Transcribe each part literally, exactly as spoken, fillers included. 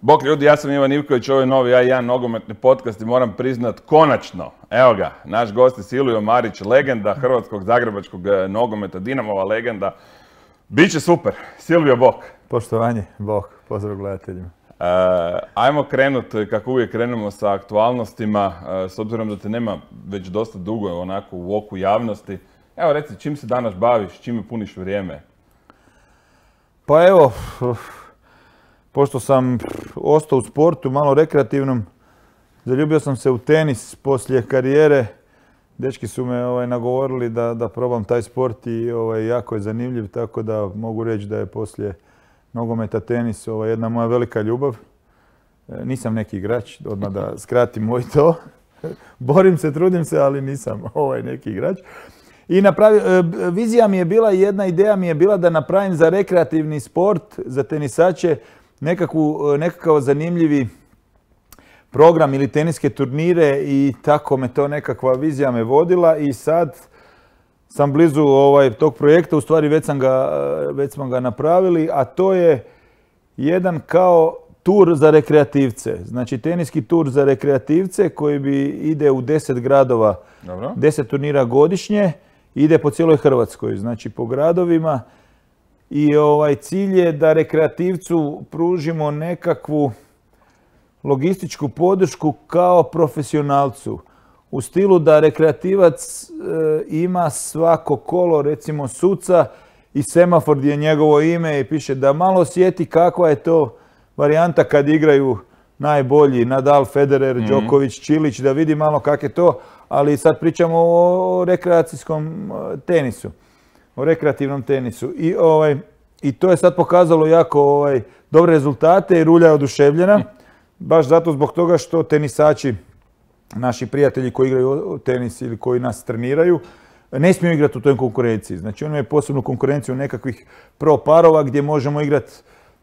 Bok ljudi, ja sam Ivan Ivković, ovo je novi A jedan nogometni podcast i moram priznat, konačno, evo ga, naš gost je Silvio Marić, legenda hrvatskog zagrebačkog nogometa, Dinamova legenda. Biće super. Silvio, bok. Poštovanje, bok. Pozdrav gledateljima. Uh, ajmo krenut, kako uvijek krenemo sa aktualnostima, uh, s obzirom da te nema već dosta dugo onako u oku javnosti. Evo reci, čim se danas baviš, čime puniš vrijeme? Pa evo, pošto sam ostao u sportu, malo rekreativnom, zaljubio sam se u tenis poslije karijere. Dečki su me ovaj, nagovorili da, da probam taj sport i ovaj, jako je zanimljiv, tako da mogu reći da je poslije nogometa tenis ovaj, jedna moja velika ljubav. E, nisam neki igrač, odmah da skratim i to. Borim se, trudim se, ali nisam ovaj, neki igrač. I napravi, e, vizija mi je bila, jedna ideja mi je bila da napravim za rekreativni sport, za tenisače, nekakvu, nekakav zanimljivi program ili teniske turnire i tako me to nekakva vizija me vodila i sad sam blizu ovaj, tog projekta, u stvari već, sam ga, već smo ga napravili, a to je jedan kao tur za rekreativce. Znači teniski tur za rekreativce koji bi ide u deset gradova, Dobro. deset turnira godišnje, ide po cijeloj Hrvatskoj, znači po gradovima i ovaj, cilj je da rekreativcu pružimo nekakvu logističku podršku kao profesionalcu. U stilu da rekreativac e, ima svako kolo, recimo suca i semafor gdje je njegovo ime i piše da malo osjeti kakva je to varijanta kad igraju najbolji Nadal, Federer, mm-hmm. Đoković, Čilić, da vidi malo kak je to, ali sad pričamo o rekreacijskom tenisu, o rekreativnom tenisu. I, ovaj, i to je sad pokazalo jako ovaj, dobre rezultate i Rulja je oduševljena. Baš zato zbog toga što tenisači, naši prijatelji koji igraju tenis ili koji nas treniraju, ne smiju igrati u toj konkurenciji. Znači oni imaju posebnu konkurenciju nekakvih pro parova gdje možemo igrati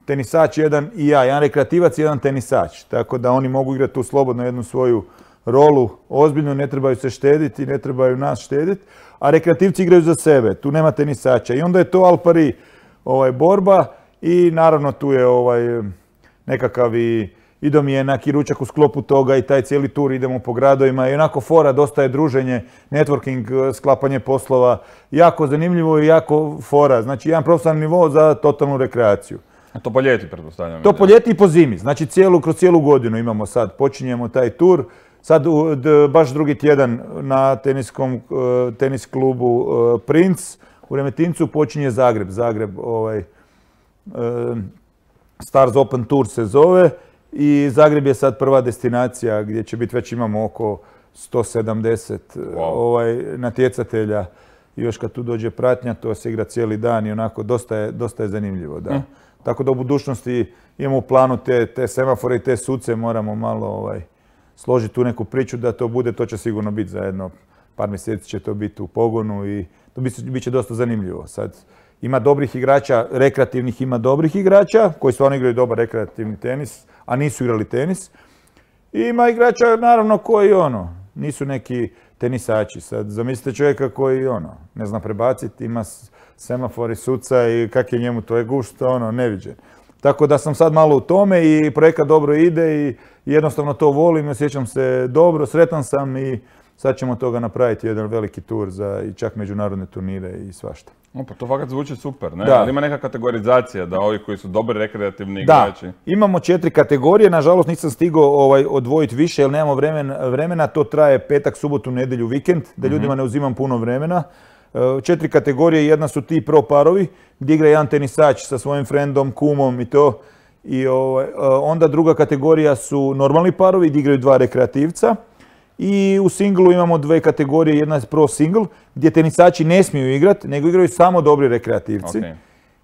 tenisač jedan i ja, jedan rekreativac i jedan tenisač. Tako da oni mogu igrati tu slobodno jednu svoju rolu, ozbiljno, ne trebaju se štediti, ne trebaju nas štediti, a rekreativci igraju za sebe, tu nema tenisača. I onda je to al pari ovaj, borba i naravno tu je ovaj, nekakav i Ido mi je neki ručak u sklopu toga i taj cijeli tur idemo po gradovima i onako fora, dosta je druženje, networking, sklapanje poslova, jako zanimljivo i jako fora. Znači jedan profesionalni nivo za totalnu rekreaciju. A to po ljeti, pretpostavljam. To po ljeti i po zimi, znači cijelu, kroz cijelu godinu imamo sad, počinjemo taj tur. Sad baš drugi tjedan na teniskom, tenis klubu Princ u Remetincu počinje Zagreb. Zagreb, ovaj, Stars Open Tour se zove. I Zagreb je sad prva destinacija gdje će biti, već imamo oko sto sedamdeset wow. ovaj, natjecatelja. I još kad tu dođe pratnja, to se igra cijeli dan i onako dosta je, dosta je zanimljivo. Da. Mm. Tako da u budućnosti imamo u planu te, te semafore i te suce, moramo malo ovaj, složiti tu neku priču da to bude, to će sigurno biti za jedno par mjeseci će to biti u pogonu i to bit će dosta zanimljivo. Sad, ima dobrih igrača, rekreativnih ima dobrih igrača koji stvarno igraju dobar rekreativni tenis, a nisu igrali tenis. I ima igrača, naravno, koji ono, nisu neki tenisači. Sad, zamislite čovjeka koji ono, ne zna prebaciti, ima semafor i suca i kak je njemu, to je gušt, ono, neviđen. Tako da sam sad malo u tome i projekat dobro ide i jednostavno to volim, osjećam se dobro, sretan sam i sad ćemo toga napraviti jedan veliki tur za i čak međunarodne turnire i svašta. O, pa to fakat zvuči super, ne? Da. Ali ima neka kategorizacija da ovi koji su dobri rekreativni igrači. Da, imamo četiri kategorije, nažalost nisam stigao ovaj, odvojiti više jer nemamo vremena, vremena, to traje petak, subotu, nedjelju, vikend, da ljudima ne uzimam puno vremena. Četiri kategorije, jedna su ti pro parovi gdje igra jedan tenisač sa svojim frendom, kumom i to. I ovaj, onda druga kategorija su normalni parovi gdje igraju dva rekreativca. I u singlu imamo dve kategorije, jedna je pro single gdje tenisači ne smiju igrati, nego igraju samo dobri rekreativci. Okay.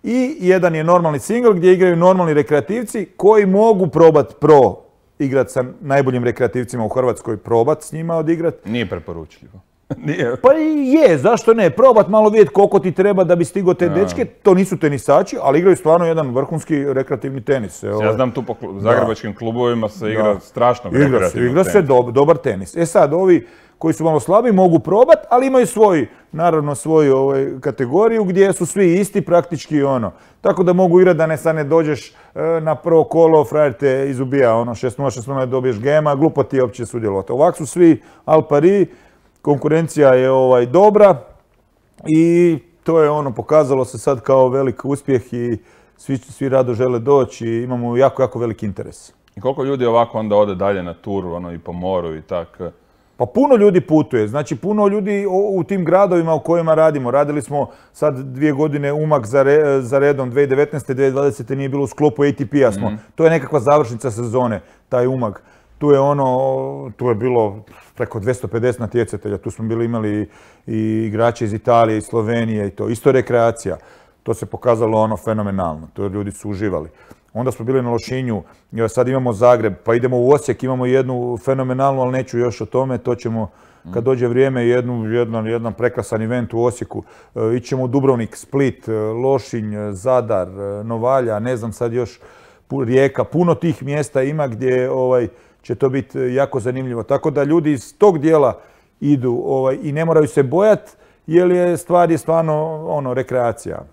I jedan je normalni single gdje igraju normalni rekreativci koji mogu probati pro igrati sa najboljim rekreativcima u Hrvatskoj, probati s njima odigrati. Nije preporučljivo. Nije. Pa je, zašto ne? Probat malo vidjeti koliko ti treba da bi stigo te dečke. To nisu tenisači, ali igraju stvarno jedan vrhunski rekreativni tenis. Evo. Ja znam tu po zagrebačkim klubovima se igra da. strašno igra rekreativno se, igra se do, dobar tenis. E sad, ovi koji su malo slabiji, mogu probati, ali imaju svoj, naravno svoju ovaj, kategoriju gdje su svi isti praktički ono. Tako da mogu igrati da ne sad ne dođeš e, na prvo kolo, frajer te izubija ono šest nula, šest nula, dobiješ gema, glupo ti je uopće sudjelovati. Ovako su svi al pari, konkurencija je ovaj, dobra i to je ono, pokazalo se sad kao velik uspjeh i svi, svi rado žele doći i imamo jako, jako veliki interes. I koliko ljudi ovako onda ode dalje na tur, ono i po moru i tak? Pa puno ljudi putuje, znači puno ljudi u tim gradovima u kojima radimo. Radili smo sad dvije godine Umag za, re, za redom, dvije tisuće devetnaeste. dvije tisuće dvadesete nije bilo u sklopu A T P-a smo. Mm. To je nekakva završnica sezone, taj Umag. Tu je ono, tu je bilo preko dvjesto pedeset natjecatelja, tu smo bili imali i igrače iz Italije, iz Slovenije i to. Isto rekreacija. To se pokazalo ono fenomenalno, to ljudi su uživali. Onda smo bili na Lošinju, sad imamo Zagreb, pa idemo u Osijek, imamo jednu fenomenalnu, ali neću još o tome, to ćemo kad dođe vrijeme, jednu, jedan, jedan prekrasan event u Osijeku. E, ićemo u Dubrovnik, Split, Lošinj, Zadar, Novalja, ne znam sad još, Rijeka, puno tih mjesta ima gdje ovaj, će to biti jako zanimljivo. Tako da ljudi iz tog dijela idu ovaj, i ne moraju se bojati, jer je stvar je stvarno ono, rekreacija.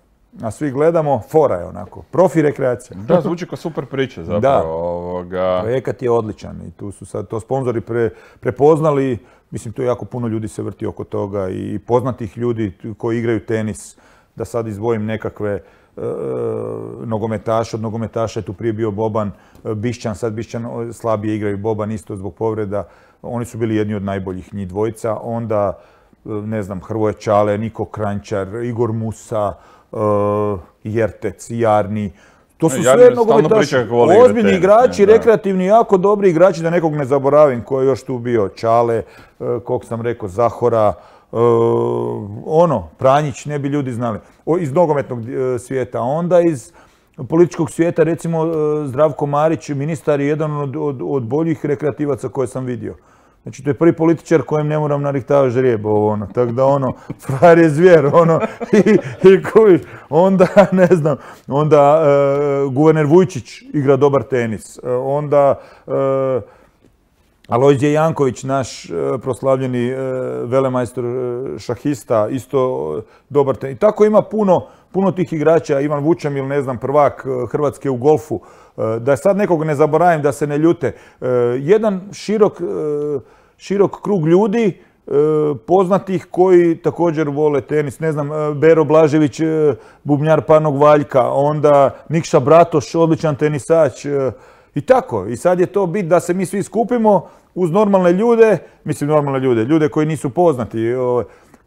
A svi gledamo, fora je onako, profi rekreacija. Da, zvuči kao super priča zapravo. Da, ovoga... projekat je odličan i tu su sad to sponzori pre, prepoznali. Mislim, tu jako puno ljudi se vrti oko toga i poznatih ljudi koji igraju tenis. Da sad izdvojim nekakve e, nogometaše, od nogometaša je tu prije bio Boban, Bišćan, sad Bišćan slabije igraju, Boban isto zbog povreda. Oni su bili jedni od najboljih njih dvojica. Onda, ne znam, Hrvoje Čale, Niko Kranjčar, Igor Musa, Uh, Jertec, Jarni, to su sve nogometaši, ozbiljni igrači, ne, rekreativni, jako dobri igrači, da nekog ne zaboravim, ko je još tu bio, Čale, uh, kog sam rekao, Zahora, uh, ono, Pranjić, ne bi ljudi znali, o, iz nogometnog uh, svijeta, onda iz političkog svijeta, recimo uh, Zdravko Marić, ministar je jedan od, od, od boljih rekreativaca koje sam vidio. Znači, to je prvi političar kojem ne moram narihtavati žrijeb, ono, tako da ono, frajer je zvijer, ono, i, i kojiš, onda, ne znam, onda e, guverner Vujčić igra dobar tenis, e, onda e, Alojzije Janković, naš e, proslavljeni e, velemajstor e, šahista, isto dobar tenis. I tako ima puno, puno tih igrača, Ivan Vučemil, ne znam, prvak Hrvatske u golfu, da sad nekog ne zaboravim, da se ne ljute. Jedan širok, širok krug ljudi, poznatih koji također vole tenis. Ne znam, Bero Blažević, bubnjar Parnog Valjka, onda Nikša Bratoš, odličan tenisač. I tako. I sad je to bit da se mi svi skupimo uz normalne ljude, mislim normalne ljude, ljude koji nisu poznati,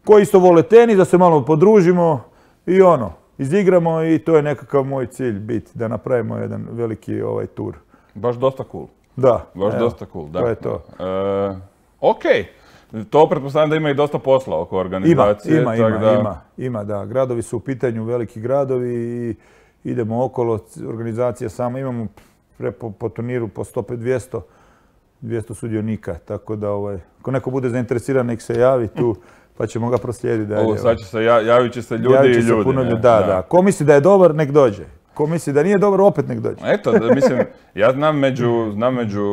koji isto vole tenis, da se malo podružimo i ono. Izigramo i to je nekakav moj cilj biti, da napravimo jedan veliki ovaj tur. Baš dosta cool. Da. Baš evo, dosta cool, da. To je to. E, ok. To pretpostavljam da ima i dosta posla oko organizacije. Ima, ima, ima, da... ima, ima, da. Gradovi su u pitanju, veliki gradovi i idemo okolo, organizacija sama. Imamo pre, po, po turniru po sto dvjesto, dvjesto sudionika, tako da ovaj, ako neko bude zainteresiran, nek se javi tu. Pa ćemo ga proslijediti dalje. Ovo, sad će se, javit će se ljudi javit će i se ljudi. Puno ljudi. Da, da, da. Ko misli da je dobar, nek dođe. Ko misli da nije dobar, opet nek dođe. Eto, da, mislim, ja znam među, znam među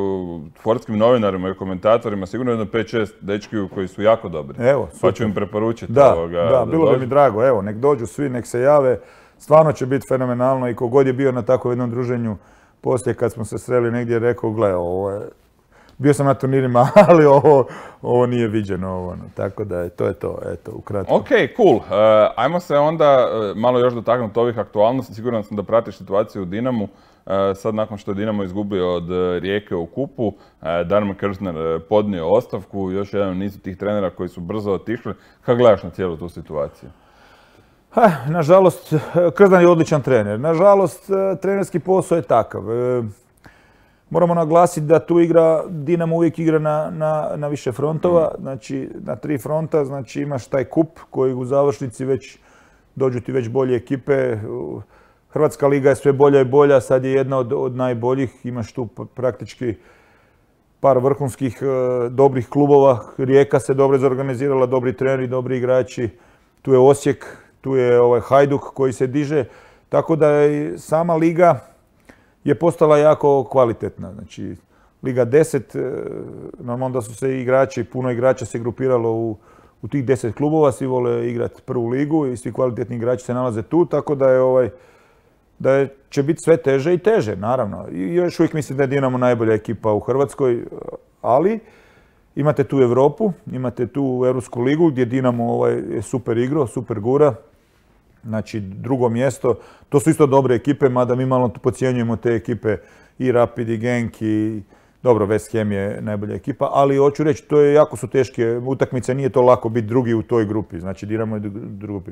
sportskim novinarima i komentatorima sigurno jedno pet šest dečkiju koji su jako dobri. Evo, super. Pa ću im preporučiti. Da, ovoga, da, da bilo dođu. bi mi drago. Evo, nek dođu svi, nek se jave. Stvarno će biti fenomenalno i kogod je bio na takvom jednom druženju poslije kad smo se sreli negdje rekao, gle, ovo je... Bio sam na turnirima, ali ovo, ovo nije viđeno. Ovo, no. Tako da je, to je to, eto, ukratko. Ok, cool. Uh, ajmo se onda uh, malo još dotaknuti ovih aktualnosti. Siguran sam da pratiš situaciju u Dinamu. Uh, sad nakon što je Dinamo izgubio od uh, Rijeke u kupu, uh, Darman Krstner uh, podnio ostavku, još jedan nizu tih trenera koji su brzo otišli. Kako gledaš na cijelu tu situaciju? Ha, nažalost, Krznan je odličan trener. Nažalost, trenerski posao je takav. Moramo naglasiti da tu igra, Dinamo uvijek igra na, na, na više frontova, znači na tri fronta, znači imaš taj kup koji u završnici već dođu ti već bolje ekipe. Hrvatska liga je sve bolja i bolja, sad je jedna od, od najboljih, imaš tu praktički par vrhunskih dobrih klubova. Rijeka se dobro zorganizirala, dobri treneri, dobri igrači, tu je Osijek, tu je ovaj Hajduk koji se diže, tako da je sama liga je postala jako kvalitetna. Znači, Liga deset, normalno da su se igrači, puno igrača se grupiralo u, u tih deset klubova, svi vole igrati prvu ligu i svi kvalitetni igrači se nalaze tu, tako da je ovaj, da je, će biti sve teže i teže, naravno. I još uvijek mislim da je Dinamo najbolja ekipa u Hrvatskoj, ali imate tu Europu, imate tu Europsku ligu gdje Dinamo ovaj, je super igro, super gura. Znači drugo mjesto, to su isto dobre ekipe, mada mi malo podcjenjujemo te ekipe i Rapid i Genk i dobro, West Ham je najbolja ekipa, ali hoću reći, to je jako su teške utakmice, nije to lako biti drugi u toj grupi, znači Dinamo je u grupi.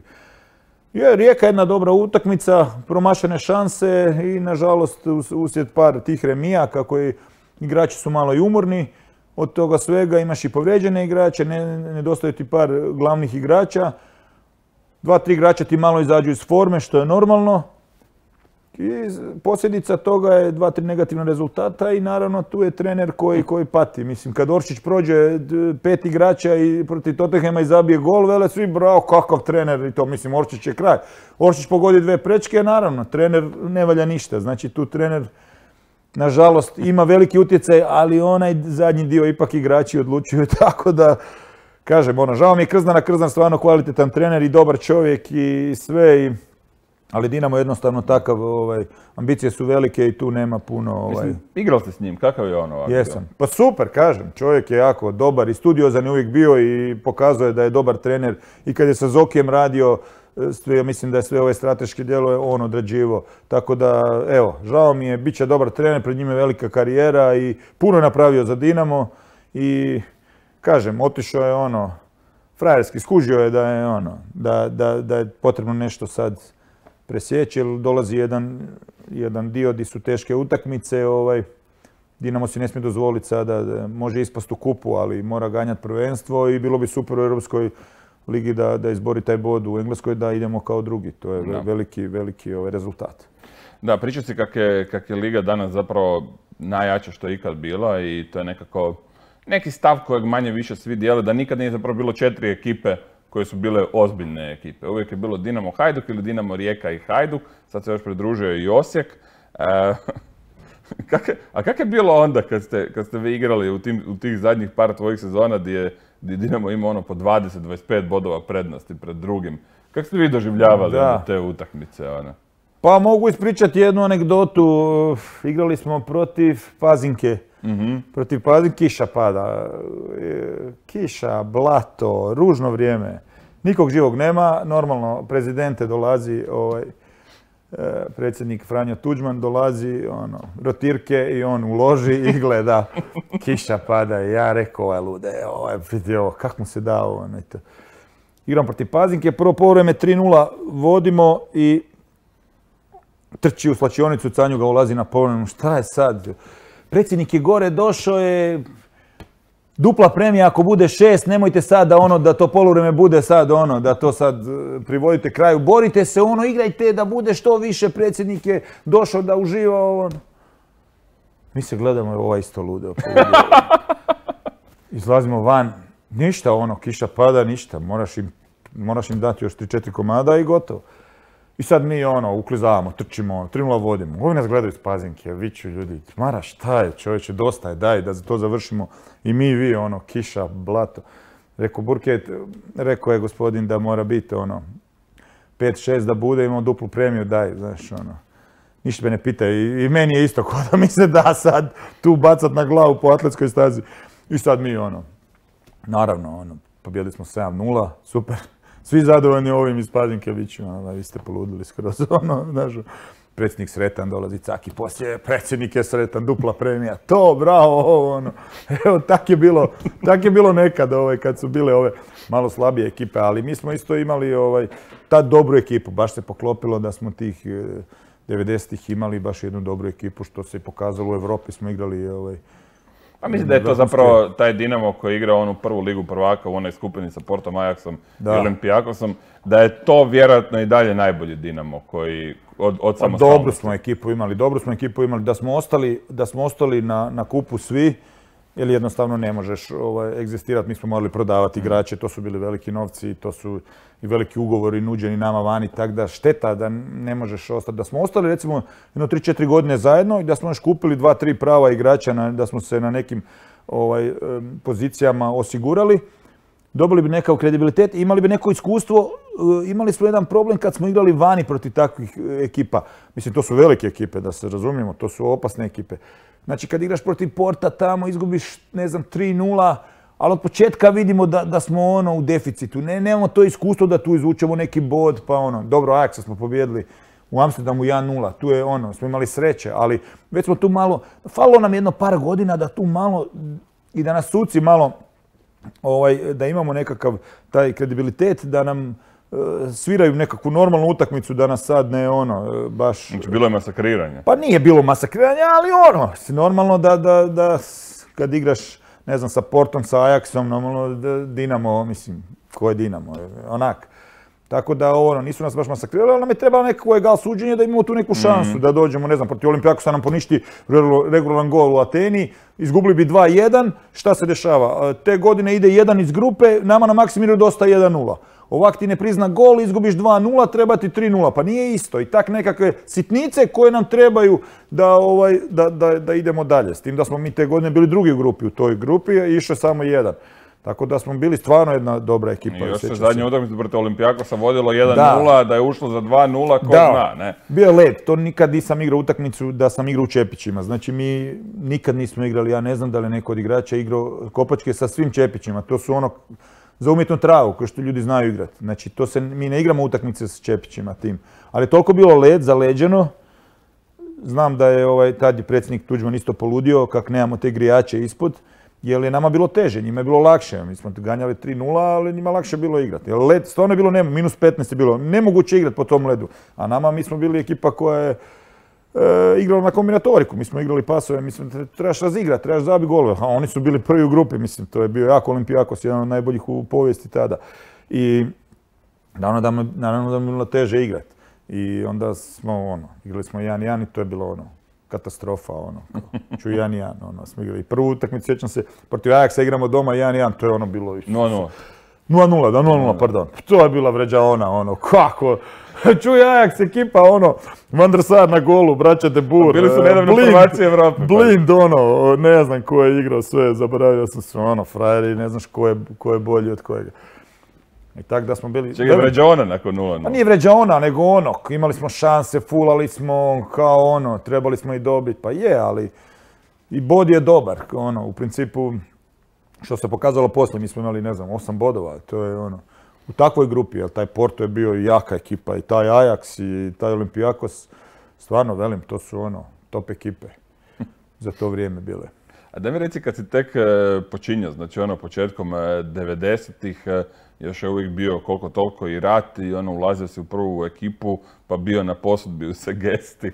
Je, Rijeka je jedna dobra utakmica, promašene šanse i nažalost uslijed par tih remija, kako i igrači su malo i umorni, od toga svega imaš i povrijeđene igrače, ne, nedostaju ti par glavnih igrača, dva, tri igrača ti malo izađu iz forme, što je normalno. I posljedica toga je dva, tri negativna rezultata i naravno tu je trener koji, koji pati. Mislim, kad Oršić prođe pet igrača i protiv Tottenhama i zabije gol, vele svi bravo, kakav trener i to, mislim, Oršić je kraj. Oršić pogodi dve prečke, naravno, trener ne valja ništa. Znači tu trener, nažalost, ima veliki utjecaj, ali onaj zadnji dio ipak igrači odlučuju, tako da, kažem, ono, žao mi je Krznana, Krznan stvarno kvalitetan trener i dobar čovjek i sve, i, ali Dinamo je jednostavno takav, ovaj, ambicije su velike i tu nema puno... Ovaj... Mislim, igrao ste s njim, kakav je on ovako? Jesam. Pa super, kažem, čovjek je jako dobar i studiozan je uvijek bio i pokazuje da je dobar trener i kad je sa Zokijem radio, sve, mislim da je sve ove strateške dijelove on odrađivo. Tako da, evo, žao mi je, bit će dobar trener, pred njime velika karijera i puno je napravio za Dinamo i, kažem, otišao je ono, frajerski, skužio je da je ono, da, da, da je potrebno nešto sad presjeći, jer dolazi jedan, jedan dio gdje su teške utakmice, ovaj, Dinamo si ne smije dozvoliti sada, da može ispast u kupu, ali mora ganjati prvenstvo i bilo bi super u Europskoj ligi da, da izbori taj bod, u Engleskoj da idemo kao drugi. To je no. veliki, veliki ovaj, rezultat. Da, priča si kak je, kak je liga danas zapravo najjača što je ikad bila i to je nekako neki stav kojeg manje više svi dijele, da nikad nije zapravo bilo četiri ekipe koje su bile ozbiljne ekipe. Uvijek je bilo Dinamo Hajduk ili Dinamo Rijeka i Hajduk, sad se još pridružio i Osijek. E, kak je, a kako je bilo onda kad ste, kad ste vi igrali u, tim, u tih zadnjih par tvojih sezona gdje, gdje Dinamo ima ono po dvadeset do dvadeset pet bodova prednosti pred drugim? Kako ste vi doživljavali da. te utakmice? Ona? Pa mogu ispričati jednu anegdotu. Igrali smo protiv Pazinke. Mm-hmm. Protiv Pazinke, kiša pada. Kiša, blato, ružno vrijeme. Nikog živog nema. Normalno, prezidente dolazi, ovaj, predsjednik Franjo Tuđman dolazi, ono, rotirke i on uloži i gleda. Kiša pada i ja rekao, ovaj lude, ovaj, ovo, kak mu se dao. Ono, igram protiv Pazinke, prvo poluvreme tri nula vodimo i trči u slačionicu, Canju ga ulazi na poluvremenu. Šta je sad? Predsjednik je gore, došao je, dupla premija ako bude šest, nemojte sad da ono, da to poluvreme bude sad ono, da to sad privodite kraju. Borite se ono, igrajte da bude što više, predsjednik je došao da uživa ono. Mi se gledamo, ova isto lude. Izlazimo van, ništa ono, kiša pada, ništa, moraš im, moraš im dati još tri četiri komada i gotovo. I sad mi ono, uklizavamo, trčimo, tri nula vodimo. Ovi nas gledaju iz Pazinke, viču ljudi, Mara šta je čovječe, dosta je, daj da to završimo. I mi i vi, ono, kiša, blato. Rekao Burket, rekao je gospodin da mora biti ono, pet šest da bude, imamo duplu premiju, daj, znaš, ono. Ništa me ne pita i, i meni je isto, ko da mi se da sad tu bacat na glavu po atletskoj stazi. I sad mi ono, naravno, ono, pobjedili smo sedam nula, super. Svi zadovoljni ovim iz Pazinke, viću, ono, vi ste poludili skroz, ono, znaš, predsjednik sretan, dolazi Caki poslije, predsjednik je sretan, dupla premija, to, bravo, ovo, ono. Evo, tak je bilo, tak je bilo nekad, ovaj, kad su bile ove malo slabije ekipe, ali mi smo isto imali, ovaj, tad dobru ekipu, baš se poklopilo da smo tih devedesetih imali baš jednu dobru ekipu, što se pokazalo u Europi, smo igrali, ovaj, Pa mislim da je to zapravo taj Dinamo koji igra onu prvu ligu prvaka u onoj skupini sa Portom, Ajaxom i Olimpijakosom, da je to vjerojatno i dalje najbolji Dinamo koji od, od samostalnosti. Dobru smo ekipu imali, dobru smo ekipu imali. Da smo ostali, da smo ostali na, na kupu svi, jer jednostavno ne možeš ovaj, egzistirati. Mi smo morali prodavati igrače, to su bili veliki novci, to su i veliki ugovori nuđeni nama vani, tako da šteta da ne možeš ostati. Da smo ostali recimo jedno tri četiri godine zajedno i da smo još kupili dva tri prava igrača, na, da smo se na nekim ovaj, pozicijama osigurali, dobili bi nekakav kredibilitet i imali bi neko iskustvo. Imali smo jedan problem kad smo igrali vani protiv takvih ekipa. Mislim, to su velike ekipe, da se razumijemo, to su opasne ekipe. Znači, kad igraš protiv Porta tamo, izgubiš, ne znam, tri nula, ali od početka vidimo da, da smo ono u deficitu. Ne, nemamo to iskustvo da tu izvučemo neki bod, pa ono, dobro, Ajaxa smo pobjedili u Amsterdamu jedan nula, tu je ono, smo imali sreće, ali već smo tu malo, falilo nam jedno par godina da tu malo, i da nas suci malo, ovaj, da imamo nekakav taj kredibilitet, da nam uh, sviraju nekakvu normalnu utakmicu, da nas sad ne ono, baš... Znači, bilo je masakriranje. Pa nije bilo masakriranje, ali ono, normalno da, da, da kad igraš, ne znam, sa Portom, sa Ajaxom, normalno da Dinamo, mislim, ko je Dinamo, onak. Tako da, ono, nisu nas baš masakrirali, ali nam je trebalo nekako egal suđenje da imamo tu neku šansu, mm. da dođemo, ne znam, protiv Olimpijakosa nam poništi regularan gol u Ateni, izgubili bi dva jedan, šta se dešava? Te godine ide jedan iz grupe, nama na Maksimiru dosta jedan nula. Ovak ti ne prizna gol, izgubiš dva nula, treba ti tri nula, pa nije isto. I tak nekakve sitnice koje nam trebaju da, ovaj, da, da, da idemo dalje. S tim da smo mi te godine bili drugi u grupi, u toj grupi i išao samo jedan. Tako da smo bili stvarno jedna dobra ekipa. I još se zadnje utakmice protiv Olimpijakosa vodilo jedan nula, da. da je ušlo za dva nula, ko da. zna, ne? Bio je led, to nikad nisam igrao utakmicu da sam igrao u Čepićima. Znači mi nikad nismo igrali, ja ne znam da li neko od igrača igrao kopačke sa svim Čepićima. To su ono za umjetnu travu, koje što ljudi znaju igrati. Znači to se, mi ne igramo utakmice s Čepićima tim. Ali je toliko bilo led, zaleđeno. Znam da je ovaj, tad je predsjednik Tuđman isto poludio kak nemamo te grijače ispod. Jer je nama bilo teže, njima je bilo lakše. Mi smo ganjali tri nula, ali njima lakše bilo igrati. Jer led stvarno je bilo, nema, minus petnaest je bilo, nemoguće igrati po tom ledu. A nama, mi smo bili ekipa koja je e, igrala na kombinatoriku. Mi smo igrali pasove, mislim, trebaš razigrati, trebaš zabiti golove. A oni su bili prvi u grupi, mislim, to je bio jako Olimpijakos, jedan od najboljih u povijesti tada. I naravno da, naravno da mi je bilo teže igrati. I onda smo, ono, igrali smo jedan jedan i to je bilo ono. Katastrofa, ono, ću jedan jedan, ono, smo igrali. Prvu utakmicu, sjećam se, protiv Ajaxa igramo doma jedan jedan, to je ono bilo... nula nula. nula nula, da, nula nula, pardon. To je bila vređaona, ono, kako? Čuj Ajax ekipa, ono, Van der Sar na golu, braća De Boer. Bili su nedavno prvaci Evrope. Blind, ono, ne znam ko je igrao sve, zaboravio sam se, ono, frajeri, ne znaš ko je, ko je bolji od kojega. I tak da smo bili... Čekaj, vređaona nakon nula nula. Pa nije vređaona, nego ono, imali smo šanse, fulali smo kao ono, trebali smo i dobiti, pa je, ali i bod je dobar, ono, u principu, što se pokazalo poslije, mi smo imali, ne znam, osam bodova, to je ono, u takvoj grupi, jer taj Porto je bio jaka ekipa, i taj Ajax, i taj Olimpijakos, stvarno, velim, to su ono, top ekipe za to vrijeme bile. A da mi reci, kad si tek počinjao, znači ono, početkom devedesetih, još je uvijek bio koliko toliko i rat i ono, ulazio si u prvu ekipu, pa bio na posudbi u Segesti.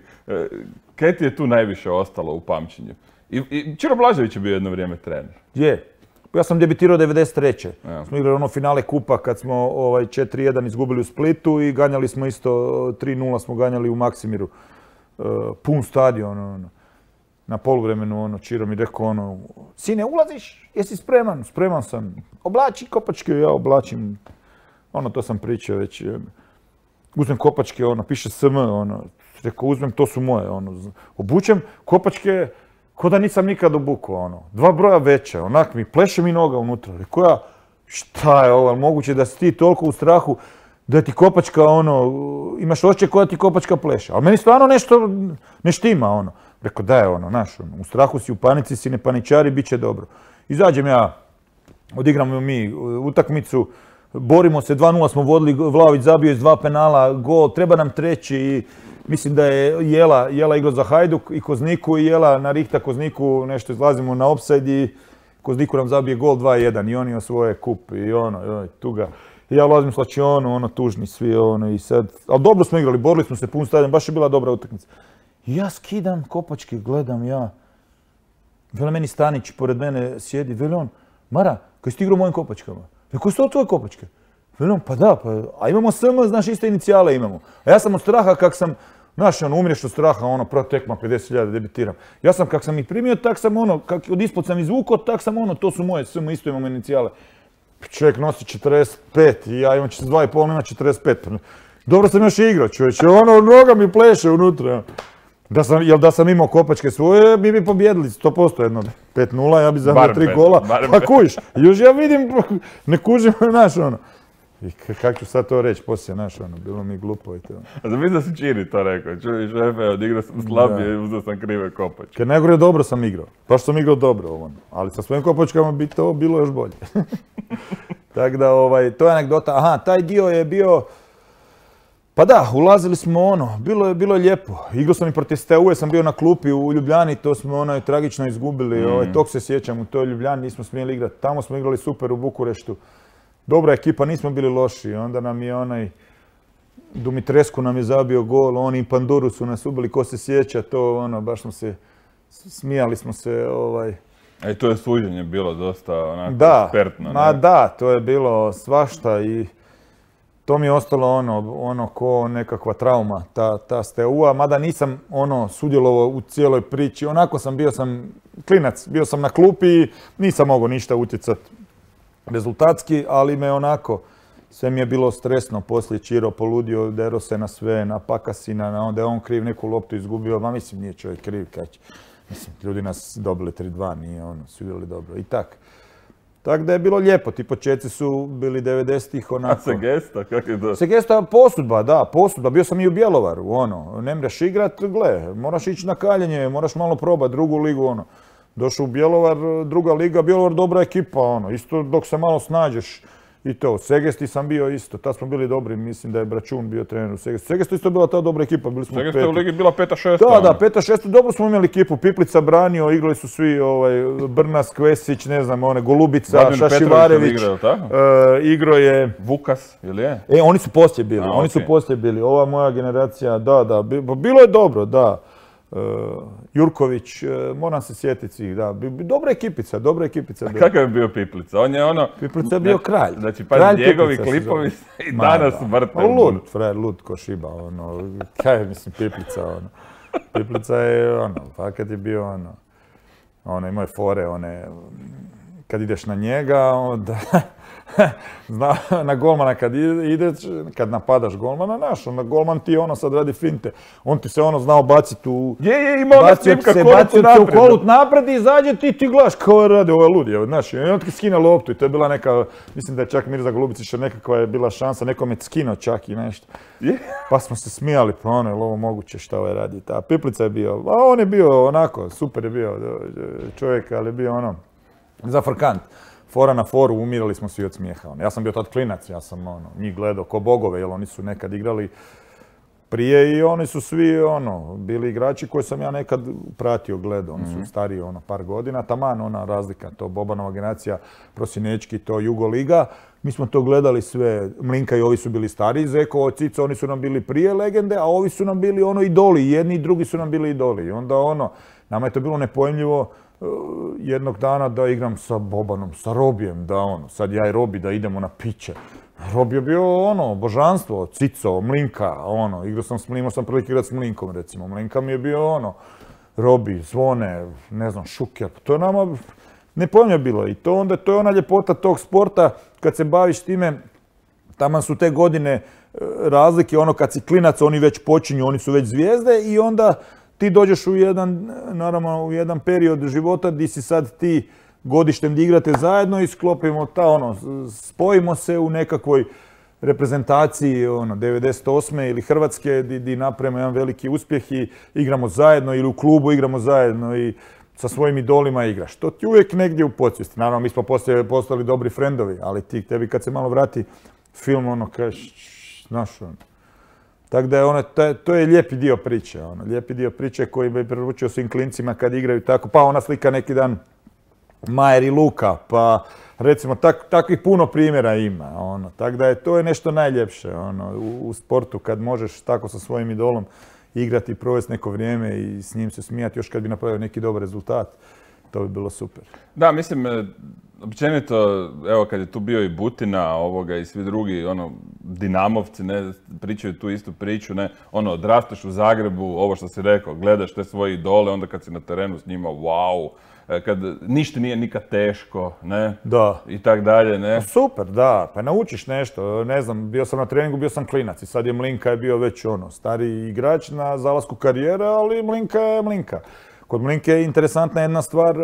Kaj ti je tu najviše ostalo u pamćenju? I, i Ćiro Blažević je bio jedno vrijeme trener. Je. Ja sam debitirao devedeset treće. Ja. Smo igrali ono finale kupa kad smo ovaj, četiri jedan izgubili u Splitu i ganjali smo isto tri nula smo ganjali u Maksimiru. Uh, pun stadion, ono. Na poluvremenu, ono, Ćiro mi rekao, ono, sine, ulaziš? Jesi spreman? Spreman sam. Oblači kopačke, ja oblačim. Ono, to sam pričao već. Uzmem kopačke, ono, piše S M, ono. Rekao, uzmem, to su moje, ono. Obučem kopačke, ko da nisam nikad obukao, ono. Dva broja veće, onak mi, pleše mi noga unutra. Rekao ja, šta je ovo, moguće da si ti toliko u strahu da ti kopačka, ono, imaš osjećaj koja ti kopačka pleše. Ali meni stvarno nešto ne štima, ono. Rekao, da je ono, znaš, ono, u strahu si, u panici si, ne paničari, bit će dobro. Izađem ja, odigramo mi utakmicu, borimo se, dva nula smo vodili, Vlahović zabio iz dva penala, gol, treba nam treći i mislim da je Jela, Jela igrao za Hajduk i Kozniku i Jela narihta Kozniku, nešto izlazimo na opsajd i Kozniku nam zabije gol dva jedan i oni osvoje kup i ono, joj, tuga. I ja ulazim u slačionu, ono, tužni svi, ono, i sad, ali dobro smo igrali, borili smo se pun stadion, baš je bila dobra utakmica. I ja skidam kopačke, gledam ja. Vele meni Stanić pored mene sjedi, veli on, Mara, kaj si ti igrao u mojim kopačkama? Rekao, su to tvoje kopačke? Veli on, pa da, pa, a imamo S M, znaš, iste inicijale imamo. A ja sam od straha kak sam Znaš, ono, umireš od straha, ono, prva tekma, pedeset hiljada debitiram. Ja sam, kak sam ih primio, tak sam ono, kak od ispod sam izvukao, tak sam ono, to su moje, sve mu isto imamo inicijale. Čovjek nosi četrdeset pet i ja imam četrdeset dva i pol, ima četrdeset pet. Dobro sam još igrao, čovječe, ono, noga mi pleše unutra. Da sam, jel da sam imao kopačke svoje, mi bi pobjedili sto posto jedno pet nula, ja bi zabio tri gola, pa kužiš. Još ja vidim, ne kužim, znaš, ono. I kako ću sad to reći poslije, znaš, ono, bilo mi glupo i to. A da mislim da si Čiri to rekao, čuj šefe, odigrao sam slabije i uzeo sam krive kopačke. Kad najgore dobro sam igrao, baš sam igrao dobro, ono. Ali sa svojim kopačkama bi to bilo još bolje. Tako da, ovaj, to je anegdota, aha, taj dio je bio, pa da, ulazili smo ono, bilo je, bilo je lijepo. Igrao sam i protiv S T U, sam bio na klupi u Ljubljani, to smo ono tragično izgubili, mm. ovaj, tog se sjećam, u toj Ljubljani nismo smjeli igrati, tamo smo igrali super u Bukureštu. Dobra ekipa, nismo bili loši, onda nam je onaj Dumitrescu nam je zabio gol, oni i Panduru su nas ubili, ko se sjeća, to ono, baš smo se, smijali smo se, ovaj... A i to je suđenje bilo dosta onako da, ekspertno, ne? Ma da, to je bilo svašta i to mi je ostalo ono, ono ko nekakva trauma, ta, ta S T U-a, mada nisam ono sudjelovao u cijeloj priči, onako sam, bio sam klinac, bio sam na klupi i nisam mogao ništa utjecati rezultatski, ali me onako, sve mi je bilo stresno, poslije Čiro poludio, dero se na sve, na Pakasina, na onda je on kriv neku loptu izgubio, ma mislim nije čovjek kriv, kać. Mislim, ljudi nas dobili tri dva, nije ono, su igrali dobro i tak. Tako da je bilo lijepo, ti početci su bili devedesetih onako... A Segesta, kako je to? Segesta posudba, da, posudba, bio sam i u Bjelovaru, ono, ne mreš igrat, gle, moraš ići na kaljenje, moraš malo probati drugu ligu, ono. Došao u Bjelovar, druga liga, Bjelovar dobra ekipa, ono, isto dok se malo snađeš i to. U Segesti sam bio isto, tad smo bili dobri, mislim da je Bračun bio trener u Segestu. Segesta isto bila ta dobra ekipa, bili smo peti. Segesta u ligi bila peta šesta. Da, da, peta šesta, dobro smo imali ekipu, Piplica branio, igrali su svi, ovaj, Brnas, Kvesić, ne znam, one, Golubica, Vladimir Šašivarević. Igrao, tako? E, igro je... Vukas, ili je? E, oni su poslije bili, A, oni okay. su poslije bili, ova moja generacija, da, da, bilo je dobro, da. Uh, Jurković, uh, moram se sjetiti svih, da, dobra ekipica, dobra ekipica. A kakav je bio Piplica? On je ono... Piplica je bio kralj. Znači, pa njegovi klipovi i danas vrte. Lud, frajer, lud ko šiba, ono, kaj je, mislim, Piplica, ono. Piplica je, ono, fakat je bio, ono, ono, imao je fore, one, kad ideš na njega, onda... Zna, na golmana kad ideš, kad napadaš golmana, naš, onda golman ti ono sad radi finte. On ti se ono znao baciti u... Je, je, imao na snimka kolut napred. u kolut napred i izađe ti ti gledaš kao je radi, ovo je lud, je, znaš. I on ti skine loptu i to je bila neka, mislim da je čak Mirza Golubicić nekakva je bila šansa, nekom je skinuo čak i nešto. Je? Pa smo se smijali, pa ono je ovo moguće šta ovaj radi. Ta Piplica je bio, a on je bio onako, super je bio čovjek, ali je bio ono, zafrkant. Fora na foru, umirali smo svi od smijeha. Ja sam bio tad klinac, ja sam ono, njih gledao ko bogove, jer oni su nekad igrali prije i oni su svi ono, bili igrači koje sam ja nekad pratio, gledao. Oni su stariji ono, par godina, taman ona razlika, to Bobanova generacija, Prosinečki, to Jugoliga. Mi smo to gledali sve, Mlinka i ovi su bili stariji, Zeko, Cico, oni su nam bili prije legende, a ovi su nam bili ono idoli, jedni i drugi su nam bili idoli. I onda ono, nama je to bilo nepojmljivo, jednog dana da igram sa Bobanom, sa Robijem, da ono, sad ja i Robi da idemo na piće. Robi je bio ono, božanstvo, Cico, Mlinka, ono, igrao sam s Mlinkom, sam prilike igrati s Mlinkom recimo. Mlinka mi je bio ono, Robi, Zvone, ne znam, Šuker, to je nama nepojmljivo bilo i to onda, to je ona ljepota tog sporta, kad se baviš time, taman su te godine razlike, ono kad si klinac, oni već počinju, oni su već zvijezde i onda ti dođeš u jedan, naravno, u jedan period života gdje si sad ti godištem gdje igrate zajedno i sklopimo ta, ono, spojimo se u nekakvoj reprezentaciji, ono, devedeset osme ili Hrvatske gdje napravimo jedan veliki uspjeh i igramo zajedno ili u klubu igramo zajedno i sa svojim idolima igraš. To ti uvijek negdje u podsvijesti. Naravno, mi smo poslije postali dobri frendovi, ali ti, tebi kad se malo vrati film, ono, kažeš, znaš, ono, tako da je ono, to je lijepi dio priče, ono, lijepi dio priče koji bi preručio svim klincima kad igraju tako, pa ona slika neki dan Majer i Luka, pa recimo tak, takvih puno primjera ima, ono, tako da je to je nešto najljepše, ono, u, u sportu kad možeš tako sa svojim idolom igrati i provesti neko vrijeme i s njim se smijati još kad bi napravio neki dobar rezultat, to bi bilo super. Da, mislim, općenito, evo kad je tu bio i Butina ovoga i svi drugi, ono, Dinamovci, ne, pričaju tu istu priču, ne, ono, odrasteš u Zagrebu, ovo što si rekao, gledaš te svoje idole, onda kad si na terenu s njima, wow, kad ništa nije nikad teško, ne, da. I tak dalje, ne. Super, da, pa naučiš nešto, ne znam, bio sam na treningu, bio sam klinac i sad je Mlinka je bio već ono, stari igrač na zalasku karijere, ali Mlinka je Mlinka. Kod Mlinke je interesantna jedna stvar,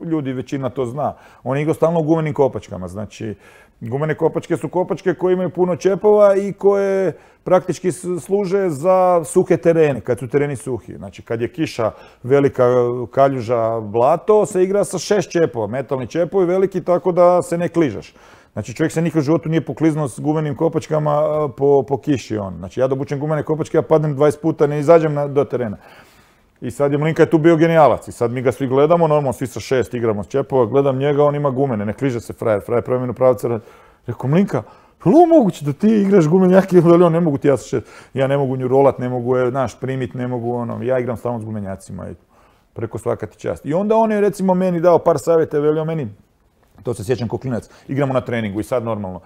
ljudi većina to zna, on je igrao stalno u gumenim kopačkama, znači gumene kopačke su kopačke koje imaju puno čepova i koje praktički služe za suhe terene, kad su tereni suhi. Znači kad je kiša, velika kaljuža, blato, se igra sa šest čepova, metalni čepovi veliki tako da se ne kližeš. Znači čovjek se nikad u životu nije pokliznuo s gumenim kopačkama po, po kiši on. Znači ja dobučem gumene kopačke, ja padnem dvadeset puta, ne izađem na, do terena. I sad je Mlinka je tu bio genijalac i sad mi ga svi gledamo, normalno svi sa šest igramo s čepova, gledam njega, on ima gumene, ne kliže se frajer, frajer promjenu pravca. Rekao Mlinka, je li ovo moguće da ti igraš gumenjake, ili on ne mogu ti ja sa šest, ja ne mogu nju rolat, ne mogu je, znaš, primit, ne mogu ono, ja igram stalno s gumenjacima i preko svaka ti čast. I onda on je recimo meni dao par savjeta, velio meni, to se sjećam ko klinac, igramo na treningu i sad normalno.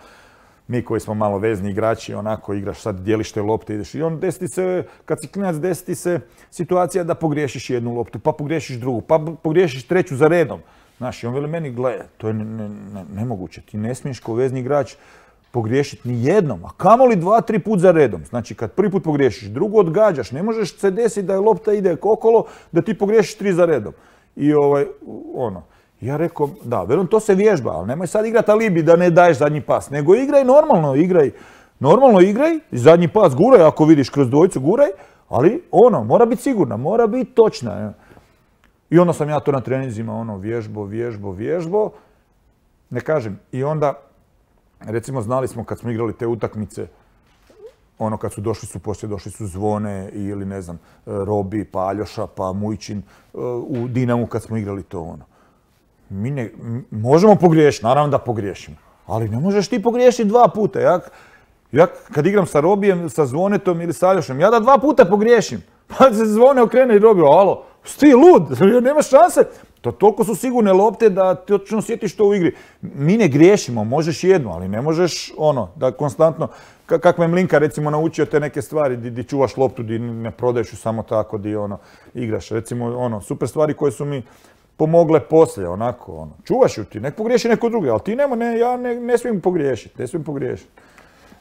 Mi koji smo malo vezni igrači, onako igraš sad dijeliš te lopte, ideš i on desi se, kad si klinac desi se situacija da pogriješiš jednu loptu, pa pogriješiš drugu, pa pogriješiš treću za redom. Znaš, i on veli meni, gle, to je ne, ne, ne, nemoguće, ti ne smiješ kao vezni igrač pogriješiti ni jednom, a kamoli dva, tri put za redom. Znači kad prvi put pogriješiš, drugo odgađaš, ne možeš se desiti da je lopta ide okolo, da ti pogriješiš tri za redom. I ovaj, ono. Ja rekao, da, velim, to se vježba, ali nemoj sad igrati alibi da ne daješ zadnji pas, nego igraj normalno, igraj, normalno igraj, zadnji pas guraj, ako vidiš kroz dvojicu guraj, ali ono, mora biti sigurna, mora biti točna. I onda sam ja to na treninzima, ono, vježbo, vježbo, vježbo, ne kažem, i onda, recimo, znali smo kad smo igrali te utakmice, ono, kad su došli su, poslije došli su Zvone ili, ne znam, Robi, pa Aljoša, pa Mujčin, u Dinamu kad smo igrali to, ono. Mi ne, možemo pogriješiti, naravno da pogriješimo, ali ne možeš ti pogriješiti dva puta. Ja, ja kad igram sa Robijem, sa Zvonetom ili sa Aljošem, ja da dva puta pogriješim, pa se Zvone okrene i Robi, alo, sti lud, nemaš šanse. To toliko su sigurne lopte da ti točno sjetiš to u igri. Mi ne griješimo, možeš jednu, ali ne možeš ono, da konstantno, kako me Mlinka recimo naučio te neke stvari, di, di čuvaš loptu, di ne prodaješ ju samo tako, di ono, igraš. Recimo, ono, super stvari koje su mi pomogle poslije, onako, ono, čuvaš ju ti, nek pogriješi neko drugi, ali ti nema, ne, ja ne, ne smijem pogriješiti, ne smijem pogriješiti.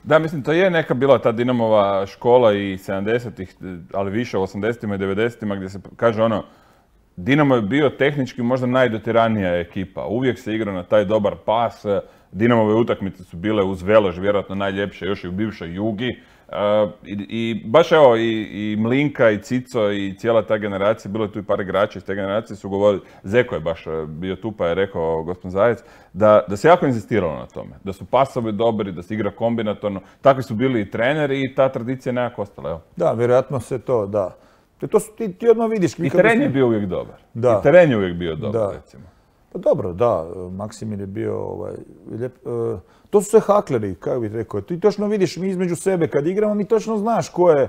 Da, mislim, to je neka bila ta Dinamova škola i sedamdesetih, ali više u osamdesetima i devedesetima gdje se kaže ono, Dinamo je bio tehnički možda najdotiranija ekipa, uvijek se igrao na taj dobar pas, Dinamove utakmice su bile uz Velož, vjerojatno najljepše još i u bivšoj Jugi. Uh, i, i baš evo i, i Mlinka i Cico i cijela ta generacija, bilo je tu i par igrača iz te generacije su govorili, Zeko je baš bio tu pa je rekao gospodin Zajec, da, da se jako inzistiralo na tome, da su pasovi dobri, da se igra kombinatorno, takvi su bili i treneri i ta tradicija je nekako ostala, evo. Da, vjerojatno se to, da. To su, ti, ti odmah vidiš. I teren je bio uvijek dobar. Da. I teren je uvijek bio dobar, da. recimo. Pa dobro, da, Maksimir je bio ovaj, lijep. Uh, to su sve hakleri, kako bih rekao. Ti točno vidiš mi između sebe kad igramo, mi točno znaš ko je,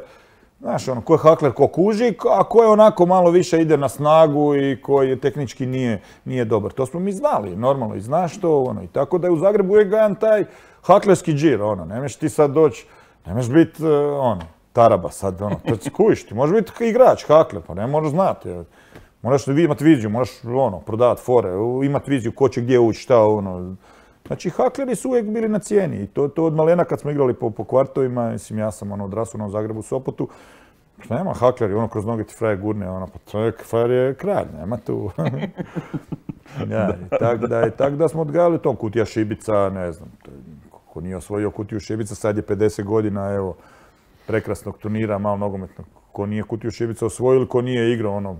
znaš, ono, ko je hakler, ko kuži, a ko je onako malo više ide na snagu i koji tehnički nije, nije dobar. To smo mi znali, normalno, i znaš to, ono, i tako da je u Zagrebu uvijek gajan taj haklerski džir, ono, nemeš ti sad doći, nemeš biti, uh, ono, taraba sad, ono, to ti kujiš, ti možeš biti igrač, hakler, pa ne moraš znati. Moraš imati viziju, moraš ono, prodavati fore, imati viziju ko će gdje ući, šta ono. Znači, hakleri su uvijek bili na cijeni i to, to od malena kad smo igrali po, po kvartovima, mislim, ja sam ono, odrastao u Zagrebu, Sopotu, pa nema hakleri, ono, kroz noge ti frajer gurne, ono, pa čovjek, frajer je kralj, nema tu. Ja, i tak da, i tak da smo odgajali to, Kutija Šibica, ne znam, ko nije osvojio Kutiju Šibica, sad je pedeset godina, evo, prekrasnog turnira, malo nogometnog, ko nije Kutiju Šibica osvojili, ko nije igrao, ono,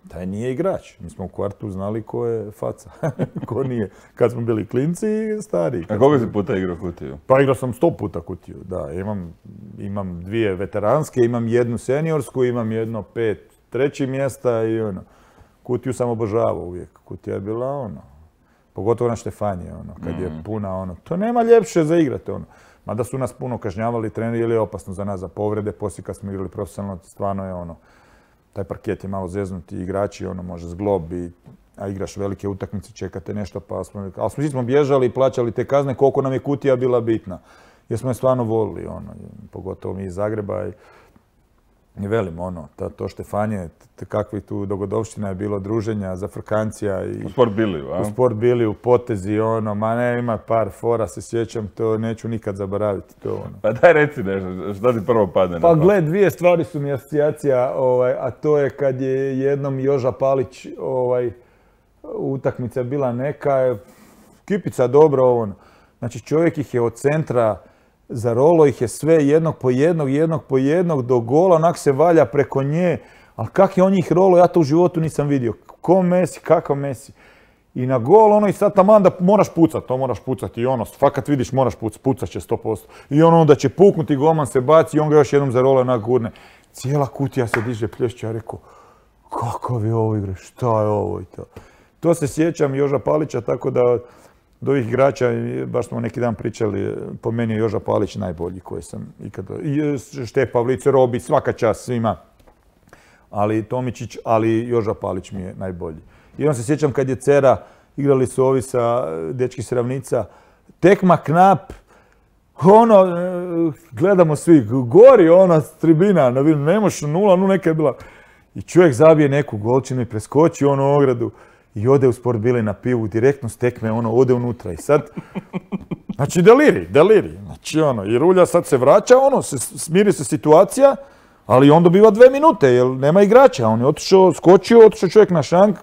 taj nije igrač. Mi smo u kvartu znali ko je faca, ko nije. Kad smo bili klinci i stari. A koliko si puta igrao Kutiju? Pa igrao sam sto puta Kutiju, da. Imam, imam dvije veteranske, imam jednu seniorsku, imam jedno pet trećih mjesta i ono. Kutiju sam obožavao uvijek. Kutija je bila ono, pogotovo na Štefanije, ono, kad mm. je puna ono. To nema ljepše za igrati, ono. Mada su nas puno kažnjavali treneri, jer je opasno za nas, za povrede, poslije kad smo igrali profesionalno, stvarno je ono, taj parket je malo zeznuti, igrači, ono, može zglob, i, a igraš velike utakmice, čekate nešto, pa smo, ali smo, smo bježali i plaćali te kazne, koliko nam je Kutija bila bitna. jer smo je stvarno volili, ono, pogotovo mi iz Zagreba. I, i velim, ono, to, to Štefanje, kakvih tu dogodovština je bilo, druženja, zafrkancija. I, u Sport Biliju, a? U Sport Biliju, potezi, ono, ma ne, ima par fora, se sjećam, to neću nikad zaboraviti. To, ono. Pa daj reci nešto, šta ti prvo padne na Pa pamet? gle, dvije stvari su mi asocijacija, ovaj, a to je kad je jednom Joža Palić, ovaj, utakmica bila neka, kipica dobro, ono. Znači čovjek ih je od centra zarolo, ih je sve jednog po jednog, jednog po jednog do gola, onak se valja preko nje, ali kak je on njih rolo, ja to u životu nisam vidio. Ko Messi, kakav Messi. I na gol, ono, i sad taman da moraš pucat, to moraš pucati i ono, fakat vidiš moraš pucat, pucat će sto posto. I ono onda će puknuti, golman se baci i on ga još jednom zarolo onak gurne. Cijela kutija se diže, plješće, ja rekao, kakav je ovo igre, šta je ovo i to. To se sjećam Joža Palića, tako da od ovih igrača, baš smo neki dan pričali, po meni je Joža Palić najbolji koji sam ikada, Štef Pavlic, Robi, svaka čast svima, ali Tomičić, ali Joža Palić mi je najbolji. I on se sjećam kad je Cera, igrali su ovi sa dečki s Ravnica, tekma knap, ono, gledamo svi, gori ona tribina, ne možeš nula, nu neka je bila. I čovjek zabije neku golčinu i preskoči onu ogradu i ode u Sport Bili na pivu, direktno stekme, ono, ode unutra. I sad, znači deliri, deliri. Znači ono, i Rulja sad se vraća, ono, se, smiri se situacija, ali on dobiva dve minute, jer nema igrača. On je otišao, skočio, otišao čovjek na šank.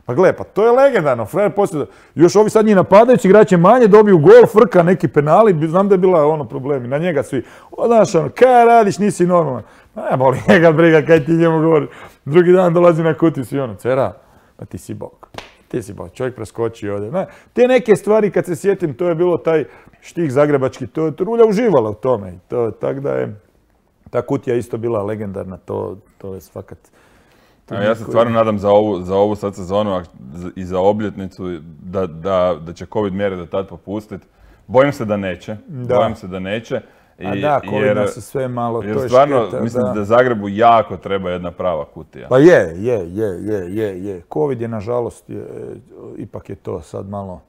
Pa gle, pa to je legendarno. Frajer poslije, još ovi sad njih napadajući, igrač je manje, dobiju gol, frka, neki penali. Znam da je bila ono problemi. Na njega svi. O, znaš, ono, kaj radiš, nisi normalan. Ne, boli njega briga, kaj ti njemu govori. Drugi dan dolazi na kutiju svi ono, Cera, pa ti si bog. Ti si bog. Čovjek preskoči ovdje. Ne, te neke stvari, kad se sjetim, to je bilo taj štih zagrebački. To je Rulja uživala u tome. To, tak da je... Ta kutija isto bila legendarna, to, to je svakat. A ja se stvarno nadam za ovu, za ovu sad sezonu i za obljetnicu da, da, da će COVID mjere do tad popustiti. Bojim se da neće. Da. Bojim se da neće. I, A da, COVID jer, nas je sve malo, jer to je stvarno šteta, mislim da. da Zagrebu jako treba jedna prava kutija. Pa je, je, je, je, je, je. COVID je nažalost, je, ipak je to sad malo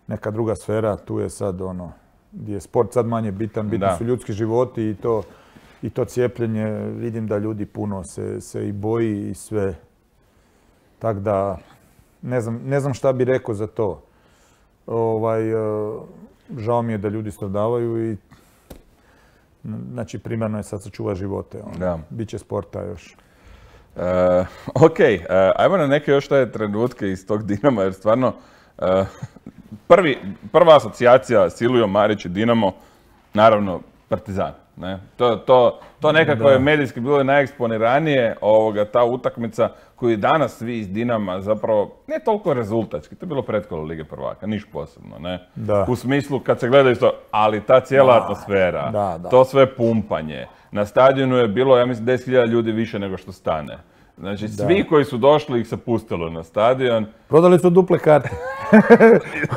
neka druga sfera, tu je sad ono, gdje je sport sad manje bitan, bitni Da. su ljudski životi i to, i to cijepljenje, vidim da ljudi puno se, se i boji i sve. Tako da, ne znam, ne znam šta bi rekao za to. Ovaj, žao mi je da ljudi stradavaju i znači primarno je sad sačuva živote. Ono. Da. Biće sporta još. Uh, ok, uh, ajmo na neke još te trenutke iz tog Dinama, jer stvarno uh, prvi, prva asocijacija Silvio Marić i Dinamo, naravno Partizan. Ne? To, to, to nekako Da. je medijski bilo najeksponiranije ovoga, ta utakmica koju danas svi iz Dinama zapravo ne toliko rezultatski, to je bilo pretkolo Lige prvaka, niš posebno, ne? Da. U smislu kad se gleda isto, ali ta cijela Da, atmosfera, da, da. to sve pumpanje, na stadionu je bilo, ja mislim, deset hiljada ljudi više nego što stane. Znači, svi koji su došli ih se pustilo na stadion. Prodali su duple karte.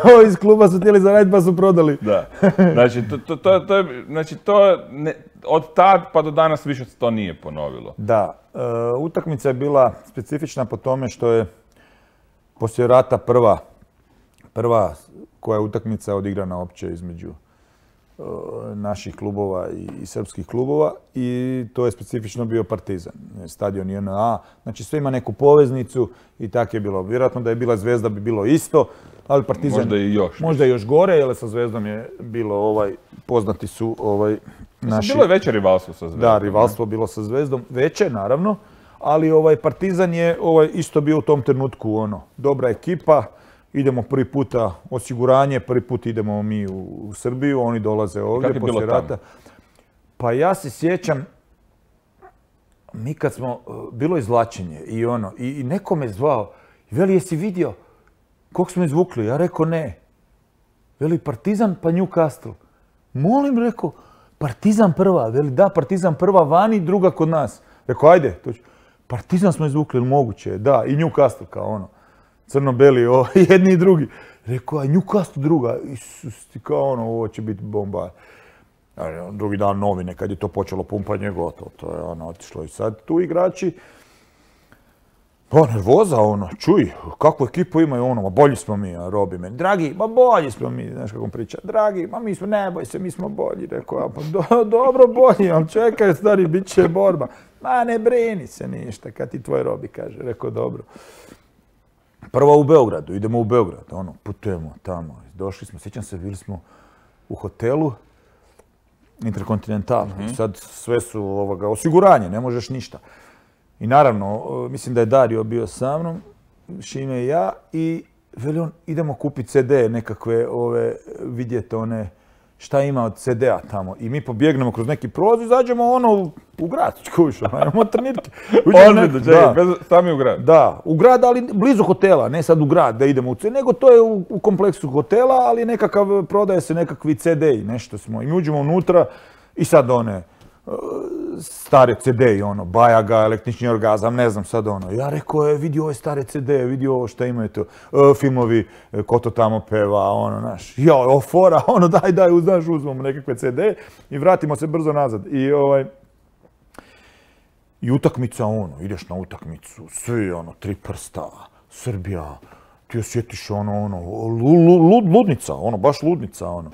Ovi iz kluba su htjeli zaraditi pa su prodali. Da. Znači, to, to, to, to je, znači, to ne, od tad pa do danas više se to nije ponovilo. Da, e, utakmica je bila specifična po tome što je poslije rata prva, prva koja je utakmica odigrana opće između e, naših klubova i, i srpskih klubova i to je specifično bio Partizan, stadion J N A, znači sve ima neku poveznicu i tako je bilo. Vjerojatno da je bila Zvezda bi bilo isto, ali Partizan Možda i još. možda i još gore, jer sa Zvezdom je bilo ovaj, poznati su ovaj, naši... Bilo je veće rivalstvo sa Zvezdom. Da, rivalstvo bilo sa Zvezdom, veće naravno, ali ovaj Partizan je ovaj isto bio u tom trenutku ono, dobra ekipa, idemo prvi puta osiguranje, prvi put idemo mi u, u Srbiju, oni dolaze ovdje poslije rata. Pa ja se sjećam, mi kad smo, bilo izvlačenje i ono, i, i neko me zvao, veli jesi vidio koliko smo izvukli? Ja rekao ne. Veli Partizan pa Newcastle. Molim, rekao, Partizan prva, veli da, Partizan prva vani, druga kod nas. Rekao, ajde, to ću. Partizan smo izvukli, ili moguće? Da, i Newcastle kao ono. Crno-beli, o, jedni i drugi. Rekao, a Newcastle druga, Isus, ti kao ono, ovo će biti bomba. Drugi dan novine, kad je to počelo pumpanje, gotovo, to je ono otišlo. I sad tu igrači, Pa nervoza, ono, čuj, kakvu ekipu imaju, ono, ma bolji smo mi, a Robi meni, dragi, ma bolji smo mi, znaš kako on priča, dragi, ma mi smo, ne boj se, mi smo bolji, rekao, ja, pa do, dobro bolji, ali čekaj, stari, bit će borba, ma ne brini se ništa, kad ti tvoj Robi kaže, rekao, dobro. Prvo u Beogradu, idemo u Beograd, ono, putujemo tamo, došli smo, sjećam se, bili smo u hotelu, Interkontinental, mm-hmm. Sad sve su ovoga, osiguranje, ne možeš ništa. I naravno, mislim da je Dario bio sa mnom, Šime i ja, i veli on, idemo kupiti ce de nekakve, ove, vidjeti one, šta ima od ce de-a tamo. I mi pobjegnemo kroz neki prolaz i zađemo ono u, u grad, čuviš, imamo trenirke. Ozbiljno, čekaj, sami u grad. Da, u grad, ali blizu hotela, ne sad u grad da idemo u ce de, nego to je u, u kompleksu hotela, ali nekakav, prodaje se nekakvi ce de-i, nešto smo. I mi uđemo unutra i sad one, stare ce de-i, ono, Bajaga, električni orgazam, ne znam sad ono. Ja rekao, je, vidi ove stare ce de, vidi ovo šta imaju to, e, filmovi, e, ko to tamo peva, ono, naš, ja, o, fora, ono, daj, daj, znaš, uzmemo nekakve ce de i vratimo se brzo nazad. I, ovaj, i utakmica, ono, ideš na utakmicu, svi, ono, tri prsta, Srbija, ti osjetiš, ono, ono, lud, ludnica, ono, baš ludnica, ono.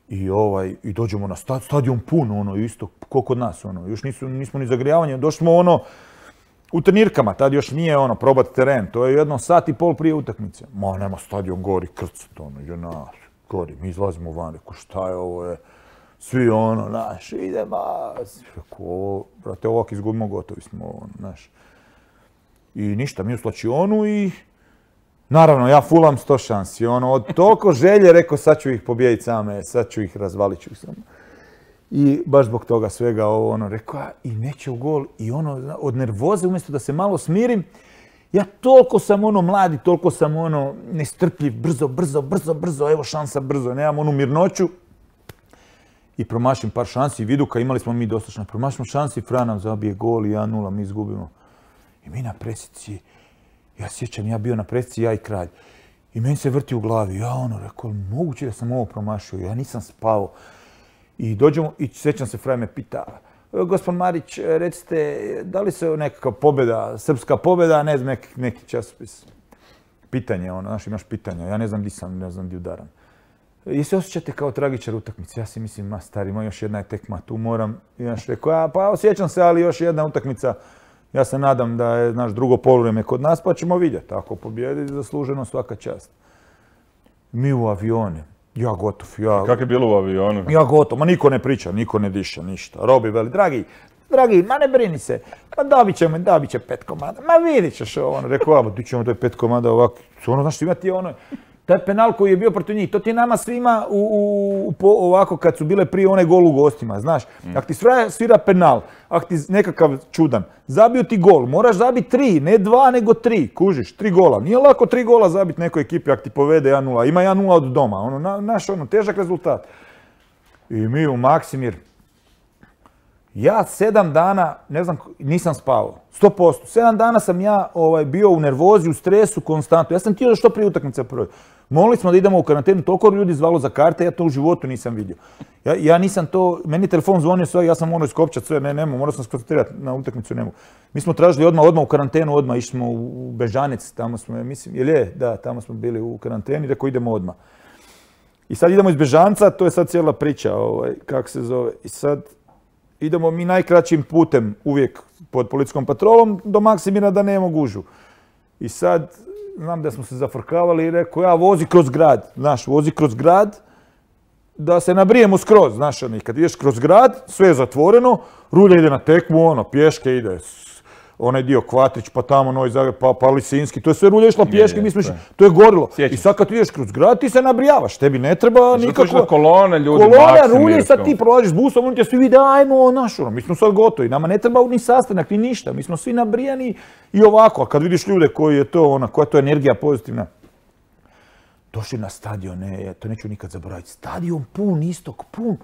I, ovaj, i dođemo na stad, stadion pun, ono, isto, ko kod nas, ono, još nisu, nismo ni zagrijavanje, došli smo, ono, u trenirkama, tad još nije, ono, probat teren, to je jedno sat i pol prije utakmice. Ma, nema stadion, gori, krcat, ono, je nas, gori, mi izlazimo van, reko, šta je ovo, je, svi, ono, naš, idemo, reko, ovo, brate, ovak izgubimo, gotovi smo, ono, naš. I ništa, mi u slačionu i naravno, ja fulam sto šansi, ono, od toliko želje, rekao, sad ću ih pobijediti same, sad ću ih, razvalit ću ih samo. I baš zbog toga svega ovo, ono, rekao, i neće u gol, i ono, od nervoze, umjesto da se malo smirim, ja toliko sam, ono, mladi, toliko sam, ono, nestrpljiv, brzo, brzo, brzo, brzo, evo šansa, brzo, nemam onu mirnoću. I promašim par šansi, Viduka, imali smo mi dosta, promašimo šansi, Fran nam zabije gol i jedan nula, mi izgubimo. I mi na presici, ja sjećam, ja bio na presici, ja i Kralj. I meni se vrti u glavi, ja ono, rekao, moguće da sam ovo promašio, ja nisam spao. I dođemo, i sjećam se, Fraj me pita, gospod Marić, recite, da li se nekakva pobjeda, srpska pobjeda, ne znam, neki, neki časopis. Pitanje, ono, znaš, imaš pitanja, ja ne znam di sam, ne znam di udaram. I se osjećate kao tragičar utakmice, ja si mislim, ma stari, ima još jedna je tekma, tu moram, i znaš, rekao, ja, pa osjećam se, ali još jedna utakmica. Ja se nadam da je naš drugo poluvrijeme kod nas, pa ćemo vidjeti. Ako pobjedi, zasluženo svaka čast. Mi u avione. Ja gotov. Ja... Kako je bilo u avionu? Ja gotov. Ma niko ne priča, niko ne diša, ništa. Robi veli, dragi, dragi, ma ne brini se. Ma dobit ćemo, dobit će pet komada. Ma vidit ćeš ovo. Rekao, a, ti ćemo to je pet komada ovako. Ono, znaš, imati ono... Taj penal koji je bio protiv njih, to ti je nama svima u, u, po, ovako kad su bile prije one gol u gostima, znaš. Mm. Ako ti svira, svira penal, ako ti nekakav čudan, zabio ti gol, moraš zabiti tri, ne dva nego tri, kužiš, tri gola. Nije lako tri gola zabiti nekoj ekipi ako ti povede jedan nula, ima jedan nula od doma, ono, na, naš ono, težak rezultat. I mi u Maksimir, ja sedam dana, ne znam, nisam spavao, sto posto. Sedam dana sam ja ovaj, bio u nervozi, u stresu, konstantno. Ja sam htio da što prije utakmice prvi. Molili smo da idemo u karantenu, toliko ljudi zvalo za karte, ja to u životu nisam vidio. Ja, ja nisam to, meni telefon zvonio sve, ja sam morao iskopčati sve, ne, ne mogu, morao sam skoncentrirati na utakmicu, ne mogu. Mi smo tražili odmah, odmah u karantenu, odmah išli smo u Bežanec, tamo smo, mislim, jel je, da, tamo smo bili u karanteni, rekao idemo odmah. I sad idemo iz Bežanca, to je sad cijela priča, ovaj, kako se zove, i sad idemo mi najkraćim putem, uvijek pod policijskom patrolom, do Maksimira da nema gužu. I sad, znam da smo se zafrkavali i rekao, ja vozi kroz grad, znaš, vozi kroz grad, da se nabrijemo skroz, znaš, kad ideš kroz grad, sve je zatvoreno, Rulja ide na tekmu, ono, pješke ide, onaj dio Kvatrić, pa tamo Novi Zagreb, pa, pa Lisinski, to je sve Rulja išla pješke, mi smo išli, to je gorilo. I sad kad ideš kroz grad, ti se nabrijavaš, tebi ne treba nikako... Zato kolone ljudi, kolona, Rulja, i sad ti prolaziš busom, oni će svi vidi, ajmo, naš, ono, mi smo sad gotovi, nama ne treba ni sastanak, ni ništa, mi smo svi nabrijani i ovako, a kad vidiš ljude koji je to, ona, koja je to energija pozitivna. Došli na stadion, ne, to neću nikad zaboraviti, stadion pun, istok pun.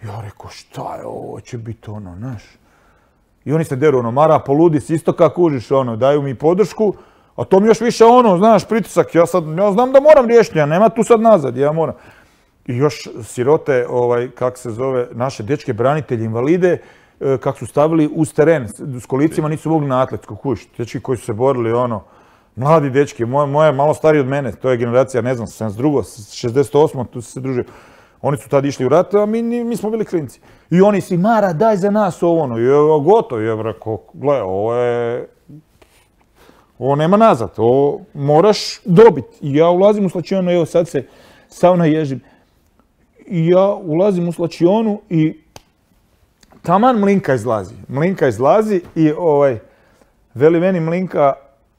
Ja rekao, šta je ovo, će biti ono, naš. I oni se deru, ono, Mara poludi s istoka, kužiš, ono, daju mi podršku, a to mi još više ono, znaš, pritisak, ja sad, ja znam da moram riješiti, ja nema tu sad nazad, ja moram. I još sirote, ovaj, kak se zove, naše dečke branitelje, invalide, kako su stavili uz teren, s kolicima nisu mogli na atletsku, kuš, dečki koji su se borili, ono, mladi dečki, moje, moje malo stariji od mene, to je generacija, ne znam, sedamdeset druga, šezdeset osma, tu su se družili. Oni su tad išli u rat, a mi, mi smo bili klinci. I oni si, Mara, daj za nas ovo, ono, je gotovo, je rekao, gle, ovo je, ovo nema nazad, ovo moraš dobiti. I ja ulazim u slačionu, evo sad se sav naježim. I ja ulazim u slačionu i taman Mlinka izlazi. Mlinka izlazi i ovaj, veli meni Mlinka,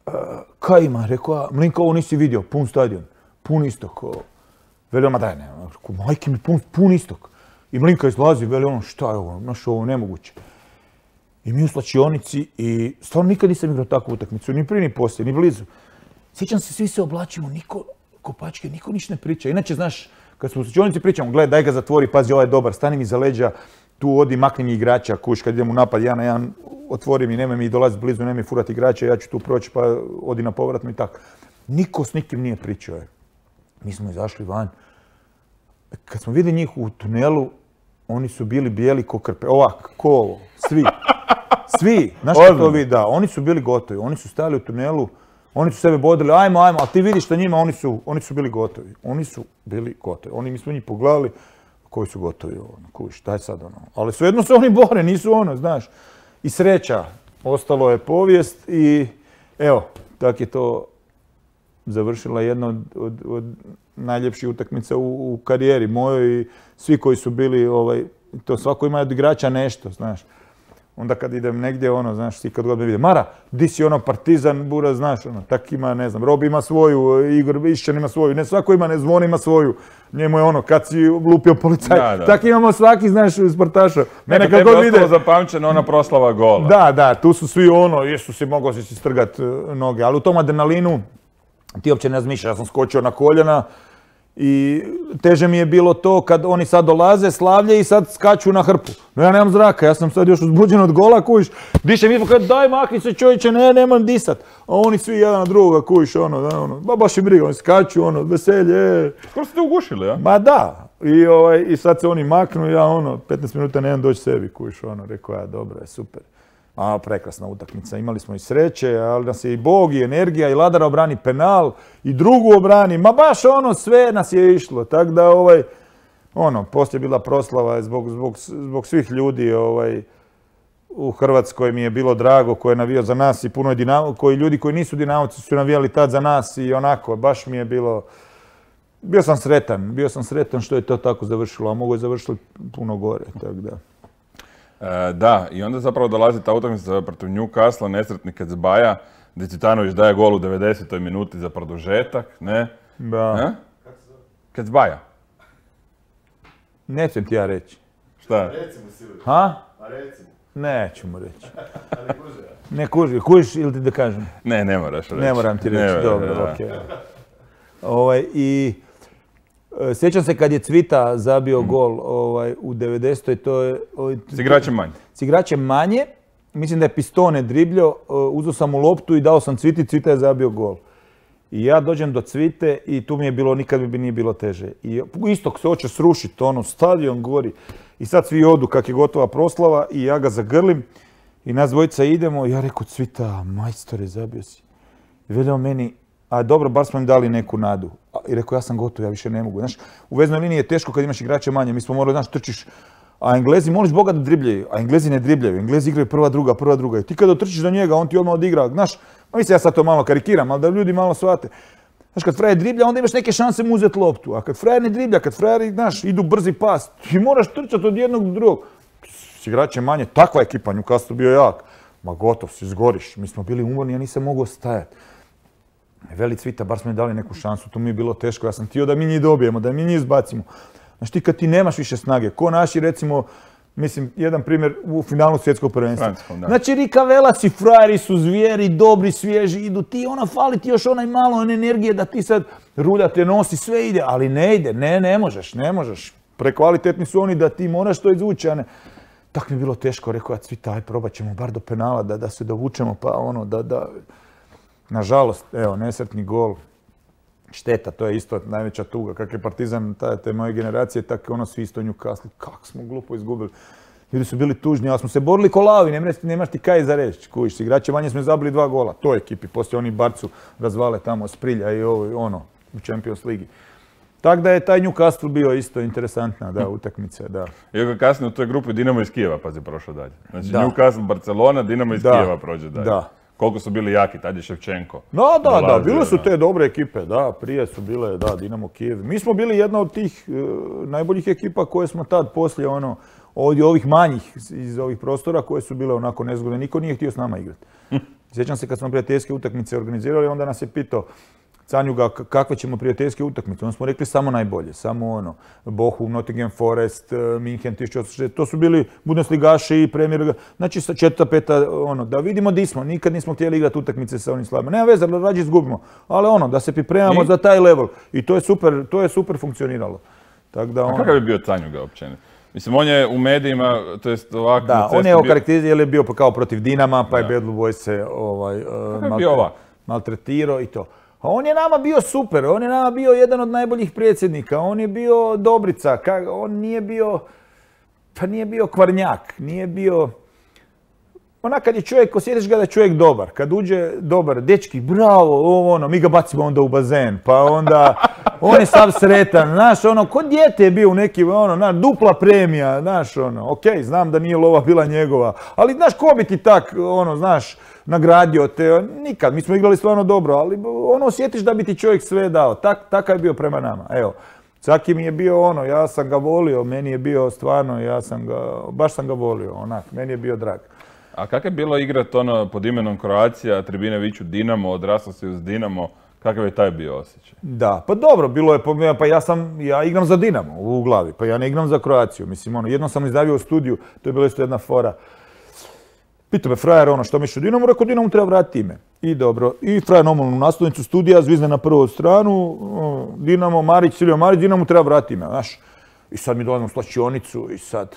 uh, kaj ima, rekao, Mlinka, ovo nisi vidio, pun stadion, pun istok. Veli, ma daj, ne, majke mi, pun, pun istok. I Mlinka izlazi, veli ono, šta je ovo, znaš, ovo nemoguće. I mi u slačionici i stvarno nikad nisam igrao takvu utakmicu, ni prije, ni poslije, ni blizu. Sjećam se, svi se oblačimo, niko, kopačke, niko ništa ne priča. Inače, znaš, kad smo u slačionici pričamo, gledaj, daj ga zatvori, pazi, ovaj je dobar, stani mi za leđa, tu odi, makni mi igrača, kuš, kad idem u napad, ja na jedan, otvori mi, nemoj mi dolaziti blizu, nemoj mi furati igrača, ja ću tu proći, pa odi na povratno i tako. Niko s nikim nije pričao. Mi smo izašli van. Kad smo vidjeli njih u tunelu, oni su bili bijeli ko krpe. Ovak, ko ovo, svi. Svi, znaš što to vidi, da, oni su bili gotovi. Oni su stajali u tunelu, oni su sebe bodili, ajmo, ajmo, ali ti vidiš što njima, oni su, oni su bili gotovi. Oni su bili gotovi. Oni, mi smo njih pogledali, koji su gotovi, ono, kuš, daj sad, ono. Ali svejedno se oni bore, nisu ono, znaš. I sreća, ostalo je povijest i evo, tak je to završila jedna od, od, od najljepših utakmica u, u karijeri mojoj i svi koji su bili, ovaj, to svako ima od igrača nešto, znaš. Onda kad idem negdje, ono, znaš, svi kad god me vide, Mara, di si ono Partizan, Bura, znaš, ono, tak ima, ne znam, Robi ima svoju, Igor Išćan ima svoju, ne svako ima, ne Zvon ima svoju. Njemu je ono, kad si lupio policaj, da, da. Tak imamo svaki, znaš, sportaša. Mene kad god vide... zapamćena ona proslava gola. Da, da, tu su svi ono, jesu si mogao si strgat noge, ali u tom adrenalinu ti uopće ne razmišljaš, ja sam skočio na koljena i teže mi je bilo to kad oni sad dolaze, slavlje i sad skaču na hrpu. No ja nemam zraka, ja sam sad još uzbuđen od gola, kujiš, dišem ispod kad daj makni se čovječe, ne, nemam disat. A oni svi jedan na drugoga, kujiš, ono, da, ono, ba baš im briga, oni skaču, ono, veselje. Skoro ste ugušili, ja? Ma da, i, ovaj, i sad se oni maknu, ja ono, petnaest minuta nemam doći sebi, kujiš, ono, rekao ja, dobro je, super. A, prekrasna utakmica, imali smo i sreće, ali nas je i Bog, i energija, i Ladara obrani penal, i drugu obrani, ma baš ono, sve nas je išlo, tako da, ovaj, ono, poslije bila proslava zbog, zbog, zbog svih ljudi, ovaj, u Hrvatskoj mi je bilo drago ko je navijao za nas i puno je Dinamo, koji ljudi koji nisu Dinamovci su navijali tad za nas i onako, baš mi je bilo, bio sam sretan, bio sam sretan što je to tako završilo, a mogu je završiti puno gore, tako da. E, da, i onda zapravo dolazi ta utakmica protiv Newcastle, nesretni Kecbaja, gdje Citanović daje gol u devedesetoj minuti za produžetak, ne? Da. E? Kecbaja. Nećem ti ja reći. Šta? Recimo Silvio. Ha? A recimo. Neću mu reći. Ali kuže. Ne kuži, kužiš ili ti da kažem? Ne, ne moraš reći. Ne moram ti reći, ne, dobro, da. okej. Ovaj, i e, sjećam se kad je Cvita zabio mm. gol ovaj, u devedesetoj to je... Ovaj, s igračem manje. S igračem manje. Mislim da je Pistone dribljao, uzeo sam mu loptu i dao sam Cviti, Cvita je zabio gol. I ja dođem do Cvite i tu mi je bilo, nikad mi nije bilo teže. I istok se hoće srušiti, ono, stadion gori. I sad svi odu kak je gotova proslava i ja ga zagrlim. I nas dvojica idemo i ja rekao, Cvita, majstore, zabio si. I veljao meni, a dobro, bar smo im dali neku nadu. I rekao, ja sam gotov, ja više ne mogu. Znaš, u veznoj liniji je teško kad imaš igrače manje. Mi smo morali, znaš, trčiš, a Englezi, moliš Boga da dribljaju, a Englezi ne dribljaju. Englezi igraju prva, druga, prva, druga. I ti kada trčiš do njega, on ti odmah odigra. Znaš, mislim, ja sad to malo karikiram, ali da ljudi malo shvate. Znaš, kad frajer driblja, onda imaš neke šanse mu uzeti loptu. A kad frajer ne driblja, kad frajeri, znaš, idu brzi pas, ti moraš trčati od jednog do drugog. S igračem manje, takva ekipa, Newcastle bio jak. Ma gotov, si zgoriš. Mi smo bili umorni, ja nisam mogao stajati. Veli Cvita, bar smo mi dali neku šansu, to mi je bilo teško. Ja sam htio da mi njih dobijemo, da mi njih izbacimo. Znaš, ti kad ti nemaš više snage, ko naši, recimo, mislim, jedan primjer u finalu svjetskog prvenstva. Znači, Rika Velas i frajeri su zvijeri, dobri, svježi, idu ti, ona fali ti još onaj malo energije da ti sad rulja te nosi, sve ide, ali ne ide, ne, ne možeš, ne možeš. Prekvalitetni su oni da ti moraš to izvući, a ne. Tako mi je bilo teško, rekao ja, Cvita, aj probat ćemo bar do penala, da, da se dovučemo, pa ono, da, da... Nažalost, evo, nesretni gol. Šteta, to je isto najveća tuga. Kak je Partizan te moje generacije, tako ono svi isto Newcastle. Kako smo glupo izgubili. Ljudi su bili tužni, ali smo se borili ko lavi, nemaš, nemaš ti kaj za reći. Kužiš, igrače manje smo zabili dva gola, toj ekipi, poslije oni Barcu razvale tamo Sprilja i ovo, ono, u Champions Ligi. Tako da je taj Newcastle bio isto interesantna, da, utakmica, da. Iako kasnije u toj grupi Dinamo iz Kijeva pazi prošao dalje. Znači da. Newcastle, Barcelona, Dinamo iz da. Kijeva prođe dalje. Da. Koliko su bili jaki, tad je Ševčenko. Da, da, dolazio, da, bile su da. te dobre ekipe, da, prije su bile, da, Dinamo Kijev. Mi smo bili jedna od tih uh, najboljih ekipa koje smo tad poslije, ono, ovdje ovih manjih iz ovih prostora koje su bile onako nezgodne. Niko nije htio s nama igrati. Sjećam se kad smo prijateljske utakmice organizirali, onda nas je pitao Canjuga kakve ćemo prijateljske utakmice. Onda smo rekli samo najbolje, samo ono, Bochum, Nottingham Forest, Minhen tisuću osamsto šezdeset. To su bili Bundesligaši i Premier, znači sa četvrta, peta, ono, da vidimo di smo. Nikad nismo htjeli igrati utakmice sa onim slabima. Nema veze, rađe izgubimo. Ali ono, da se pripremamo I? za taj level. I to je super, to je super funkcioniralo. Tak da, ono... A kakav je bio Canjuga općenito? Mislim, on je u medijima, to jest ovako... Da, on je okarakteriziran, jer je bio kao protiv Dinama, pa je Bad Blue Boys se ovaj, uh, maltretirao i to. A on je nama bio super, on je nama bio jedan od najboljih predsjednika, on je bio Dobrica, on nije bio, pa nije bio kvarnjak, nije bio... Onak kad je čovjek, osjetiš ga da je čovjek dobar, kad uđe dobar, dečki, bravo, ovo ono, mi ga bacimo onda u bazen, pa onda on je sav sretan, znaš, ono, ko dijete je bio u nekim, ono, znaš, dupla premija, znaš, ono, okej, znam da nije lova bila njegova, ali znaš, ko bi ti tak, ono, znaš, nagradio te, nikad, mi smo igrali stvarno dobro, ali ono, osjetiš da bi ti čovjek sve dao, tak, takav je bio prema nama, evo. Caki mi je bio ono, ja sam ga volio, meni je bio stvarno, ja sam ga, baš sam ga volio, onak, meni je bio drag. A kako je bilo igrat ono pod imenom Croatia, tribine viču Dinamo, odrasao si uz Dinamo, kakav je taj bio osjećaj? Da, pa dobro, bilo je, pa ja sam, ja igram za Dinamo u glavi, pa ja ne igram za Croaciju, mislim ono, jednom sam izdavio u studiju, to je bila isto jedna fora. Pitao me frajer ono, što misliš o Dinamu, rekao Dinamu treba vratiti ime. I dobro, i frajer normalno u naslovnicu studija, zvizne na prvu stranu, Dinamo, Marić, Silio Marić, Dinamu treba vratiti ime, znaš. I sad mi dolazim u slačionicu i sad...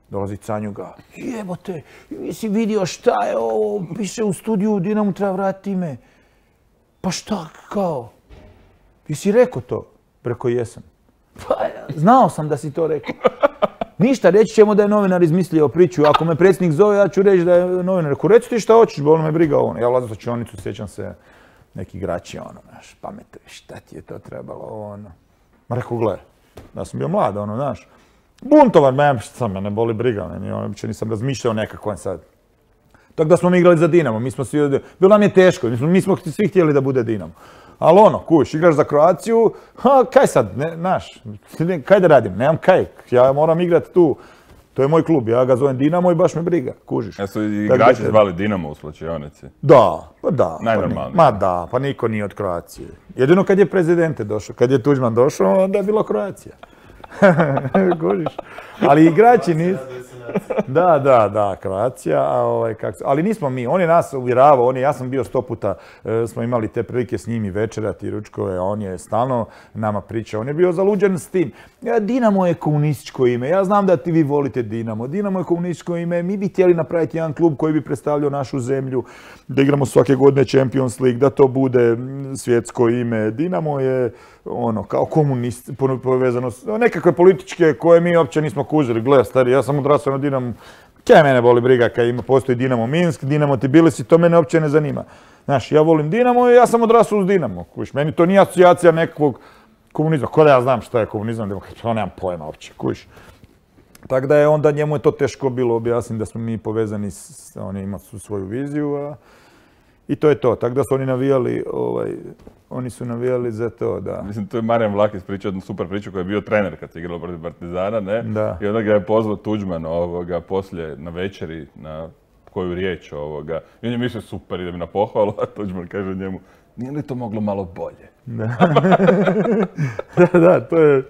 Dolazi Canjuga, jebote, jesi vidio šta je ovo, piše u studiju, Dinamo treba vratiti ime. Pa šta, kao? Jesi rekao to? Preko jesam. Pa znao sam da si to rekao. Ništa, reći ćemo da je novinar izmislio priču. Ako me predsjednik zove, ja ću reći da je novinar. Rekao, reci ti šta hoćeš, bolo me briga ono. Ja ulazim u slačionicu, sjećam se neki igrači, ono, znaš, pametno, šta ti je to trebalo, ono. Ma rekao, gle, da sam bio mlad, ono, znaš. Buntovan, me, šta me ne boli briga, ne, uopće nisam razmišljao nekako sad. Tako da smo mi igrali za Dinamo, mi smo svi, bilo nam je teško, mi smo, mi smo svi htjeli da bude Dinamo. Ali ono, kuš, igraš za Croaciju, ha, kaj sad, ne, znaš, kaj da radim, nemam kaj, ja moram igrati tu. To je moj klub, ja ga zovem Dinamo i baš me briga, kužiš. Ja su igrači zvali Dinamo u slačionici? Da, pa da. Najnormalnije. Ma da, pa niko nije od Croacije. Jedino kad je prezidente došao, kad je Tuđman došao, onda je bilo Croacija. Kužiš. Ali igrači nisu... Da, da, da, Croacija, a ovaj, kak... ali nismo mi, on je nas uvjeravao, on je, ja sam bio sto puta, e, smo imali te prilike s njim i večerati, ručkove, on je stalno nama pričao, on je bio zaluđen s tim. Ja, Dinamo je komunističko ime, ja znam da ti vi volite Dinamo, Dinamo je komunističko ime, mi bi htjeli napraviti jedan klub koji bi predstavljao našu zemlju, da igramo svake godine Champions League, da to bude svjetsko ime. Dinamo je ono, kao komunist, povezano s nekakve političke koje mi uopće nismo kužili. Gle, stari, ja sam odrasao na Dinamo. Kaj mene boli briga kad ima, postoji Dinamo Minsk, Dinamo Tbilisi, to mene uopće ne zanima. Znaš, ja volim Dinamo i ja sam odrasao uz Dinamo. Kuš, meni to nije asocijacija nekakvog komunizma. Ko da ja znam šta je komunizam, to nemam pojma uopće, kuš. Tako da je onda njemu je to teško bilo objasniti da smo mi povezani, s, oni imaju svoju viziju, a i to je to. Tako da su oni navijali, ovaj, oni su navijali za to, da. Mislim, to je Marijan Vlakis pričao jednu super priču koji je bio trener kad se igralo protiv Partizana, ne? Da. I onda ga je pozvao Tuđman ovoga, poslije na večeri, na koju riječ ovoga. I on je mislio super, idem na pohvalu, a Tuđman kaže njemu, nije li to moglo malo bolje? Da, da, da, to je...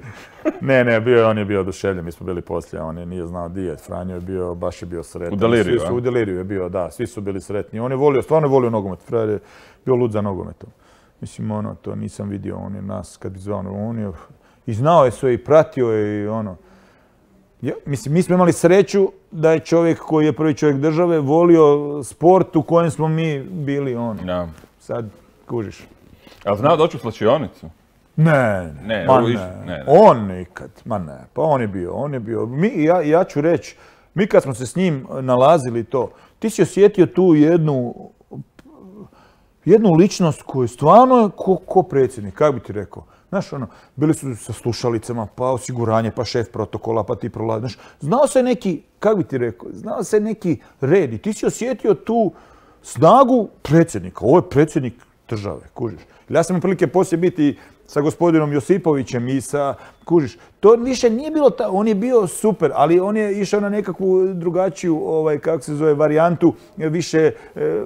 Ne, ne, bio je, on je bio oduševljen, mi smo bili poslije, on je nije znao di je, Franjo je bio, baš je bio sretan. U deliriju, a? U deliriju je bio, da, svi su bili sretni. On je volio, stvarno je volio nogomet, Frajer je bio lud za nogometom. Mislim, ono, to nisam vidio, on je nas, kad bi zvao, on je, i znao je sve i pratio je i ono. Ja, mislim, mi smo imali sreću da je čovjek koji je prvi čovjek države volio sport u kojem smo mi bili, ono. Ja. Sad, kužiš. Ali znao doći u slačionicu? Ne, ne, ma ne, ne. ne, ne. On nikad, ma ne, pa on je bio, on je bio. Mi, ja, ja ću reći, Mi kad smo se s njim nalazili to, ti si osjetio tu jednu, jednu ličnost koju stvarno je ko, ko predsjednik, kako bi ti rekao. Znaš, ono, bili su sa slušalicama, pa osiguranje, pa šef protokola, pa ti prolazi. Znaš, znao se neki, kako bi ti rekao, znao se neki red i ti si osjetio tu snagu predsjednika. Ovo je predsjednik države, kužiš. Ja sam imao prilike poslije biti sa gospodinom Josipovićem i sa, kužiš, to više nije bilo, ta, on je bio super, ali on je išao na nekakvu drugačiju, ovaj, kako se zove, varijantu, više... Eh,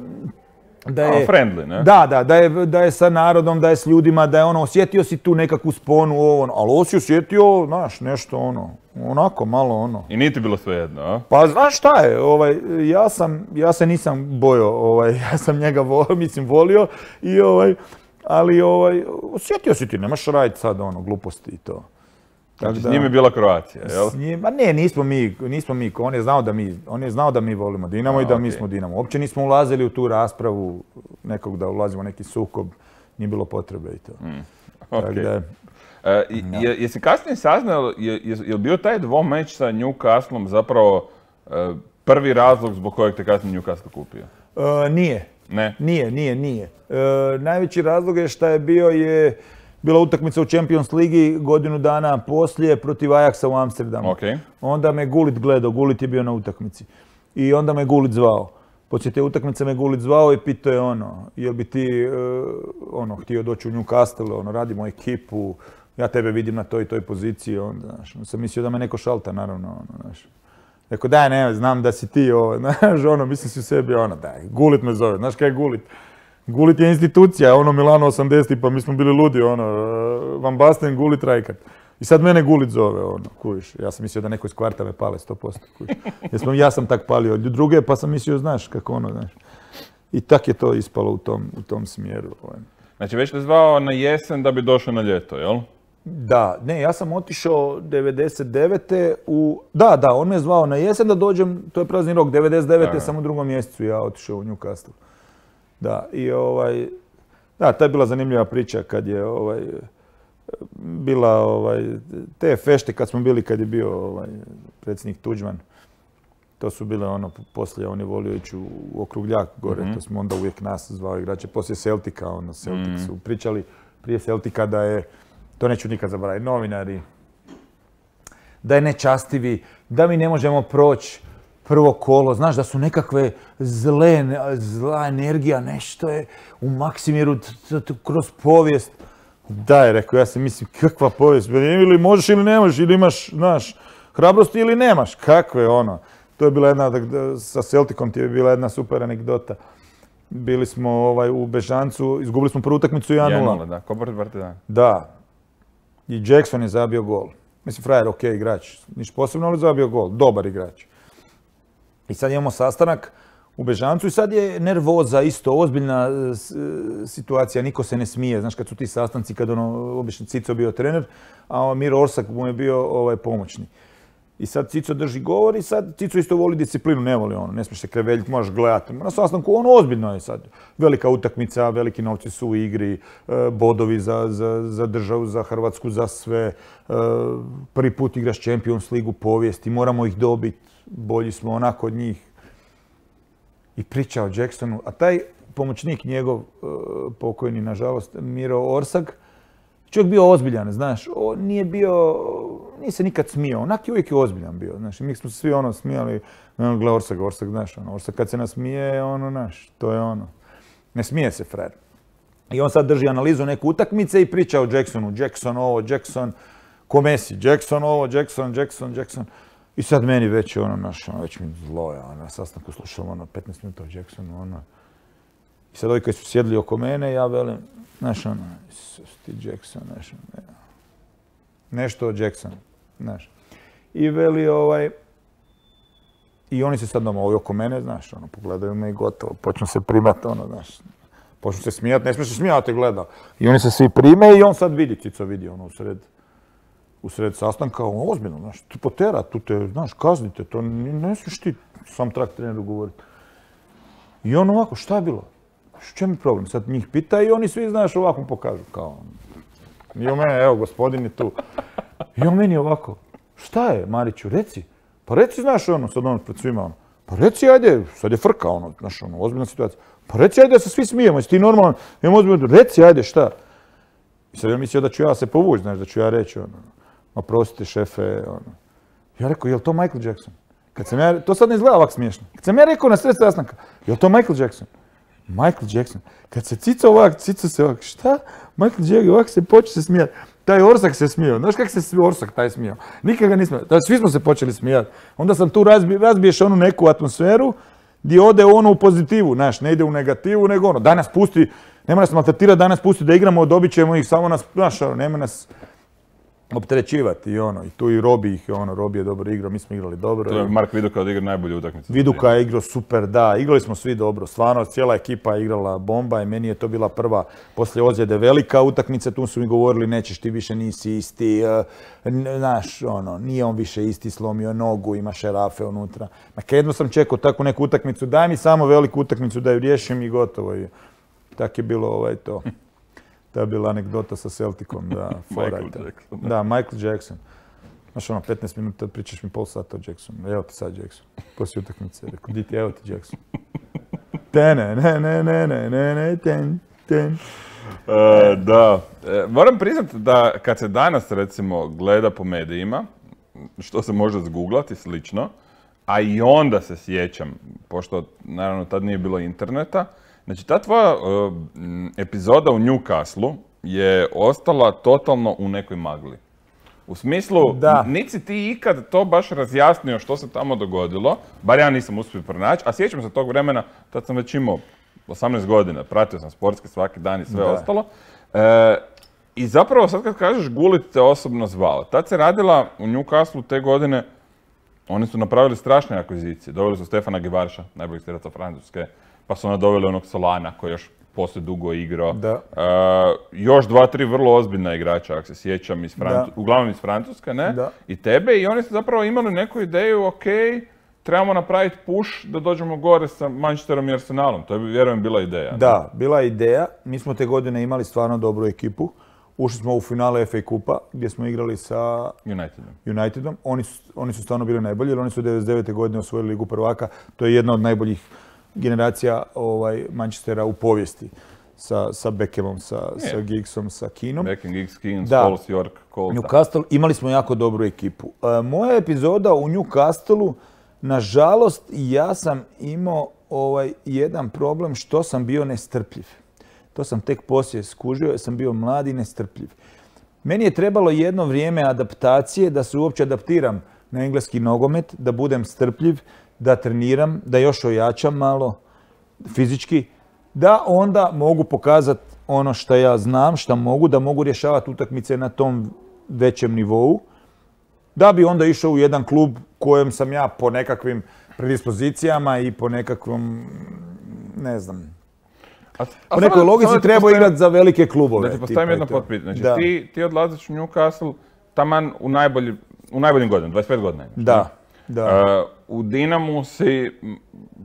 da je, friendly, ne? Da, da, da je, da je sa narodom, da je s ljudima, da je ono, osjetio si tu nekakvu sponu, ovo, ono, ali ovo si osjetio, znaš, nešto ono, onako malo ono. I nije ti bilo svejedno, a? Pa znaš šta je, ovaj, ja sam, ja se nisam bojao, ovaj, ja sam njega volio, mislim volio i ovaj, ali ovaj, osjetio si ti, nemaš raditi sad ono, gluposti i to. Znači, s njim je bila Croatia, jel? S njim, ma ne, nismo mi, nismo mi, on je znao da mi, on je znao da mi volimo Dinamo A, i da okay. mi smo Dinamo. Uopće nismo ulazili u tu raspravu nekog da ulazimo u neki sukob, nije bilo potrebe i to. Mm, okay. Da, e, je, jesi kasnije saznao, je, je, je bio taj dvomeč sa Newcastlom zapravo e, prvi razlog zbog kojeg te kasnije Newcastle kupio? E, nije. Ne? Nije, nije, nije. E, najveći razlog je šta je bio je bila utakmica u Champions Ligi godinu dana poslije protiv Ajaxa u Amsterdamu. Okay. Onda me Gullit gledao, Gullit je bio na utakmici. I onda me Gullit zvao. Poslije te utakmice me Gullit zvao i pitao je ono, jel bi ti uh, ono, htio doći u Newcastle, ono, radimo ekipu, ja tebe vidim na toj i toj poziciji, onda, znaš, on sam mislio da me neko šalta, naravno, ono, znaš. Rekao, daj, ne, znam da si ti, ovo, znaš, ono, mislim si u sebi, ono, daj, Gullit me zove, znaš kaj je Gullit? Gullit je institucija, ono Milano osamdeset, pa mi smo bili ludi, ono, Van Basten, Gullit, Rijkaard. I sad mene Gullit zove, ono, kužiš. Ja sam mislio da neko iz kvarta me pale sto posto, kužiš. Jer sam, ja sam tak palio od druge, pa sam mislio, znaš, kako ono, znaš. I tak je to ispalo u tom, u tom smjeru. Ovaj. Znači, već te zvao na jesen da bi došao na ljeto, jel? Da, ne, ja sam otišao devedeset devete u... Da, da, on me zvao na jesen da dođem, to je prazni rok, devedeset devete Da. Sam u drugom mjesecu ja otišao u Newcastle. Da, i ovaj... Da, ta je bila zanimljiva priča kad je ovaj... bila ovaj... te fešte kad smo bili, kad je bio ovaj, predsjednik Tuđman. To su bile ono, poslije on je volio ići u Okrugljak gore, mm-hmm. to smo onda uvijek nas zvao igrače. Poslije Celtica, ono, Celtic mm-hmm. su pričali prije Celtica da je, to neću nikad zaboraviti, novinari, da je nečastivi, da mi ne možemo proći prvo kolo, znaš da su nekakve zle, zla energija, nešto je u Maksimiru kroz povijest. Da je, rekao, ja se mislim, kakva povijest, ili možeš ili ne možeš, ili imaš, znaš, hrabrosti ili nemaš, kakve ono. To je bila jedna, sa Celticom ti je bila jedna super anegdota. Bili smo ovaj, u Bežancu, izgubili smo prvu utakmicu jedan nula. jedan nula, da, ko protiv Partizana. Da. I Jackson je zabio gol. Mislim, frajer, ok, igrač. Niš posebno, ali zabio gol. Dobar igrač. I sad imamo sastanak u Bežancu i sad je nervoza isto, ozbiljna situacija, niko se ne smije. Znaš, kad su ti sastanci, kad ono, obično Cico bio trener, a Miro Orsak mu je bio ovaj, pomoćni. I sad Cico drži govor i sad Cico isto voli disciplinu, ne voli ono, ne smiješ se kreveljiti, možeš gledati. Na sastanku ono ozbiljno je sad. Velika utakmica, veliki novci su u igri, bodovi za, za, za državu, za Hrvatsku, za sve. Prvi put igraš Champions Ligu povijesti, moramo ih dobiti, bolji smo onako od njih. I priča o Jacksonu, a taj pomoćnik njegov, pokojni nažalost, Miro Orsak, čovjek bio ozbiljan, znaš, on nije bio, nije se nikad smijao, onak je uvijek ozbiljan bio, znaš, mi smo se svi ono smijali, gle Orsak, Orsak, znaš, ono, Orsak kad se nasmije, ono, znaš, to je ono, ne smije se frajer. I on sad drži analizu neke utakmice i priča o Jacksonu, Jackson ovo, Jackson, ko Messi, Jackson ovo, Jackson, Jackson, Jackson. I sad meni već ono, znaš, ono, već mi zlo je, ono, na sastanku slušam, ono, petnaest minuta o Jacksonu, ono. I sad ovi koji su sjedli oko mene, ja velim, znaš, ono, ti Jackson, znaš, ono, nešto o Jacksonu, znaš. I veli, ovaj, i oni se sad doma ovi oko mene, znaš, ono, pogledaju me i gotovo, počnu se primati, ono, znaš, počnu se smijati, ne smiješ se smijati, gleda. I oni se svi prime i on sad vidi, Cico vidi, ono, u sred, u sred sastanka, ono, ozbiljno, znaš, tu potera, tu te, znaš, kaznite, to ne smiješ ti sam trak treneru govoriti. I on ovako, šta je bilo? Što je mi problem? Sad njih pita i oni svi, znaš, ovako mu pokažu, kao, i on mene, evo, gospodin je tu. I on meni ovako, šta je, Mariću, reci, Pa reci, znaš, ono, sad ono, pred svima, ono, pa reci, ajde, sad je frka, ono, znaš, ono, ozbiljna situacija. Pa reci, ajde, da se svi smijemo, jesi ti normalan, imam ozbiljno, reci, ajde, šta? I sad ja mislio da ću ja se povući, znaš, da ću ja reći, ono, oprostite, šefe, ono. Ja rekao, je li to Michael Jackson? Kad sam ja, to sad ne izgleda ovak smiješno. Kad sam ja rekao na sred sastanka, je li to Michael Jackson? Michael Jackson. Kad se cica ovak, cica se ovak, šta? Michael Jackson, ovak se počeo se smijati. Taj Orsak se smijao. Znaš kako se Orsak taj smijao? Nikad ga nismo. Svi smo se počeli smijati. Onda sam tu razbi, razbiješ onu neku atmosferu gdje ode ono u pozitivu, znaš, ne ide u negativu, nego ono, danas pusti, nema nas maltretirati, danas pusti da igramo, dobit ćemo ih, samo nas, znaš, ono, nema nas opterećivati i ono, i tu i Robi ih, ono, Robi je dobro igrao, mi smo igrali dobro. To je Mark Viduka odigrao najbolju utakmicu. Viduka je igrao super, da, igrali smo svi dobro, stvarno, cijela ekipa je igrala bomba i meni je to bila prva, poslije ozljede velika utakmica, tu su mi govorili nećeš ti više, nisi isti, znaš, ono, nije on više isti, slomio nogu, ima šerafe unutra. Ma jedno sam čekao takvu neku utakmicu, daj mi samo veliku utakmicu da ju riješim i gotovo je. Tak je bilo ovaj to. To je bila anegdota sa Celticom, da, Michael Jackson. Da, Michael Jackson. Znaš ono, petnaest minuta pričaš mi pol sata o Jacksonu. Evo ti sad Jackson. Poslije utakmice. Rekao, di ti, evo ti Jackson. Tene, ne, ne, ne, ne, ne, ne, ten, ten. Uh, da, e, moram priznati da kad se danas recimo gleda po medijima, što se može zguglati slično, a i onda se sjećam, pošto naravno tad nije bilo interneta, znači ta tvoja uh, epizoda u Newcastle je ostala totalno u nekoj magli. U smislu, da. Nisi ti ikad to baš razjasnio što se tamo dogodilo, bar ja nisam uspio pronaći, a sjećam se tog vremena, tad sam već imao osamnaest godina, pratio sam sportski svaki dan i sve da. ostalo. E, I zapravo sad kad kažeš Gullit te osobno zvao, tad se radila u Newcastle te godine, oni su napravili strašne akvizicije, doveli su Stefana Givarša, najboljeg strelca Francuske, pa su onda doveli onog Solana koji još poslije dugo igrao. Da. E, još dva, tri vrlo ozbiljna igrača, ako se sjećam, iz Francu... uglavnom iz Francuske, ne? Da. I tebe, i oni su zapravo imali neku ideju, ok, trebamo napraviti push da dođemo gore sa Manchesterom i Arsenalom. To je, vjerujem, bila ideja. Da, bila je ideja. Mi smo te godine imali stvarno dobru ekipu. Ušli smo u finale F A kupa gdje smo igrali sa Unitedom. Unitedom. Oni su, oni su stvarno bili najbolji jer oni su devedeset devete godine osvojili Ligu prvaka. To je jedna od najboljih generacija ovaj, Manchestera u povijesti. Sa, sa Beckhamom, sa, sa Giggsom, sa Keenom. Beckham, Giggs, Keane, Scholes, York, Cole. Newcastle, imali smo jako dobru ekipu. E, moja epizoda u Newcastleu, nažalost, ja sam imao ovaj, jedan problem što sam bio nestrpljiv. To sam tek poslije skužio, jer sam bio mlad i nestrpljiv. Meni je trebalo jedno vrijeme adaptacije, da se uopće adaptiram na engleski nogomet, da budem strpljiv, da treniram, da još ojačam malo fizički, da onda mogu pokazati ono što ja znam, što mogu, da mogu rješavati utakmice na tom većem nivou, da bi onda išao u jedan klub kojem sam ja po nekakvim predispozicijama i po nekakvom, ne znam, A, a po nekoj logici treba postavim, igrati za velike klubove. Da ti postavim jedno potpitanje. Znači ti, ti odlaziš u Newcastle taman u, najbolji, u najboljim godinama, dvadeset pet godina. Imaš, da, da. Uh, u Dinamu si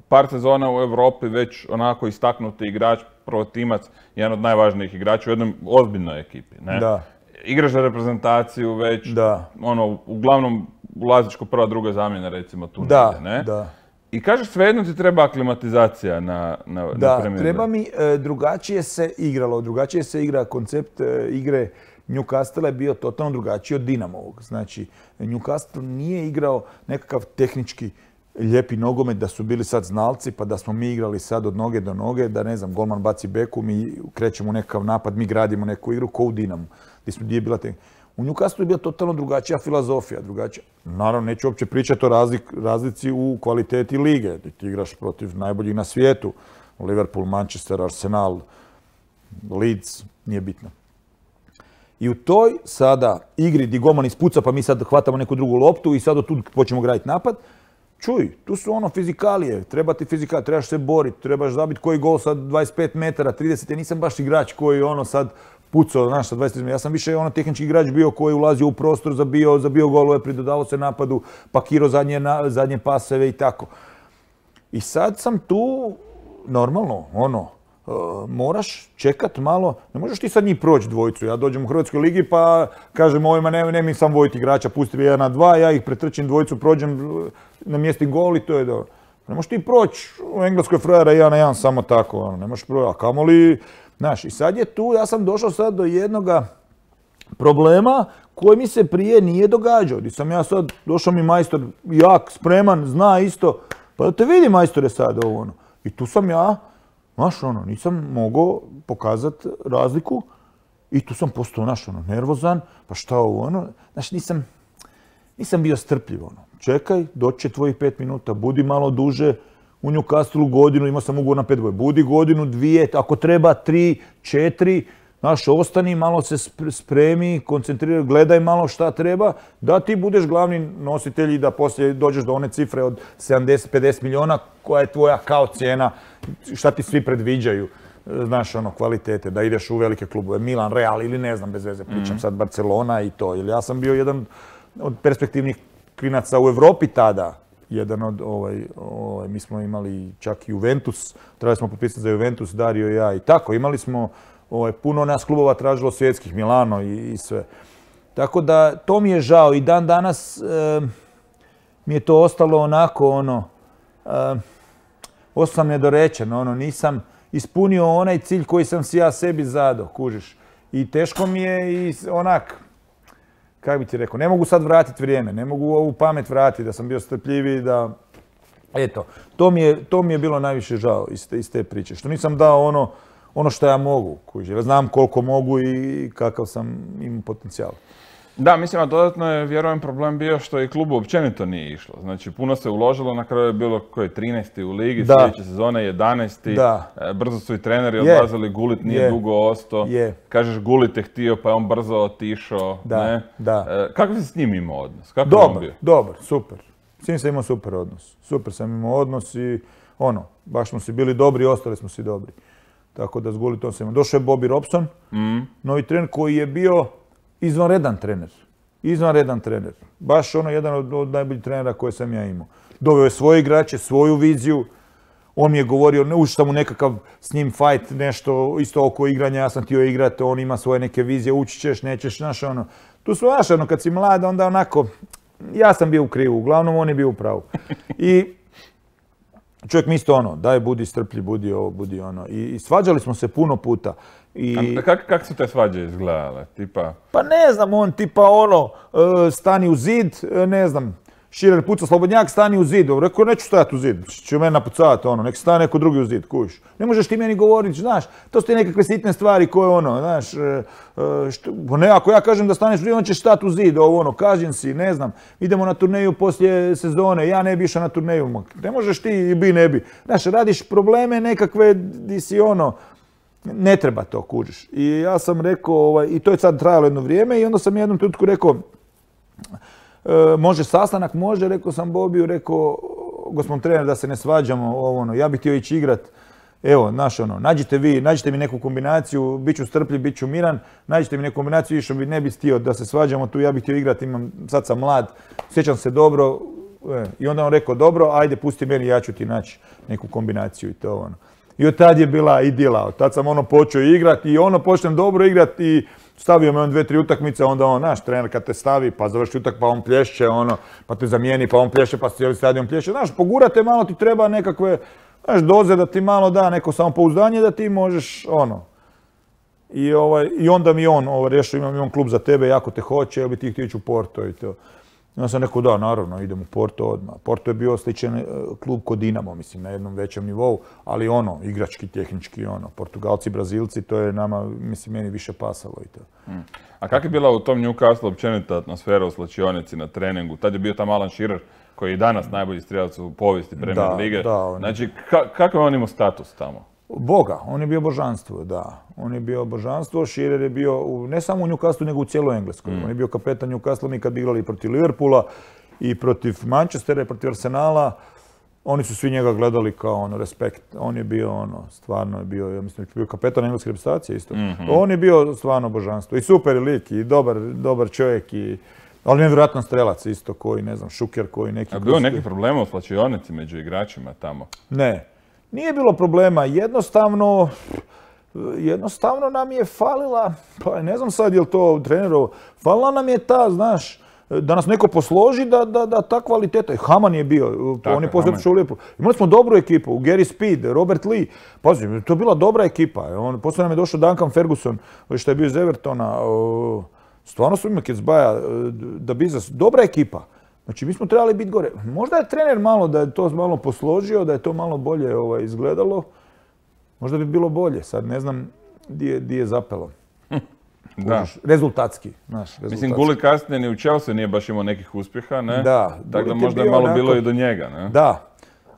par sezona u Europi već onako istaknuti igrač, protimac, jedan od najvažnijih igrača u jednoj ozbiljnoj ekipi. Ne? Da. Igraš za reprezentaciju već, da. ono, uglavnom ulaziš ko prva, druga zamjena, recimo tu da, negdje, ne? Da. I kažeš svejedno ti treba aklimatizacija na, na, da, na Premier. Treba mi, e, drugačije se igralo, drugačije se igra, koncept e, igre Newcastle je bio totalno drugačiji od Dinamovog. Znači, Newcastle nije igrao nekakav tehnički lijepi nogomet, da su bili sad znalci, pa da smo mi igrali sad od noge do noge, da ne znam, golman baci beku, mi krećemo u nekakav napad, mi gradimo neku igru ko u Dinamu, gdje je bila te... U Newcastle je bila totalno drugačija filozofija, drugačija. Naravno, neću uopće pričati o razlik, razlici u kvaliteti lige. Ti igraš protiv najboljih na svijetu. Liverpool, Manchester, Arsenal, Leeds, nije bitno. I u toj sada igri gdje golman ispuca pa mi sad hvatamo neku drugu loptu i sad od tu počnemo graditi napad, čuj, tu su ono fizikalije, treba ti fizikalije, trebaš se boriti, trebaš zabiti koji gol sad dvadeset pet metara, trideset, ja nisam baš igrač koji ono sad pucao, znaš, sa dvadeset, ja sam više ono tehnički igrač bio koji ulazio u prostor, zabio, zabio golove, pridodavao se napadu, pakirao zadnje, zadnje paseve i tako. I sad sam tu, normalno, ono, moraš čekat malo, ne možeš ti sad njih proći dvojicu. Ja dođem u Hrvatskoj ligi pa kažem ovima ne, ne mi sam vojiti igrača, pusti jedan na dva, ja ih pretrčim dvojicu, prođem na mjesti gol i to je dobro. Ne možeš ti proći u Engleskoj frajera jedan na jedan samo tako, ono, ne možeš proći, a kamoli, znaš, i sad je tu, ja sam došao sad do jednoga problema koji mi se prije nije događao. Gdje sam ja sad, došao mi majstor jak, spreman, zna isto, pa da te vidi majstore sad ovo ono. I tu sam ja, znaš ono, nisam mogao pokazati razliku i tu sam postao, znaš ono, nervozan, pa šta ovo ono, znaš, nisam, nisam bio strpljiv ono. Čekaj, doći će tvojih pet minuta, budi malo duže, u Newcastlu godinu, imao sam ugovor na pet godina, budi godinu, dvije, ako treba tri, četiri, znaš, ostani, malo se spremi, koncentriraj, gledaj malo šta treba, da ti budeš glavni nositelj i da poslije dođeš do one cifre od sedamdeset pedeset milijuna koja je tvoja kao cijena, šta ti svi predviđaju, znaš, ono, kvalitete, da ideš u velike klubove, Milan, Real ili ne znam, bez veze, pričam sad Barcelona i to, jer ja sam bio jedan od perspektivnih klinaca u Europi tada, jedan od, ovaj, ovaj, mi smo imali čak i Juventus, trebali smo potpisati za Juventus, Dario i ja i tako, imali smo ovaj, puno nas klubova tražilo svjetskih, Milano i, i sve. Tako da, to mi je žao i dan danas e, mi je to ostalo onako, ono, e, ostao sam nedorečen, ono, nisam ispunio onaj cilj koji sam si ja sebi zadao, kužiš. I teško mi je i onak, kako bi ti rekao, ne mogu sad vratiti vrijeme, ne mogu ovu pamet vratiti, da sam bio strpljiviji, da... Eto, to mi je, to mi je bilo najviše žao iz te, iz te priče, što nisam dao ono, ono što ja mogu, kuži. Znam koliko mogu i kakav sam imao potencijal. Da, mislim, a dodatno je, vjerujem, problem bio što i klubu općenito nije išlo. Znači, puno se uložilo, na kraju je bilo koji je trinaesti u ligi, da. Sljedeće sezone jedanaesti Da. Brzo su i treneri Je. odlazili, Gullit nije Je. dugo ostao. Je. Kažeš Gullit je htio, pa je on brzo otišao. Da, Ne? da. E, Kakav si s njim imao odnos? Kako je on Dobar, bio? dobar, super. S njim sam imao super odnos. Super sam imao odnos i ono, baš smo si bili dobri i ostali smo si dobri. Tako da s Gullitom sam imao. Došao je Bobby Robson, Mm. novi trener koji je bio izvanredan trener. Izvanredan trener. Baš ono jedan od, od najboljih trenera koje sam ja imao. Doveo je svoje igrače, svoju viziju. On mi je govorio, ne ušao sam u nekakav s njim fight, nešto isto oko igranja, ja sam htio igrati, on ima svoje neke vizije, ući ćeš, nećeš, znaš ono. Tu smo, znaš ono, kad si mlad, onda onako, ja sam bio u krivu, uglavnom on je bio u pravu. I čovjek mi isto ono, daj budi strpljiv, budi ovo, budi ono. I, i svađali smo se puno puta. I... A Kako kak su te svađe izgledale? Tipa... Pa ne znam, on tipa ono, e, stani u zid, e, ne znam, Širer puca Slobodnjak, stani u zid. Rekao, neću stajati u zid, će mene napucavati, ono, nek stane neko drugi u zid, kuš. Ne možeš ti meni govoriti, znaš, to su ti nekakve sitne stvari koje ono, znaš, e, e, što, ne, ako ja kažem da staneš u zid, on će stati u zid, ovo ono, kažem si, ne znam, idemo na turneju poslije sezone, ja ne bi išao na turneju, ne možeš ti i bi ne bi. Znaš, radiš probleme nekakve di si ono, ne treba to, kužiš. I ja sam rekao, ovaj, i to je sad trajalo jedno vrijeme i onda sam jednom trenutku rekao, e, može sastanak, može, rekao sam Bobiju, rekao, gospodin trener, da se ne svađamo, ovo, ono, ja bih htio ići igrat, evo, znaš, ono, nađite vi, nađite mi neku kombinaciju, bit ću strpljiv, bit ću miran, nađite mi neku kombinaciju, što bi ne bi htio da se svađamo tu, ja bih htio igrat, imam, sad sam mlad, sjećam se dobro, e, i onda on rekao, dobro, ajde, pusti meni, ja ću ti naći neku kombinaciju i to, ono. I od tad je bila idila, od tad sam ono počeo igrati i ono počnem dobro igrati i stavio me on dve, tri utakmice, onda on, naš trener kad te stavi, pa završi utak, pa on plješće, ono, pa te zamijeni, pa on plješće, pa cijeli stadion plješće. Znaš, pogurate malo, ti treba nekakve, znaš, doze da ti malo da neko samopouzdanje da ti možeš, ono. I, ovaj, i onda mi on, ovaj, rješao, imam on klub za tebe, jako te hoće, jel bi ti htio ići u Porto i to. Ja sam rekao, da, naravno, idem u Porto odmah. Porto je bio sličan klub kod Dinamo, mislim, na jednom većem nivou, ali ono, igrački, tehnički, ono, Portugalci, Brazilci, to je nama, mislim, meni više pasalo i to. Mm. A kak je bila u tom Newcastle općenita atmosfera u slačionici na treningu? Tad je bio tam Alan Shearer, koji je i danas najbolji strijelac u povijesti Premier lige. Da, on... Znači, ka kakav je on imao status tamo? Boga, on je bio božanstvo, da. On je bio božanstvo, Shearer je bio u, ne samo u Newcastlu, nego u cijeloj Engleskoj. Mm. On je bio kapetan Newcastle, mi kad bi igrali protiv Liverpoola i protiv Manchestera i protiv Arsenala, oni su svi njega gledali kao ono, respekt. On je bio ono, stvarno je bio, ja mislim, bio kapetan engleske reprezentacije isto. Mm-hmm. On je bio stvarno božanstvo. I super lik, i dobar, dobar čovjek, i, ali nevjerojatan strelac isto, koji, ne znam, Šuker, koji neki... A bilo neki problema u slačionici među igračima tamo? Ne. Nije bilo problema, jednostavno, jednostavno nam je falila, pa ne znam sad je li to trenerovo, falila nam je ta, znaš, da nas neko posloži da, da, da ta kvaliteta. Haman je bio, tako, on je posljedično lijepo. Imali smo dobru ekipu, Gary Speed, Robert Lee, pazi, to je bila dobra ekipa. On, poslije nam je došao Duncan Ferguson, što je bio iz Evertona. Stvarno su imali Kecbaja, da bi za dobra ekipa. Znači, mi smo trebali biti gore. Možda je trener malo da je to malo posložio, da je to malo bolje ovaj, izgledalo. Možda bi bilo bolje, sad ne znam di je, di je zapelo. Da. Rezultatski, znaš, rezultatski. Mislim, Gulli kasnije ni u Chelsea nije baš imao nekih uspjeha, ne? Da. Tako da možda je malo onako, bilo i do njega, ne? Da.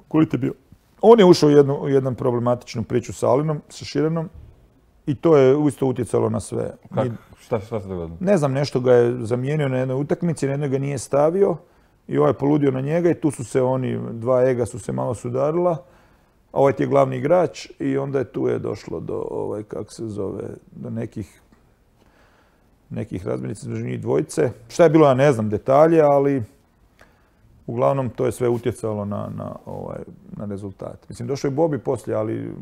Gulli je bio. On je ušao u jednu, u jednu problematičnu priču sa Alinom, sa Širenom i to je isto utjecalo na sve. Kako? Šta, šta se dogodilo? Ne znam, nešto ga je zamijenio na jednoj utakmici, na jednoj ga nije stavio i ovaj je poludio na njega i tu su se oni, dva ega su se malo sudarila. A ovaj ti je glavni igrač i onda je tu je došlo do, ovaj, kako se zove, do nekih nekih razmirica između njih dvojice. Šta je bilo, ja ne znam detalje, ali uglavnom to je sve utjecalo na, na, ovaj, na rezultat. Mislim, došao je Bobby poslije, ali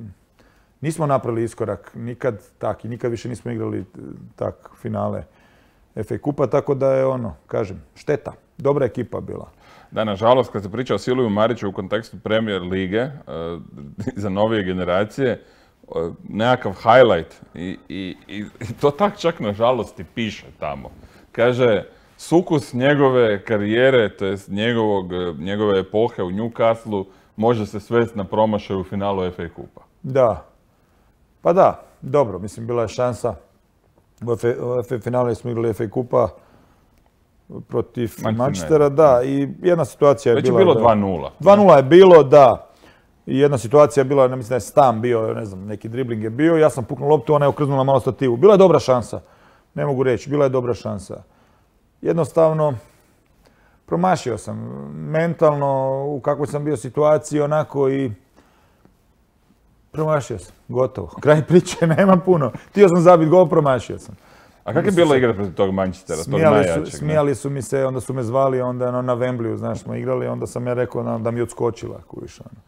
nismo napravili iskorak nikad tak i nikad više nismo igrali tak finale F A kupa, tako da je ono, kažem, šteta. Dobra ekipa bila. Da, nažalost, kad se priča o Silviju Mariću u kontekstu Premier lige, uh, za novije generacije, uh, nekakav highlight i, i, i to tak čak nažalost i piše tamo. Kaže, sukus njegove karijere, to jest njegovog, njegove epohe u Newcastle, može se svesti na promašaj u finalu F A kupa. Da. Pa da, dobro, mislim, bila je šansa. U F A finale smo igrali F A kupa protiv Manchestera, da, i jedna situacija je bila... Već je bilo dva nula. dva nula je bilo, da. I jedna situacija je bila, ne mislim da je Stam bio, ne znam, neki dribling je bio, ja sam puknuo loptu, ona je okreznula malo stativu. Bila je dobra šansa, ne mogu reći, bila je dobra šansa. Jednostavno, promašio sam mentalno u kakvoj sam bio situaciji, onako i promašio sam, gotovo. Kraj priče, nema puno. Htio sam zabiti gol, promašio sam. A kako je bilo igrati protiv tog Manchestera, tog najjačeg? Smijali su mi se, onda su me zvali, onda na Wembleyu, znaš, smo igrali, onda sam ja rekao da mi je odskočila, kuviš, ono.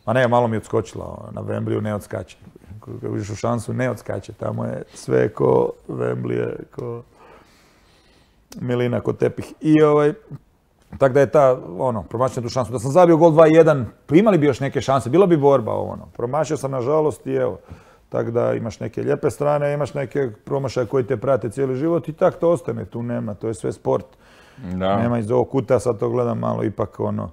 Ma ne, malo mi je odskočila, na Wembleyu ne odskače. Kako vidiš u šansu, ne odskače, tamo je sve ko Wembley, ko milina, ko tepih. I ovaj, tako da je ta, ono, promašio tu šansu. Da sam zabio gol dva jedan, imali bi još neke šanse, bila bi borba, ono. Promašio sam, nažalost, i evo. Tako da imaš neke lijepe strane, imaš neke promašaje koji te prate cijeli život i tak to ostane, tu nema, to je sve sport. Da. Nema iz ovog kuta, sad to gledam malo ipak ono,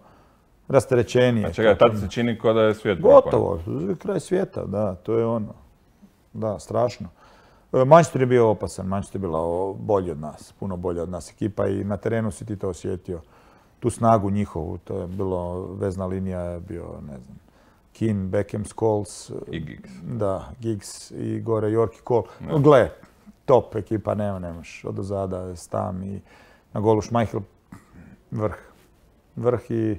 rasterećenije. A čekaj, tad se čini kao da je svijet gotovo, kraj svijeta, da, to je ono, da, strašno. Manchester je bio opasan, Manchester je bila bolji od nas, puno bolja od nas ekipa i na terenu si ti to osjetio, tu snagu njihovu, to je bilo, vezna linija je bio, ne znam, Keane, Beckham, Scholes, i Giggs. Da, Giggs i gore York i Cole. No. Gle, top ekipa, nema, nemaš. Od ozada, Stam i na golu Schmeichel, vrh. Vrh i,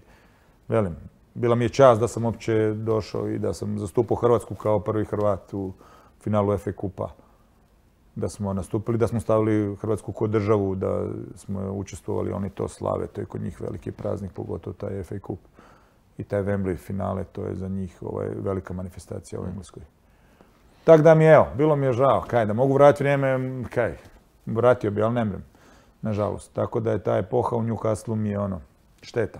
velim, bila mi je čast da sam uopće došao i da sam zastupao Hrvatsku kao prvi Hrvat u finalu F A kupa. Da smo nastupili, da smo stavili Hrvatsku kod državu, da smo učestvovali, oni to slave, to je kod njih veliki praznik, pogotovo taj F A kup. I taj Wembley finale, to je za njih ovaj, velika manifestacija u Engleskoj. Tako da mi je, evo, bilo mi je žao, kaj, da mogu vratiti vrijeme, kaj, vratio bi, ali ne mrem, nažalost. Tako da je ta epoha u Newcastle mi je ono, šteta.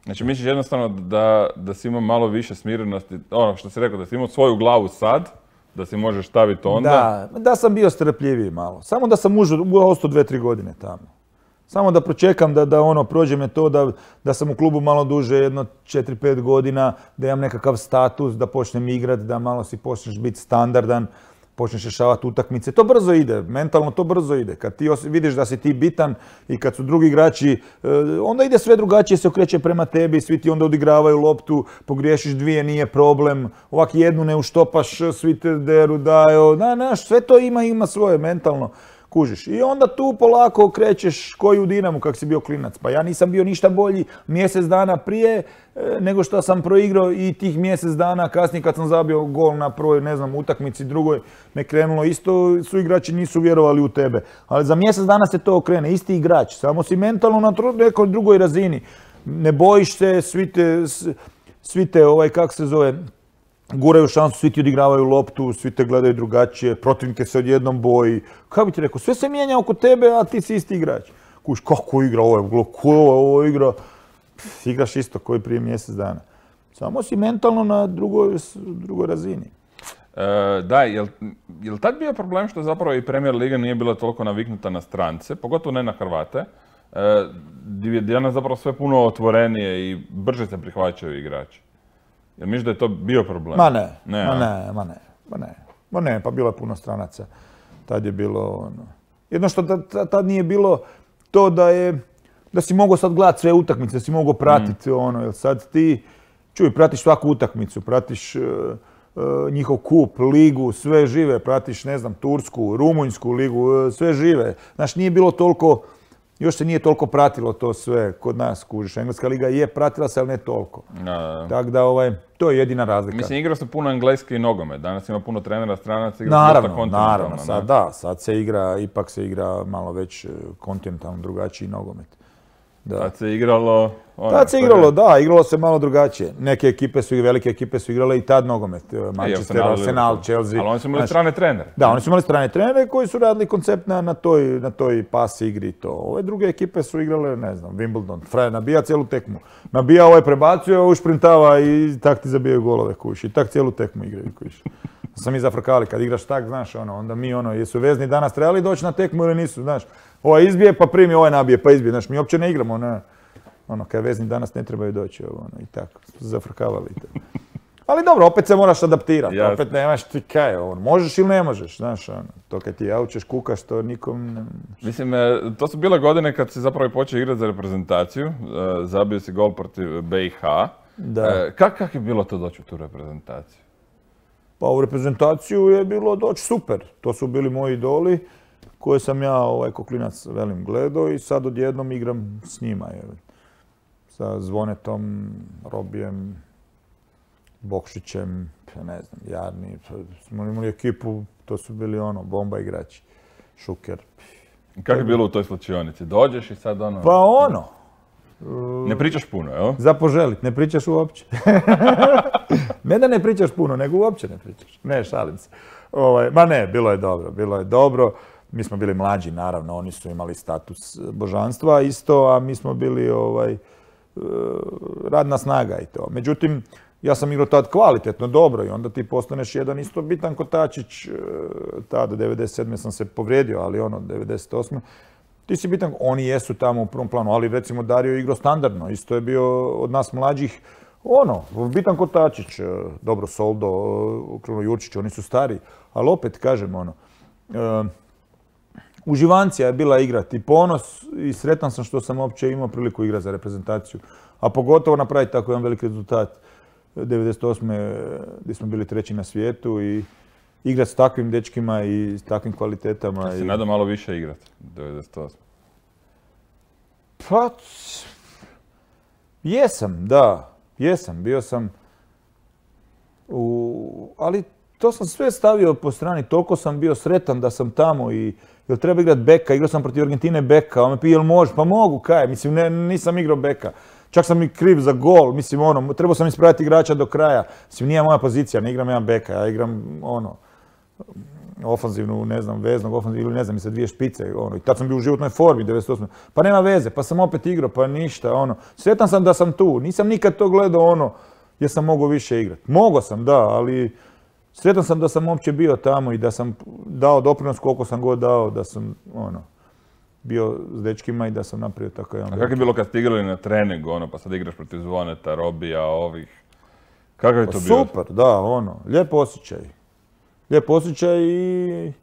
Znači, misliš jednostavno da, da si imao malo više smirenosti, ono što si rekao, da si imao svoju glavu sad, da si možeš staviti onda? Da, da sam bio strpljiviji malo. Samo da sam ostao dve, tri godine tamo. Samo da pročekam da, da ono prođe me to, da, da sam u klubu malo duže, jedno četiri pet godina, da imam nekakav status, da počnem igrat, da malo si počneš biti standardan, počneš rješavati utakmice. To brzo ide, mentalno to brzo ide. Kad ti vidiš da si ti bitan i kad su drugi igrači, onda ide sve drugačije, se okreće prema tebi, svi ti onda odigravaju loptu, pogriješiš dvije, nije problem, ovak jednu ne uštopaš, svi te deru daju, da, naš, sve to ima, ima svoje mentalno. Kužiš. I onda tu polako krećeš koji u Dinamu kak si bio klinac. Pa ja nisam bio ništa bolji mjesec dana prije nego što sam proigrao i tih mjesec dana kasnije kad sam zabio gol na prvoj, ne znam, utakmici drugoj me krenulo isto, su igrači nisu vjerovali u tebe. Ali za mjesec dana se to okrene, isti igrač, samo si mentalno na nekoj drugoj razini. Ne bojiš se, svi te, svi te, ovaj, kak se zove, guraju šansu, svi ti odigravaju loptu, svi te gledaju drugačije, protivnike se odjednom boji. Kako bi ti rekao, sve se mijenja oko tebe, a ti si isti igrač. Kuš, kako igra ovo je, ko je ovo igra? Pff, igraš isto koji prije mjesec dana. Samo si mentalno na drugoj, drugoj razini. E, da, je li tad bio problem što zapravo i Premier Liga nije bila toliko naviknuta na strance, pogotovo ne na Hrvate, e, gdje je danas zapravo sve puno otvorenije i brže se prihvaćaju igrači? Jel misliš da je to bio problem? Ma ne, ne ma ne, ma ne, ma ne, ma ne, pa bilo je puno stranaca. Tad je bilo, ono, jedno što tad, tad nije bilo to da je, da si mogao sad gledati sve utakmice, da si mogao pratiti, mm. ono, jer sad ti, čuj, pratiš svaku utakmicu, pratiš uh, uh, njihov kup, ligu, sve žive, pratiš, ne znam, Tursku, Rumunjsku ligu, uh, sve žive. Znaš, nije bilo toliko, još se nije toliko pratilo to sve kod nas, kužiš. Engleska liga je pratila se, ali ne toliko. Da. Tako da, ovaj, to je jedina razlika. Mislim, igrao se puno engleski i nogomet. Danas ima puno trenera, stranaca, igra naravno, dosta kontinentalno. Naravno, sad ne? Da, sad se igra, ipak se igra malo već kontinentalno drugačiji nogomet. Da. Tad se igralo... Ono, tad se igralo, da, igralo se malo drugačije. Neke ekipe su, velike ekipe su igrale i tad nogomet. Manchester, Arsenal, Chelsea. Ali oni su imali strane trenere. Da, oni su imali strane trenere koji su radili koncept na, na, toj, na toj pas igri i to. Ove druge ekipe su igrale, ne znam, Wimbledon. Frajer nabija cijelu tekmu. Nabija, ovaj prebacuje, ovaj šprintava i tak ti zabijaju golove, kuš. I tak cijelu tekmu igraju, kuš. Sam mi zafrkali, kad igraš tak, znaš, ono, onda mi, ono, jesu vezni danas trebali doći na tekmu ili nisu, znaš. Ovaj izbije, pa primi, ovaj nabije, pa izbije, znaš, mi uopće ne igramo, ne. Ono, kad vezni danas ne trebaju doći, ono, i tako, zafrkavali to. Ali dobro, opet se moraš adaptirati, ja. Opet nemaš ti kaj, ono, možeš ili ne možeš, znaš, ono, to kad ti jaučeš, kukaš, to nikom ne... Mislim, to su bile godine kad si zapravo počeo igrati za reprezentaciju, zabio si gol protiv B i H. Da. Kak, kak je bilo to doći u tu reprezentaciju? Pa u reprezentaciju je bilo doći super, to su bili moji idoli koje sam ja, ovaj, ko klinac, velim, gledao i sad odjednom igram s njima, je. Sa Zvonetom, Robijem, Bokšićem, ne znam, Jarni, smo imali ekipu, to su bili ono, bomba igrači, Šuker. Kako je bilo u toj slučionici? Dođeš i sad ono... Pa ono... Ne pričaš puno, jel? Za poželit, ne pričaš uopće. Ne da ne pričaš puno, nego uopće ne pričaš. Ne, šalim se. Ovaj, ma ne, bilo je dobro, bilo je dobro. Mi smo bili mlađi, naravno, oni su imali status božanstva isto, a mi smo bili ovaj, radna snaga i to. Međutim, ja sam igrao tad kvalitetno, dobro i onda ti postaneš jedan isto bitan kotačić. Tada, devedeset sedme sam se povrijedio, ali ono, devedeset osme ti si bitan, oni jesu tamo u prvom planu, ali recimo Dario je igrao standardno, isto je bio od nas mlađih, ono, bitan kotačić, dobro, Soldo, Kruno Jurčić, oni su stari, ali opet, kažem, ono, uh, uživancija je bila igrati, ponos i sretan sam što sam uopće imao priliku igrati za reprezentaciju, a pogotovo napraviti tako jedan veliki rezultat devedeset osme gdje smo bili treći na svijetu i igrati s takvim dečkima i s takvim kvalitetama. Ja se nadam malo više igrati, devedeset osme. Pa, jesam, da, jesam, bio sam, u, ali to sam sve stavio po strani, toliko sam bio sretan da sam tamo i jel treba igrati beka, igrao sam protiv Argentine beka, on me pije, jel može, pa mogu, kaj, mislim, ne, nisam igrao beka. Čak sam i kriv za gol, mislim, ono, trebao sam ispraviti igrača do kraja, mislim, nije moja pozicija, ne igram ja beka, ja igram, ono, ofanzivnu, ne znam, veznog, ofanzivnu, ili ne znam, i sa dvije špice, ono, i tad sam bio u životnoj formi, devedeset osme. Pa nema veze, pa sam opet igrao, pa ništa, ono, sretan sam da sam tu, nisam nikad to gledao, ono, jer sam mogao više igrati. Mogao sam, da, ali sretan sam da sam uopće bio tamo i da sam dao doprinos koliko sam god dao, da sam, ono, bio s dečkima i da sam napravio tako jedan... A kako je bilo kad ste igrali na treningu, ono, pa sad igraš protiv Zvoneta, Robija, ovih? Kako je to bilo? Super, da, ono, lijep osjećaj. Lijep osjećaj i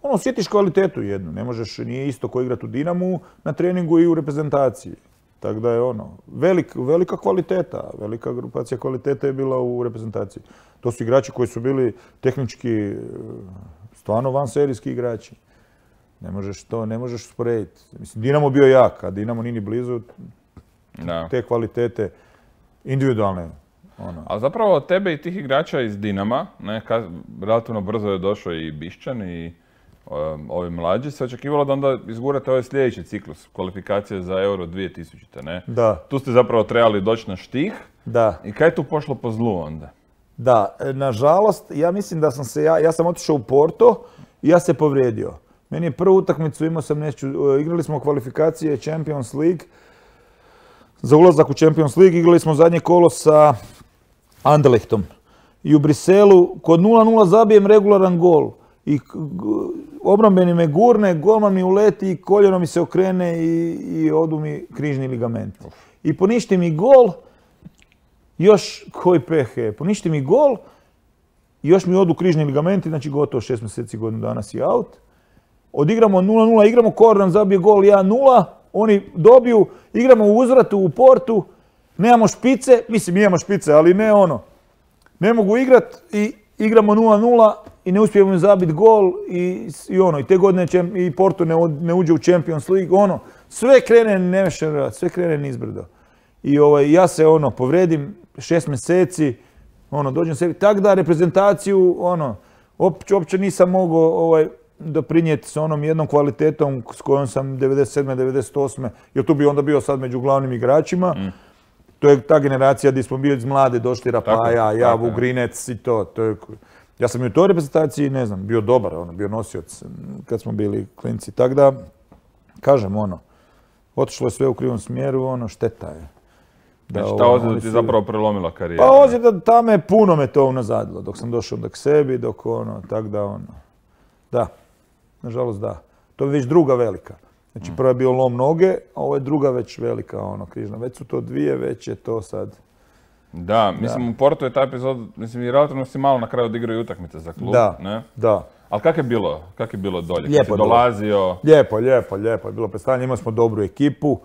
ono, osjetiš kvalitetu jednu. Ne možeš, nije isto ko igrati u Dinamu na treningu i u reprezentaciji. Tako da je ono, velik, velika kvaliteta, velika grupacija kvaliteta je bila u reprezentaciji. To su igrači koji su bili tehnički stvarno vanserijski igrači. Ne možeš to, ne možeš usporediti. Mislim, Dinamo bio jak, a Dinamo nije ni blizu da. Te kvalitete individualne. Ono. Ali zapravo od tebe i tih igrača iz Dinama, ne, kad, relativno brzo je došao i Bišćan i um, ovi mlađi, se očekivalo da onda izgurate ovaj sljedeći ciklus, kvalifikacije za Euro dvije tisućite. Ne? Da. Tu ste zapravo trebali doći na štih, Da. I kaj je tu pošlo po zlu onda? Da, nažalost, ja mislim da sam se, ja, ja sam otišao u Porto i ja se povrijedio. Meni je prvu utakmicu, imao sam nešto, igrali smo kvalifikacije Champions League, za ulazak u Champions League igrali smo zadnje kolo sa Anderlechtom. I u Briselu kod nula nula zabijem regularan gol. I obrambeni me gurne, golman mi uleti, koljeno mi se okrene i, i odu mi križni ligament. I poništi mi gol, još koji pehe, poništi mi gol, još mi odu križni ligamenti, znači gotovo šest mjeseci, godinu dana si out. Odigramo nula nula, igramo Kordan, zabije gol jedan nula, oni dobiju, igramo u uzvratu u Portu, nemamo špice, mislim imamo špice, ali ne ono. Ne mogu igrat i igramo nula nula i ne uspijemo zabiti gol i, i ono, i te godine i Porto ne, ne uđe u Champions League, ono, sve krene nevješće, sve krene nizbrdo. I ovaj, ja se ono, povredim šest mjeseci, ono, dođem sebi, tak da reprezentaciju, ono, uopće, uopće nisam mogao ovaj, doprinijeti s onom jednom kvalitetom s kojom sam devedeset sedme devedeset osme jer tu bi onda bio sad među glavnim igračima. Mm. To je ta generacija gdje smo bili iz mlade, došli Rapaja, ja, Vugrinec i to. to je, ja sam i u toj reprezentaciji, ne znam, bio dobar, ono, bio nosioc kad smo bili klinci. Tako da, kažem, ono, otišlo je sve u krivom smjeru, ono, šteta je. Da, znači, ta ozljeda ti zapravo prelomila karijeru? Pa ozljeda, ta me, puno me to unazadilo, dok sam došao onda k sebi, dok ono, tak da, ono, da, nažalost da. To je već druga velika. Znači, prva je bio lom noge, a ovo je druga već velika, ono, križna. Već su to dvije, već je to sad. Da, mislim, da. U Portu je taj epizod, mislim, i relativno si malo na kraju odigrao utakmice za klub, da, ne? Da. Ali kak je bilo, kak je bilo dolje? Lijepo je dolazio? Lijepo, lijepo, lijepo je bilo predstavljanje. Imali smo dobru ekipu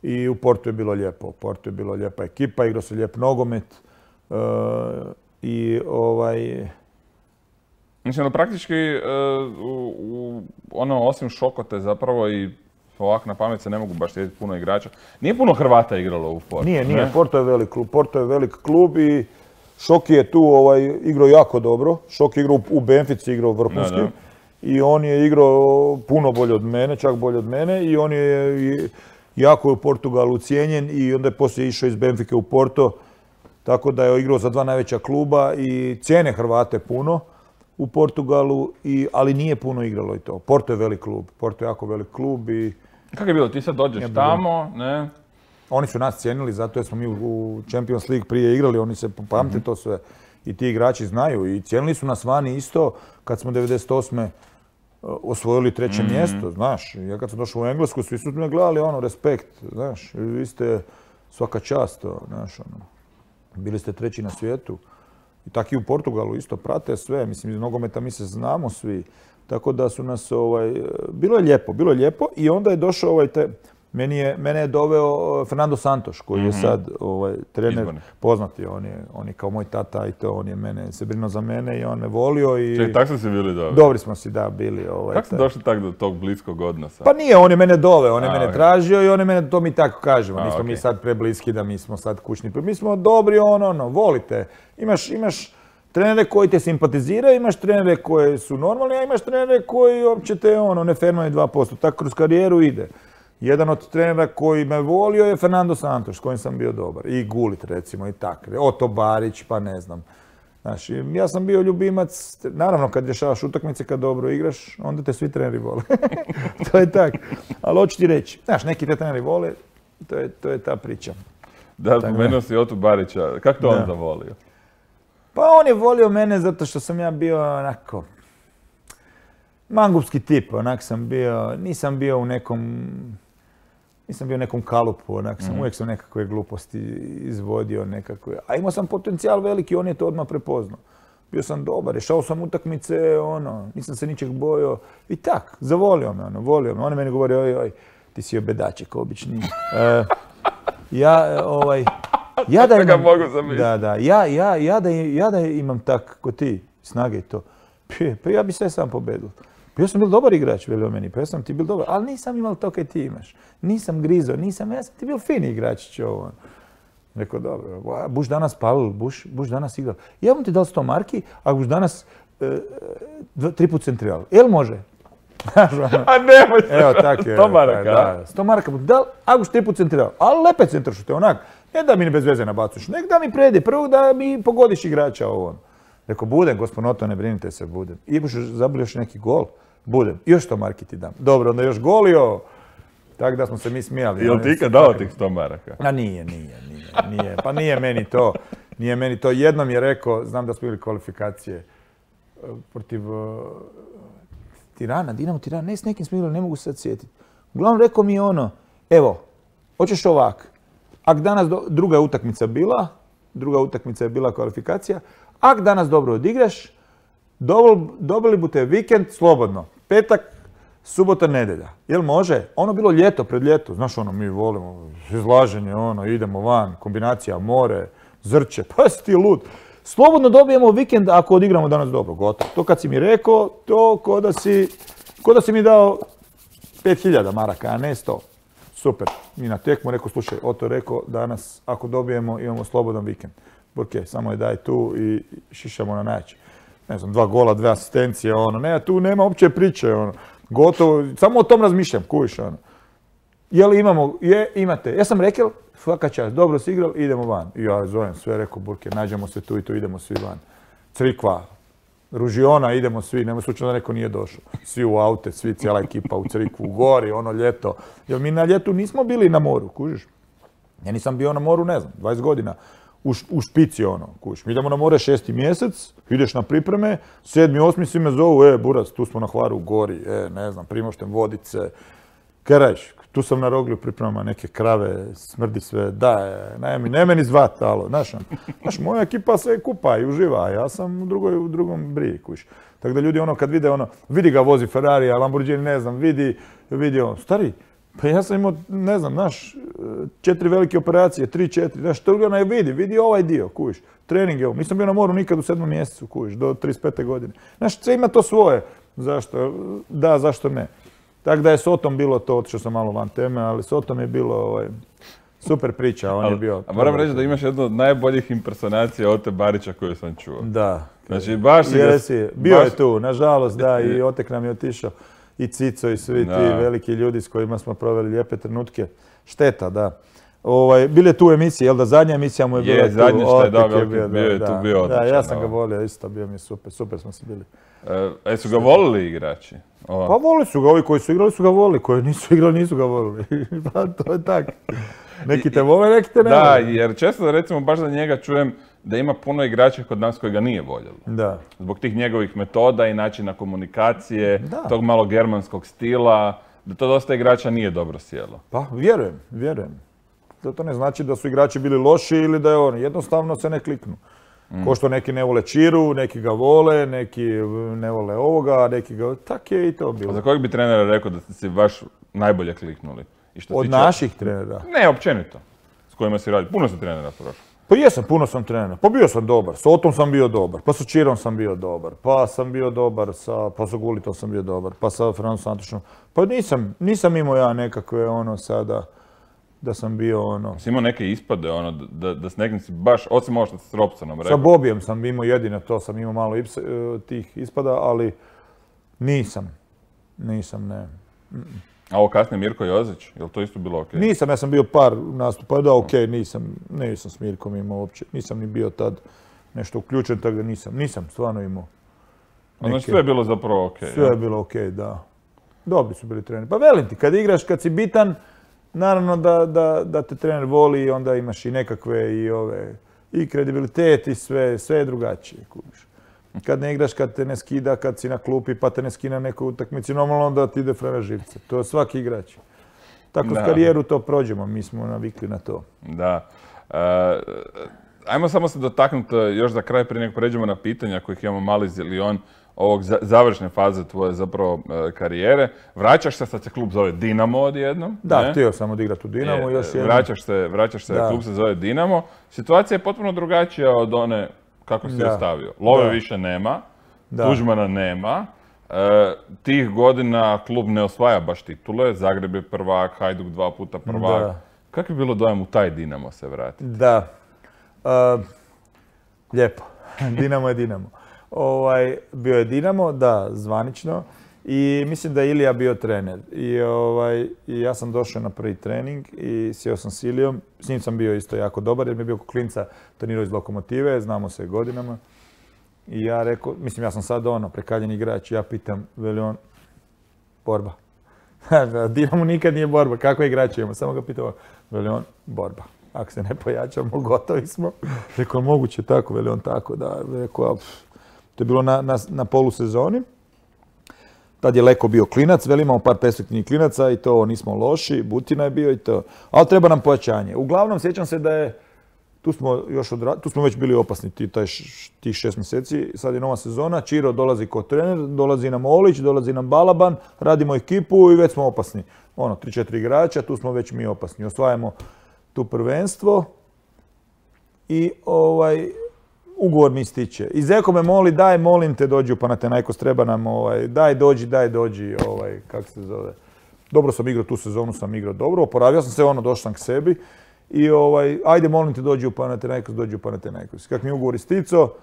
i u Portu je bilo lijepo. U Portu je bilo lijepa ekipa, igrao se lijep nogomet uh, i ovaj... Mislim da praktički, uh, u, u, ono, osim Šokote zapravo i ovako na pamet se ne mogu baš sjetiti puno igrača. Nije puno Hrvata igralo u Portu. Nije, nije. Ne? Porto je velik klub. Porto je velik klub i Šoki je tu ovaj, igrao jako dobro. Šoki je igrao u Benfici, igrao vrhunski. Da, da. I on je igrao puno bolje od mene, čak bolje od mene. I on je jako je u Portugalu cijenjen i onda je poslije išao iz Benfike u Porto. Tako da je igrao za dva najveća kluba i cijene Hrvate puno u Portugalu, i, ali nije puno igralo i to. Porto je velik klub. Porto je jako velik klub i... Kako je bilo? Ti sad dođeš ja, tamo, ne? Oni su nas cijenili zato jer smo mi u Champions League prije igrali, oni se pamte mm-hmm. to sve. I ti igrači znaju i cijenili su nas vani isto kad smo devedeset osme osvojili treće mm-hmm. mjesto, znaš. Ja kad sam došao u Englesku, svi su me gledali, ono, respekt, znaš. Vi ste svaka čast, to, znaš, ono. Bili ste treći na svijetu. I tako i u Portugalu isto prate sve, mislim, iz nogometa mi se znamo svi. Tako da su nas, ovaj, bilo je lijepo, bilo je lijepo i onda je došao ovaj te, meni je, mene je doveo Fernando Santos, koji je sad ovaj, trener, Izborni. Poznati, on je, on je kao moj tata i to, on je mene, se brinuo za mene i on me volio i... Čekaj, tako ste si bili dobri? Dobri smo si, da, bili. Ovaj, kako ste došli tako do tog bliskog odnosa? Pa nije, on je mene doveo, on je A, mene okay. tražio i on je mene, to mi tako kažemo, A, nismo okay. mi sad prebliski da mi smo sad kućni, mi smo dobri, ono, ono, volite, imaš, imaš trenere koji te simpatiziraju, imaš trenere koji su normalni, a imaš trenere koji uopće te ono, ne fermaju dva posto. Tako kroz karijeru ide. Jedan od trenera koji me volio je Fernando Santos, s kojim sam bio dobar. I Gullit, recimo, i tako. Oto Barić, pa ne znam. Znaš, ja sam bio ljubimac, naravno kad rješavaš utakmice, kad dobro igraš, onda te svi treneri vole. To je tako. Ali hoću ti reći, znaš, neki te treneri vole, to je, to je ta priča. Da, spomenuo si Otu Barića, kako to on zavolio? Pa on je volio mene zato što sam ja bio onako mangupski tip, onak sam bio, nisam bio u nekom, nisam bio u nekom kalupu, onak sam, mm. uvijek sam nekakve gluposti izvodio nekakve, a imao sam potencijal veliki, on je to odmah prepoznao. Bio sam dobar, rješao sam utakmice, ono, nisam se ničeg bojao i tak, zavolio me, ono, volio me. On je meni govorio, oj, oj, ti si obedaček obični. Uh, ja, ovaj, Ja da imam, da, da, ja, ja, ja, da, ja da imam tak ko ti, snage i to, pa ja bi sve sam pobedio. Pa ja sam bil dobar igrač, velio meni, pa ja sam ti bil dobar, ali nisam imao to kaj ti imaš. Nisam grizo, nisam, ja sam ti bil fini igračić ovo. Rekao, dobro, buš danas palil, buš, buš danas igral. Ja bom ti dal sto marki, ako buš danas e, tri put centrijal. Jel može? A nemoj se, evo, tak je, sto maraka. Da, sto maraka bom dal, ako buš tri put centrijal. Ali lepe centrašute, onak. Ne da mi bez veze nabacuš, nek da mi predi, prvo da mi pogodiš igrača ovo. Rekao, budem, gospodin Oto, ne brinite se, budem. I zabili još neki gol, budem. I još sto marki ti dam. Dobro, onda još golio. Tako da smo se mi smijali. Jel ti ikad dao tih sto maraka? A nije, nije, nije, nije. Pa nije meni to. Nije meni to. Jednom je rekao, znam da smo bili kvalifikacije protiv uh, Tirana, Dinamo Tirana, ne s nekim smo igrali, ne mogu se sad sjetiti. Uglavnom rekao mi je ono, evo, hoćeš ovak, ak danas do, druga utakmica bila, druga utakmica je bila kvalifikacija, ak danas dobro odigraš, dobili, dobili bute vikend slobodno, petak, subota, nedjelja. Jel može? Ono bilo ljeto, pred ljeto, znaš ono, mi volimo, izlaženje, ono, idemo van, kombinacija, more, zrče, pa si ti lud. Slobodno dobijemo vikend ako odigramo danas dobro, gotovo. To kad si mi rekao, to ko da si, ko da si mi dao pet hiljada maraka, a ne sto. Super. Mi na tekmu rekao, slušaj, Oto rekao, danas ako dobijemo imamo slobodan vikend. Burke, samo je daj tu i šišamo na najjače. Ne znam, dva gola, dve asistencije, ono, ne, tu nema uopće priče, ono. Gotovo, samo o tom razmišljam, kuviš, ono. Je li imamo, je, imate. Ja sam rekao, svaka čast, dobro si igrali, idemo van. I ja zovem sve, rekao, Burke, nađemo se tu i tu, idemo svi van. Crikva, Ružiona, idemo svi, nema slučajno da neko nije došao. Svi u aute, svi, cijela ekipa u Crikvu, u gori, ono ljeto. Jer mi na ljetu nismo bili na moru, kužiš. Ja nisam bio na moru, ne znam, dvadeset godina. U, u špici, ono, kužiš. Mi idemo na more šesti mjesec, ideš na pripreme, sedmi, osmi svi me zovu, e, Burac, tu smo na Hvaru u gori, e, ne znam, Primošten, Vodice. Kaj radiš? Tu sam na Roglju pripremama neke krave, smrdi sve, da, ne, ne meni zvat, alo, znaš, znaš, moja ekipa se kupa i uživa, a ja sam u, drugoj, u drugom briji, kuš. Tako da ljudi ono kad vide ono, vidi ga vozi Ferrari, a Lamborghini, ne znam, vidi, vidi ono, stari, pa ja sam imao, ne znam, znaš, četiri velike operacije, tri, četiri, znaš, to ga ne vidi, vidi ovaj dio, kuš, trening, evo, nisam bio na moru nikad u sedmom mjesecu, kuš, do trideset pete godine. Znaš, sve ima to svoje, zašto, da, zašto ne. Tako da je s Otom bilo to, otišao sam malo van teme, ali s Otom je bilo ovaj, super priča, on ali, je bio... A moram reći da imaš jednu od najboljih impersonacija Ote Barića koju sam čuo. Da. Znači, baš si ga... Si, bio baš... je tu, nažalost, da, i Otek nam je otišao. I Cico i svi da. Ti veliki ljudi s kojima smo proveli lijepe trenutke. Šteta, da. Ovaj, bile tu emisije, jel da zadnja emisija mu je bila tu? Je, zadnje što je, da, je bio, bio je da, tu bio odličan. Da, ja sam ga volio, isto bio mi je super, super smo se bili. E, su ga volili igrači? O. Pa volili su ga, ovi koji su igrali su ga volili, koji nisu igrali nisu ga volili. Pa to je tako. Neki te vole, neki te ne da, vole. Da, jer često recimo baš za njega čujem da ima puno igrača kod nas koji ga nije voljelo. Da. Zbog tih njegovih metoda i načina komunikacije, da. Tog malo germanskog stila, da to dosta igrača nije dobro sjelo. Pa vjerujem, vjerujem. To, to ne znači da su igrači bili loši ili da je oni, jednostavno se ne kliknu. Mm. Ko što neki ne vole Čiru, neki ga vole, neki ne vole ovoga, neki ga... Tak je i to bilo. A za kojeg bi trenera rekao da ste si baš najbolje kliknuli? I što Od tiče... naših trenera? Ne, općenito. S kojima si radi. Puno si trenera prošao. Pa jesam, puno sam trenera. Pa bio sam dobar. S Otom sam bio dobar. Pa sa Čirom sam bio dobar. Pa sam bio dobar sa... Pa sa Gulitom sam bio dobar. Pa sa Francom Antošom. Pa nisam, nisam imao ja nekakve ono sada... Da sam bio ono... Si imao neke ispade, ono, da, da s nekim si baš, osim ovo što s Robsonom rekao? Sa Bobijem sam imao jedino to, sam imao malo ips, tih ispada, ali nisam. Nisam, ne. Mm-mm. A ovo kasnije Mirko Jozić, je li to isto bilo okej? Okay? Nisam, ja sam bio par nastupa, da okej, okay, nisam, nisam s Mirkom imao uopće. Nisam ni bio tad nešto uključen, tako da nisam, nisam stvarno imao. Neke... Znači sve je bilo zapravo okej? Okay, sve ja? je bilo okej, okay, da. Dobri su bili treneri. Pa velim ti, kad igraš, kad si bitan, naravno da, da, da te trener voli i onda imaš i nekakve i ove, i kredibilitet i sve, sve je drugačije. Kužiš. Kad ne igraš, kad te ne skida, kad si na klupi pa te ne skina neku utakmici, normalno onda ti ide frena živce. To je svaki igrač. Tako s karijeru to prođemo, mi smo navikli na to. Da. E, ajmo samo se dotaknuti još za kraj prije nego pređemo na pitanja kojih imamo mali zilion ovog završne faze tvoje zapravo karijere. Vraćaš se, sad se klub zove Dinamo odjednom. Da, ne? htio sam odigrati u Dinamo. Je, još jednom. Vraćaš se, vraćaš se, klub se zove Dinamo. Situacija je potpuno drugačija od one kako si je stavio. Love da. više nema, da. Tuđmana nema. E, tih godina klub ne osvaja baš titule. Zagreb je prvak, Hajduk dva puta prvak. Da. Kako je bilo dojam u taj Dinamo se vratiti? Da. Uh, lijepo. Dinamo je Dinamo. Ovaj, bio je Dinamo, da, zvanično. I mislim da je Ilija bio trener. I, ovaj, i ja sam došao na prvi trening i sjeo sam s Ilijom. S njim sam bio isto jako dobar jer mi je bio klinca trenirao iz Lokomotive, znamo se godinama. I ja rekao, mislim ja sam sad ono, prekaljeni igrač, ja pitam, veli on, borba. Dinamo nikad nije borba, kakve igrače imamo, samo ga pitao, veli on, borba. Ako se ne pojačamo, gotovi smo. Rekao, moguće tako, veli on tako, da. Rekao, to je bilo na, na, na polusezoni. Tad je Leko bio klinac, veli imamo par perspektivnih klinaca i to nismo loši, Butina je bio i to. Ali treba nam pojačanje. Uglavnom, sjećam se da je, tu smo, još odra... tu smo već bili opasni tih ti šest mjeseci, sad je nova sezona, Čiro dolazi kao trener, dolazi nam Olić, dolazi nam Balaban, radimo ekipu i već smo opasni. Ono, tri četiri igrača, tu smo već mi opasni. Osvajamo tu prvenstvo i ovaj, ugovor mi ističe. I Zeko me moli, daj, molim te, dođi u Panathinaikos, treba nam, ovaj, daj, dođi, daj, dođi, ovaj, kako se zove. Dobro sam igrao, tu sezonu sam igrao dobro, oporavio sam se, ono, došao sam k sebi i ovaj, ajde, molim te, dođi u Panathinaikos, dođi u Panathinaikos. Kak mi ugovor isticao,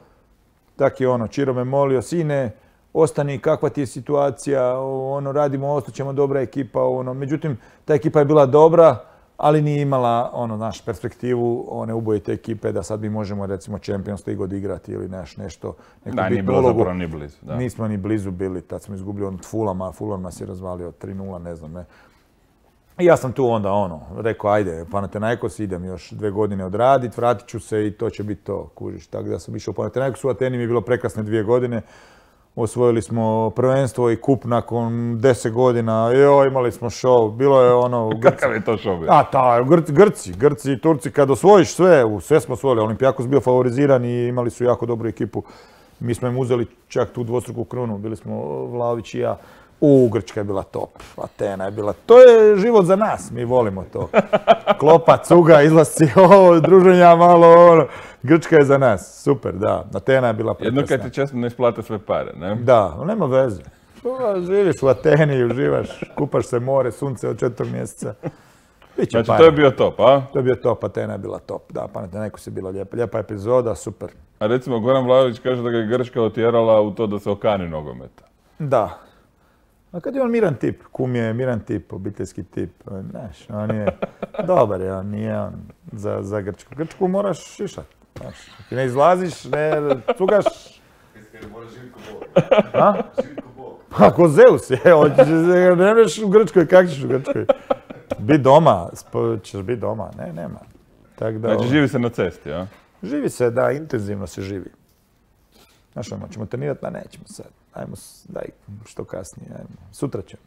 tak je ono, Čiro me molio, sine, ostani, kakva ti je situacija, ono, radimo, ostaćemo, dobra ekipa, ono, međutim, ta ekipa je bila dobra, ali nije imala, ono, naš perspektivu one ubojite ekipe da sad mi možemo, recimo, Champions League odigrati ili naš nešto, neku da, nije bilo zapravo ni blizu. Da. Nismo ni blizu bili, tad smo izgubili od Fulama, Fulam nas je razvalio tri nula, ne znam, ne. I ja sam tu onda, ono, rekao, ajde, Panathinaikos, idem još dve godine odradit, vratit ću se i to će biti to, kužiš. Tako da sam išao u Panathinaikos, u Ateni mi je bilo prekrasne dvije godine. Osvojili smo prvenstvo i kup nakon deset godina, joj, imali smo show, bilo je ono... Kakav je to show bio? A, ta, Gr- Grci, Grci i Turci, kad osvojiš sve, sve smo osvojili, Olimpijakos bio favoriziran i imali su jako dobru ekipu. Mi smo im uzeli čak tu dvostruku krunu, bili smo Vlaović i ja. U, Grčka je bila top, Atena je bila, to je život za nas, mi volimo to. Klopa, cuga, izlasci, ovo, druženja malo, ono. Grčka je za nas, super, da. Atena je bila prekrasna. Jedno kad ti često ne isplate sve pare, ne? Da, nema veze. Živiš u Ateni, uživaš, kupaš se more, sunce od četvrtog mjeseca. Biće znači para. to je bio top, a? To je bio top, Atena je bila top, da, Panathinaikos je bila lijepa, lijepa epizoda, super. A recimo Goran Vlahović kaže da ga je Grčka otjerala u to da se okani nogometa. Da. A kad je on miran tip, kum je miran tip, obiteljski tip, znaš, on je dobar, je, on nije on za, za Grčku. Grčku moraš šišat, znaš, ti ne izlaziš, ne cugaš. Moraš Živko Bog. A? Živko Bog. Pa ko Zeus je, ne neš u Grčkoj, kak ćeš u Grčkoj? Bi doma, ćeš biti doma, ne, nema. Tak da, znači živi se na cesti, a? Živi se, da, intenzivno se živi. Znaš, ono, ćemo trenirati, pa nećemo sad. Ajmo, daj, što kasnije, ajmo. Sutra ćemo.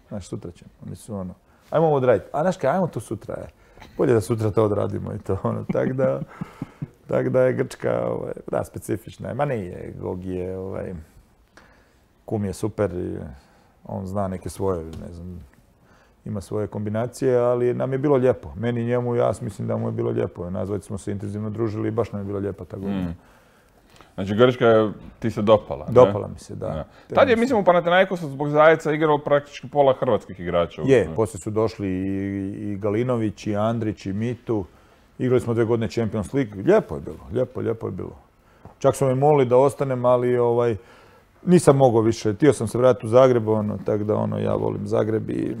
Znaš, sutra ćemo. Oni su ono, ajmo ovo odraditi. A znaš kaj, ajmo to sutra, je. Bolje da sutra to odradimo i to, ono, tak da, tak da je Grčka, ovaj, da, specifična. Ma nije, Gogi je, ovaj, kum je super, i on zna neke svoje, ne znam, ima svoje kombinacije, ali nam je bilo lijepo. Meni, njemu, ja mislim da mu je bilo lijepo. Nazvati smo se intenzivno družili i baš nam je bilo lijepo ta godina. Mm. Znači Grčka je, ti se dopala, ne? Dopala mi se, da. da. Tad je, mislim, u Panathinaikosu zbog Zajeca igralo praktički pola hrvatskih igrača. Je, poslije su došli i, i Galinović, i Andrić, i Mitu. Igrali smo dve godine Champions League. Lijepo je bilo, lijepo, lijepo je bilo. Čak su me molili da ostanem, ali ovaj, nisam mogao više. Htio sam se vratiti u Zagreb, ono, tako da ono, ja volim Zagreb i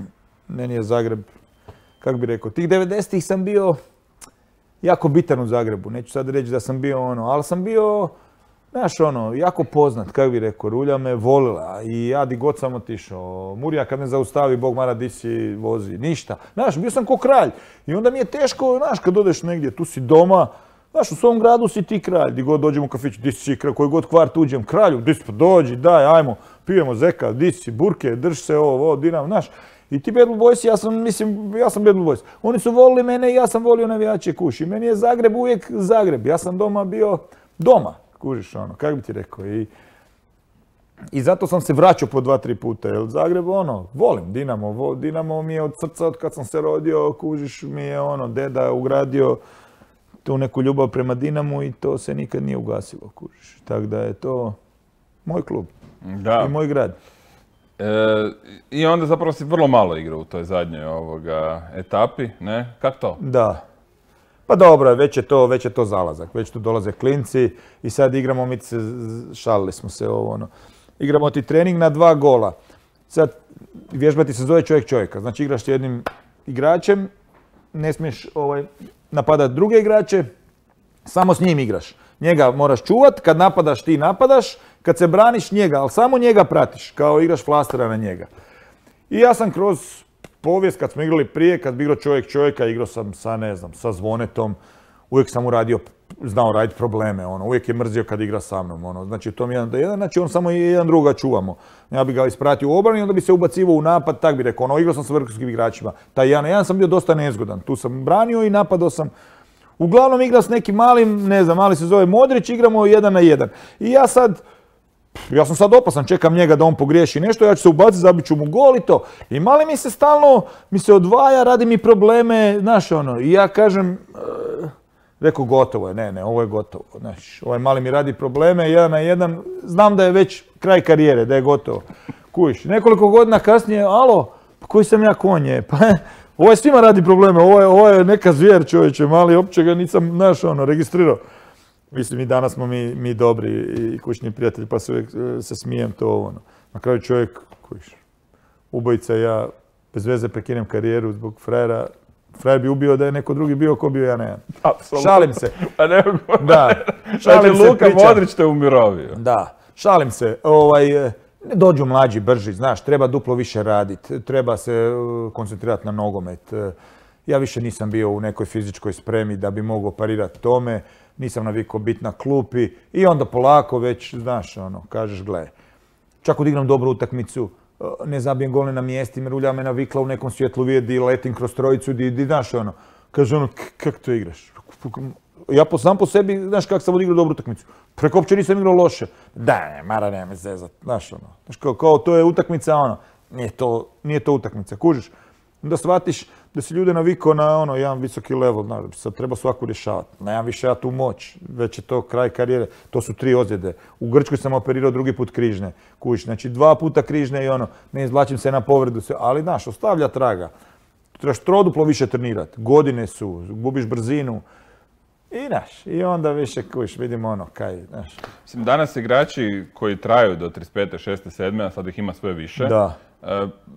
meni je Zagreb, kako bi rekao, tih devedesetih sam bio jako bitan u Zagrebu. Neću sad reći da sam bio ono, ali sam bio, znaš, ono, jako poznat, kako bi rekao, Rulja me volila i ja di god sam otišao. Murija kad me zaustavi, Bog mara, di si vozi, ništa. Znaš, bio sam ko kralj i onda mi je teško, znaš, kad odeš negdje, tu si doma, znaš, u svom gradu si ti kralj, di god dođem u kafić, di si kralj, koji god kvart uđem, kralju, di si, pa dođi, daj, ajmo, pijemo zeka, di si, burke, drž se ovo, ovo, dinam, znaš. I ti Bad Blue Boys, ja sam, mislim, ja sam Bad Blue Boys. Oni su volili mene i ja sam volio navijače kući. Meni je Zagreb uvijek Zagreb. Ja sam doma bio doma, kužiš ono, kako bi ti rekao. I, i zato sam se vraćao po dva, tri puta, jer Zagreb, ono, volim Dinamo. Vo, Dinamo mi je od srca, od kad sam se rodio, kužiš, mi je ono, deda ugradio tu neku ljubav prema Dinamu i to se nikad nije ugasilo, kužiš. Tako da je to moj klub da. I moj grad. E, I onda zapravo si vrlo malo igrao u toj zadnjoj ovoga etapi, ne? Kako to? Da. Pa dobro, već je to, već je to zalazak, već tu dolaze klinci i sad igramo, mi se, šalili smo se ovo, ono, igramo ti trening na dva gola. sad vježbati se zove čovjek čovjeka. Znači igraš s jednim igračem, ne smiješ ovaj, napadati druge igrače, samo s njim igraš. Njega moraš čuvat, kad napadaš ti napadaš, kad se braniš njega, ali samo njega pratiš, kao igraš flastera na njega. I ja sam kroz povijest, kad smo igrali prije, kad bi igrao čovjek čovjeka, igrao sam sa, ne znam, sa Zvonetom, uvijek sam mu radio, znao raditi probleme, ono, uvijek je mrzio kad igra sa mnom, ono, znači to mi jedan do jedan, znači on samo jedan druga čuvamo. Ja bi ga ispratio u obrani, onda bi se ubacivao u napad, tak bi rekao, ono, igrao sam sa vrhunskim igračima, taj jedan na jedan sam bio dosta nezgodan, tu sam branio i napadao sam. Uglavnom igra s nekim malim, ne znam, mali se zove Modrić, igramo jedan na jedan. I ja sad, ja sam sad opasan, čekam njega da on pogriješi nešto, ja ću se ubaciti, zabit ću mu gol i to. I mali mi se stalno, mi se odvaja, radi mi probleme, znaš ono, i ja kažem, uh, rekao gotovo je, ne, ne, ovo je gotovo, znaš, ovaj mali mi radi probleme, jedan na jedan, znam da je već kraj karijere, da je gotovo. Kujiš, nekoliko godina kasnije, alo, pa koji sam ja konje, pa ovo je svima radi probleme, ovo je, ovo je neka zvijer čovječe, mali, uopće ga nisam, znaš, ono, registrirao. Mislim, i danas smo mi, mi dobri i kućni prijatelji, pa se uvijek se smijem to ono. Na kraju čovjek, kojiš, ubojica i ja, bez veze prekinem karijeru zbog frajera. Frajer bi ubio da je neko drugi bio, ko bio ja ne. Šalim se. A ne mogu. Da. Šalim se, Luka Modrić te umirovio. Da. Šalim se. Ovaj, ne dođu mlađi, brži, znaš, treba duplo više raditi, treba se koncentrirati na nogomet. Ja više nisam bio u nekoj fizičkoj spremi da bi mogao parirati tome, nisam navikao biti na klupi i onda polako već, znaš, ono, kažeš, gle, čak odigram dobru utakmicu, ne zabijem gol na mjesti, rulja me navikla u nekom svjetlu vidi, letim kroz trojicu, di, di, znaš, ono, kaže ono, kako to igraš? Ja po, sam po sebi, znaš kako sam odigrao dobru utakmicu. Preko uopće nisam igrao loše. Da, ne, mara, ne me zezat, znaš, ono, znaš, kao, kao to je utakmica, ono, nije to, nije to utakmica, kužiš? Da shvatiš da si ljude navikao na ono, jedan visoki level, znaš, da bi sad treba svaku rješavati. Nemam više ja tu moć, već je to kraj karijere, to su tri ozljede. U Grčkoj sam operirao drugi put križne, kužiš, znači dva puta križne i ono, ne izvlačim se na povredu, ali znaš, ostavlja traga. Trebaš troduplo više trenirati, godine su, gubiš brzinu. I znaš, i onda više kuš, vidimo ono, kaj, znaš. Mislim, danas igrači koji traju do trideset pete, šezde, sedme, a sad ih ima sve više. Da.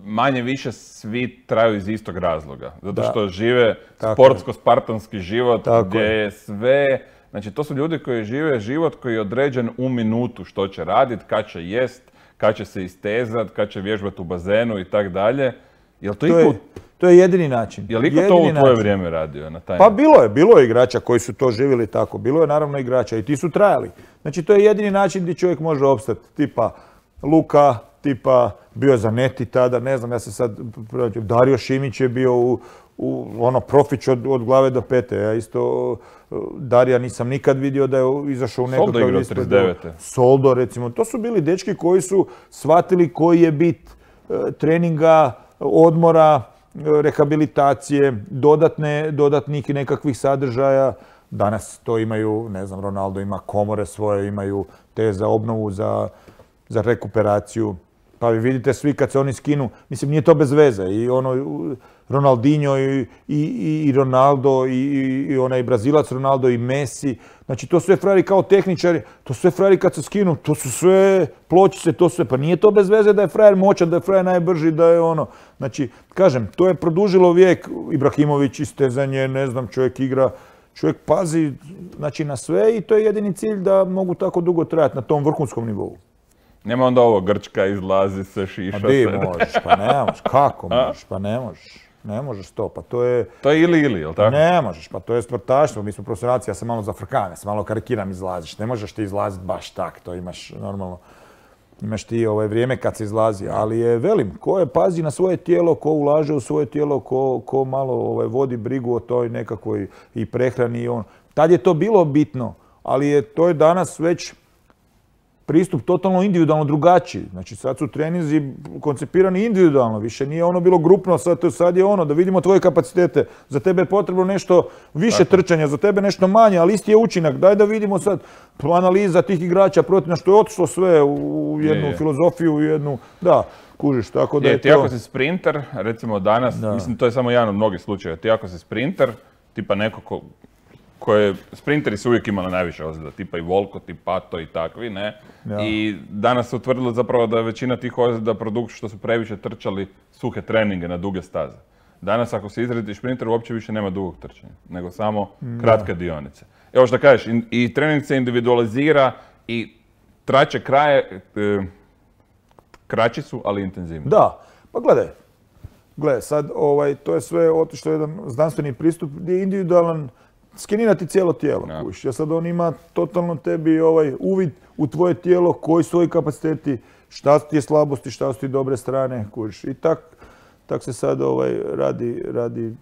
Manje više svi traju iz istog razloga. Zato što da. žive sportsko-spartanski život tako gdje je sve... Znači, to su ljudi koji žive život koji je određen u minutu što će raditi, kad će jest, kad će se istezat, kad će vježbati u bazenu i tak dalje. Jel to, to, je, to je jedini način. Je li iko to u tvoje način. Vrijeme radio na taj Pa način? Bilo je, bilo je igrača koji su to živjeli tako. Bilo je naravno igrača i ti su trajali. Znači, to je jedini način gdje čovjek može opstati. Tipa Luka, tipa bio Zanetti tada, ne znam, ja se sad, Dario Šimić je bio u, u ono, profić od, od glave do pete. Ja isto, Darija nisam nikad vidio da je izašao u nekakav... Soldo igrao trideset devete. Soldo, recimo. To su bili dečki koji su shvatili koji je bit e, treninga, odmora, rehabilitacije, dodatne, dodatnih nekakvih sadržaja. Danas to imaju, ne znam, Ronaldo ima komore svoje, imaju te za obnovu, za, za rekuperaciju. Pa vi vidite svi kad se oni skinu, mislim nije to bez veze. I ono, Ronaldinho i, i, i Ronaldo i, i onaj Brazilac Ronaldo i Messi. Znači to su sve frajeri kao tehničari, to su sve frajeri kad se skinu, to su sve pločice, to sve. Pa nije to bez veze da je frajer moćan, da je frajer najbrži, da je ono. Znači, kažem, to je produžilo vijek. Ibrahimović, istezanje, ne znam, čovjek igra. Čovjek pazi, znači, na sve i to je jedini cilj da mogu tako dugo trajati na tom vrhunskom nivou. Nema onda ovo Grčka, izlazi se, šiša se. Pa di možeš, pa ne možeš, kako možeš, pa ne možeš, ne možeš to, pa to je... To je ili ili, jel tako? Ne možeš, pa to je sportaštvo, mi smo profesionalci, ja sam malo zafrkan, ja sam malo karikiram izlaziš, ne možeš ti izlaziti baš tak, to imaš normalno, imaš ti ovaj vrijeme kad se izlazi, ali je velim, ko je pazi na svoje tijelo, ko ulaže u svoje tijelo, ko, ko malo ovaj, vodi brigu o toj nekakvoj i prehrani i on. Tad je to bilo bitno, ali je to je danas već pristup totalno individualno drugačiji. Znači sad su treninzi koncipirani individualno, više nije ono bilo grupno, sad, sad je ono da vidimo tvoje kapacitete. Za tebe je potrebno nešto više tako. Trčanja, za tebe nešto manje, ali isti je učinak. Daj da vidimo sad analiza tih igrača protiv na što je otišlo sve u jednu je. filozofiju, u jednu, da, kužiš, tako da je, je ti to... ako si sprinter, recimo danas, da. Mislim to je samo jedan od mnogih slučajeva, ti ako si sprinter, tipa neko ko koje sprinteri su uvijek imali najviše ozljeda, tipa i Volkot, i Pato i takvi, ne? Ja. I danas se utvrdilo zapravo da je većina tih ozljeda produkt što su previše trčali suhe treninge na duge staze. Danas ako se izredi šprinter uopće više nema dugog trčanja, nego samo kratke dionice. Evo što kažeš, i, i trening se individualizira i traće kraje, e, kraći su, ali intenzivni. Da, pa gledaj, gledaj, sad ovaj, to je sve otišlo jedan znanstveni pristup gdje je individualan skenirati cijelo tijelo. Ja. Kuš. Ja sad on ima totalno tebi ovaj uvid u tvoje tijelo, koji su tvoji kapaciteti, šta su ti slabosti, šta su ti dobre strane. Kuš. I tak, tak se sad ovaj, radi, radi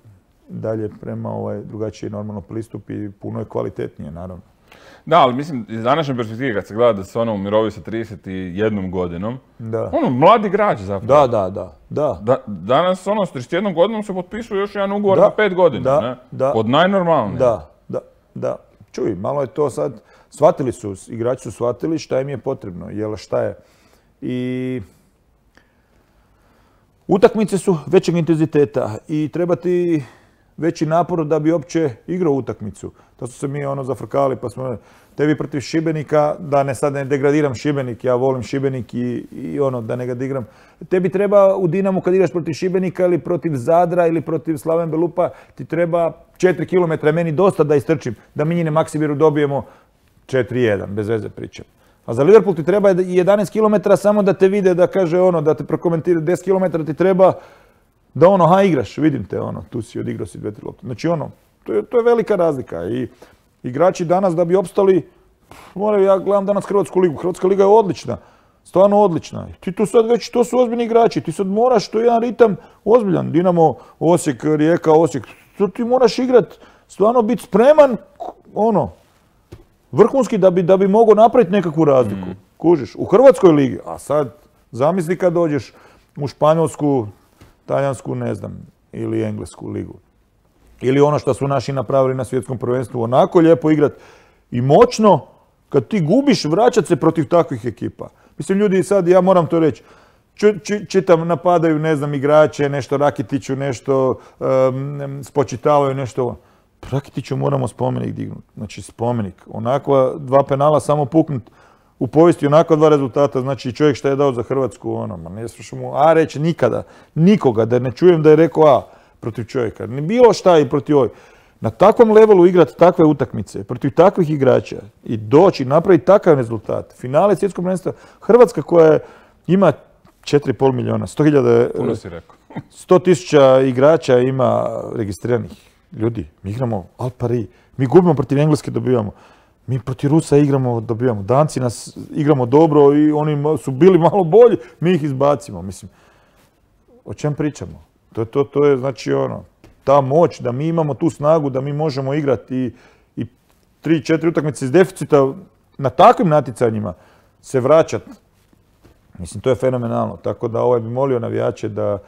dalje prema ovaj, drugačiji normalno pristup i puno je kvalitetnije, naravno. Da, ali mislim, iz današnje perspektive kad se gleda da se ono umirovi sa trideset jednom godinom, Da. ono, mladi igrač zapravo. Da, da, da, da. Da, danas ono, s trideset jednom godinom se potpisuje još jedan ugovor Da, na pet godina, da, ne? da. Od najnormalnije. Da, da, da. Čuj, malo je to sad, shvatili su, igrači su shvatili šta im je potrebno, jel šta je. I utakmice su većeg intenziteta i treba ti veći napor da bi uopće igrao utakmicu. To su se mi ono zafrkali, pa smo tebi protiv Šibenika, da ne sad ne degradiram Šibenik, ja volim Šibenik i, i ono, da ne ga digram. Tebi treba u Dinamu kad igraš protiv Šibenika ili protiv Zadra ili protiv Slaven Belupa, ti treba četiri kilometra, meni dosta da istrčim, da mi njine Maksimiru dobijemo četiri jedan, bez veze pričam. A za Liverpool ti treba jedanaest kilometara samo da te vide, da kaže ono, da te prokomentira, deset kilometara ti treba da ono, ha, igraš, vidim te, ono, tu si odigrao si dve, tri lopte. Znači ono, to je, to je velika razlika i igrači danas da bi opstali, moraju, ja gledam danas Hrvatsku ligu, Hrvatska liga je odlična, stvarno odlična. Ti tu sad već, to su ozbiljni igrači, ti sad moraš, to je jedan ritam ozbiljan, Dinamo, Osijek, Rijeka, Osijek, to ti moraš igrat, stvarno biti spreman, ono, vrhunski da bi, da bi mogao napraviti nekakvu razliku, mm. kužiš, u Hrvatskoj ligi, a sad zamisli kad dođeš u Španjolsku, Talijansku, ne znam, ili Englesku ligu. Ili ono što su naši napravili na svjetskom prvenstvu, onako lijepo igrat i moćno, kad ti gubiš, vraćat se protiv takvih ekipa. Mislim, ljudi sad, ja moram to reći, čitam, napadaju, ne znam, igrače, nešto Rakitiću, nešto um, spočitavaju, nešto. Rakitiću moramo spomenik dignuti. Znači, spomenik. Onakva dva penala samo puknut u povijesti, onako dva rezultata, znači čovjek šta je dao za Hrvatsku, ono, ma ne slušam mu A reći nikada, nikoga, da ne čujem da je rekao A protiv čovjeka. Ne bilo šta i protiv ovih. Na takvom levelu igrati takve utakmice, protiv takvih igrača i doći, napraviti takav rezultat. Finale svjetskog prvenstva, Hrvatska koja ima četiri i pol milijuna, sto hiljada, Puno si rekao. sto tisuća igrača ima registriranih. Ljudi, mi igramo Al Pari, mi gubimo protiv Engleske, dobivamo. Mi protiv Rusa igramo, dobivamo. Danci nas igramo dobro i oni su bili malo bolji, mi ih izbacimo. Mislim, o čem pričamo? To, to, to je znači ono, ta moć da mi imamo tu snagu, da mi možemo igrati i, i tri, četiri utakmice iz deficita na takvim natjecanjima se vraćati. Mislim, to je fenomenalno. Tako da ovaj bi molio navijače da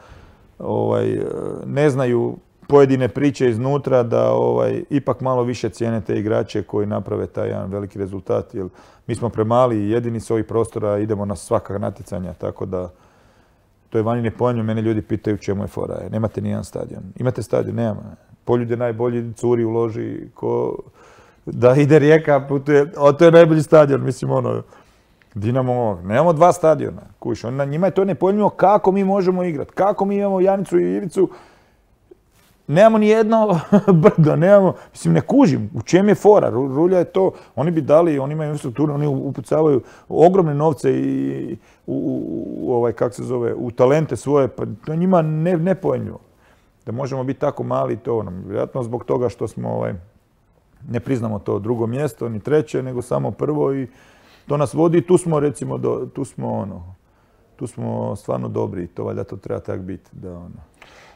ovaj, ne znaju pojedine priče iznutra, da ovaj, ipak malo više cijene te igrače koji naprave taj jedan veliki rezultat. Jer mi smo premali i jedini s ovih prostora idemo na svaka natjecanja, tako da to je vani nepojmljivo. Mene ljudi pitaju čemu je fora. Nemate nijedan stadion. Imate stadion? Nema. Poljud je najbolji, curi uloži, ko da ide Rijeka, putuje, o, to je najbolji stadion, mislim ono, Dinamo, nemamo dva stadiona, kuš, on, njima je to nepojmljivo kako mi možemo igrati, kako mi imamo Janicu i Ivicu, nemamo ni jedno brdo, nemamo, mislim ne kužim, u čem je fora, Rulja je to, oni bi dali, oni imaju infrastrukturu, oni upucavaju ogromne novce i u, u, u ovaj, kak se zove, u talente svoje, pa to je njima ne, nepojmljivo. Da možemo biti tako mali, to ono, vjerojatno zbog toga što smo, ovaj, ne priznamo to drugo mjesto, ni treće, nego samo prvo i to nas vodi, tu smo recimo, do, tu smo ono, tu smo stvarno dobri i to valjda to treba tak biti, da ono.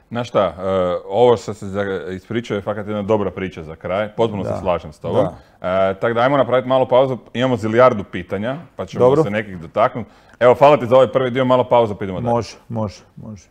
Znaš šta, ovo što se ispričao je fakat jedna dobra priča za kraj, potpuno se slažem s tobom. E, tako da ajmo napraviti malu pauzu, imamo zilijardu pitanja, pa ćemo Dobro. se nekih dotaknuti. Evo, hvala ti za ovaj prvi dio, malo pauza, pa idemo dalje. Može, može, može.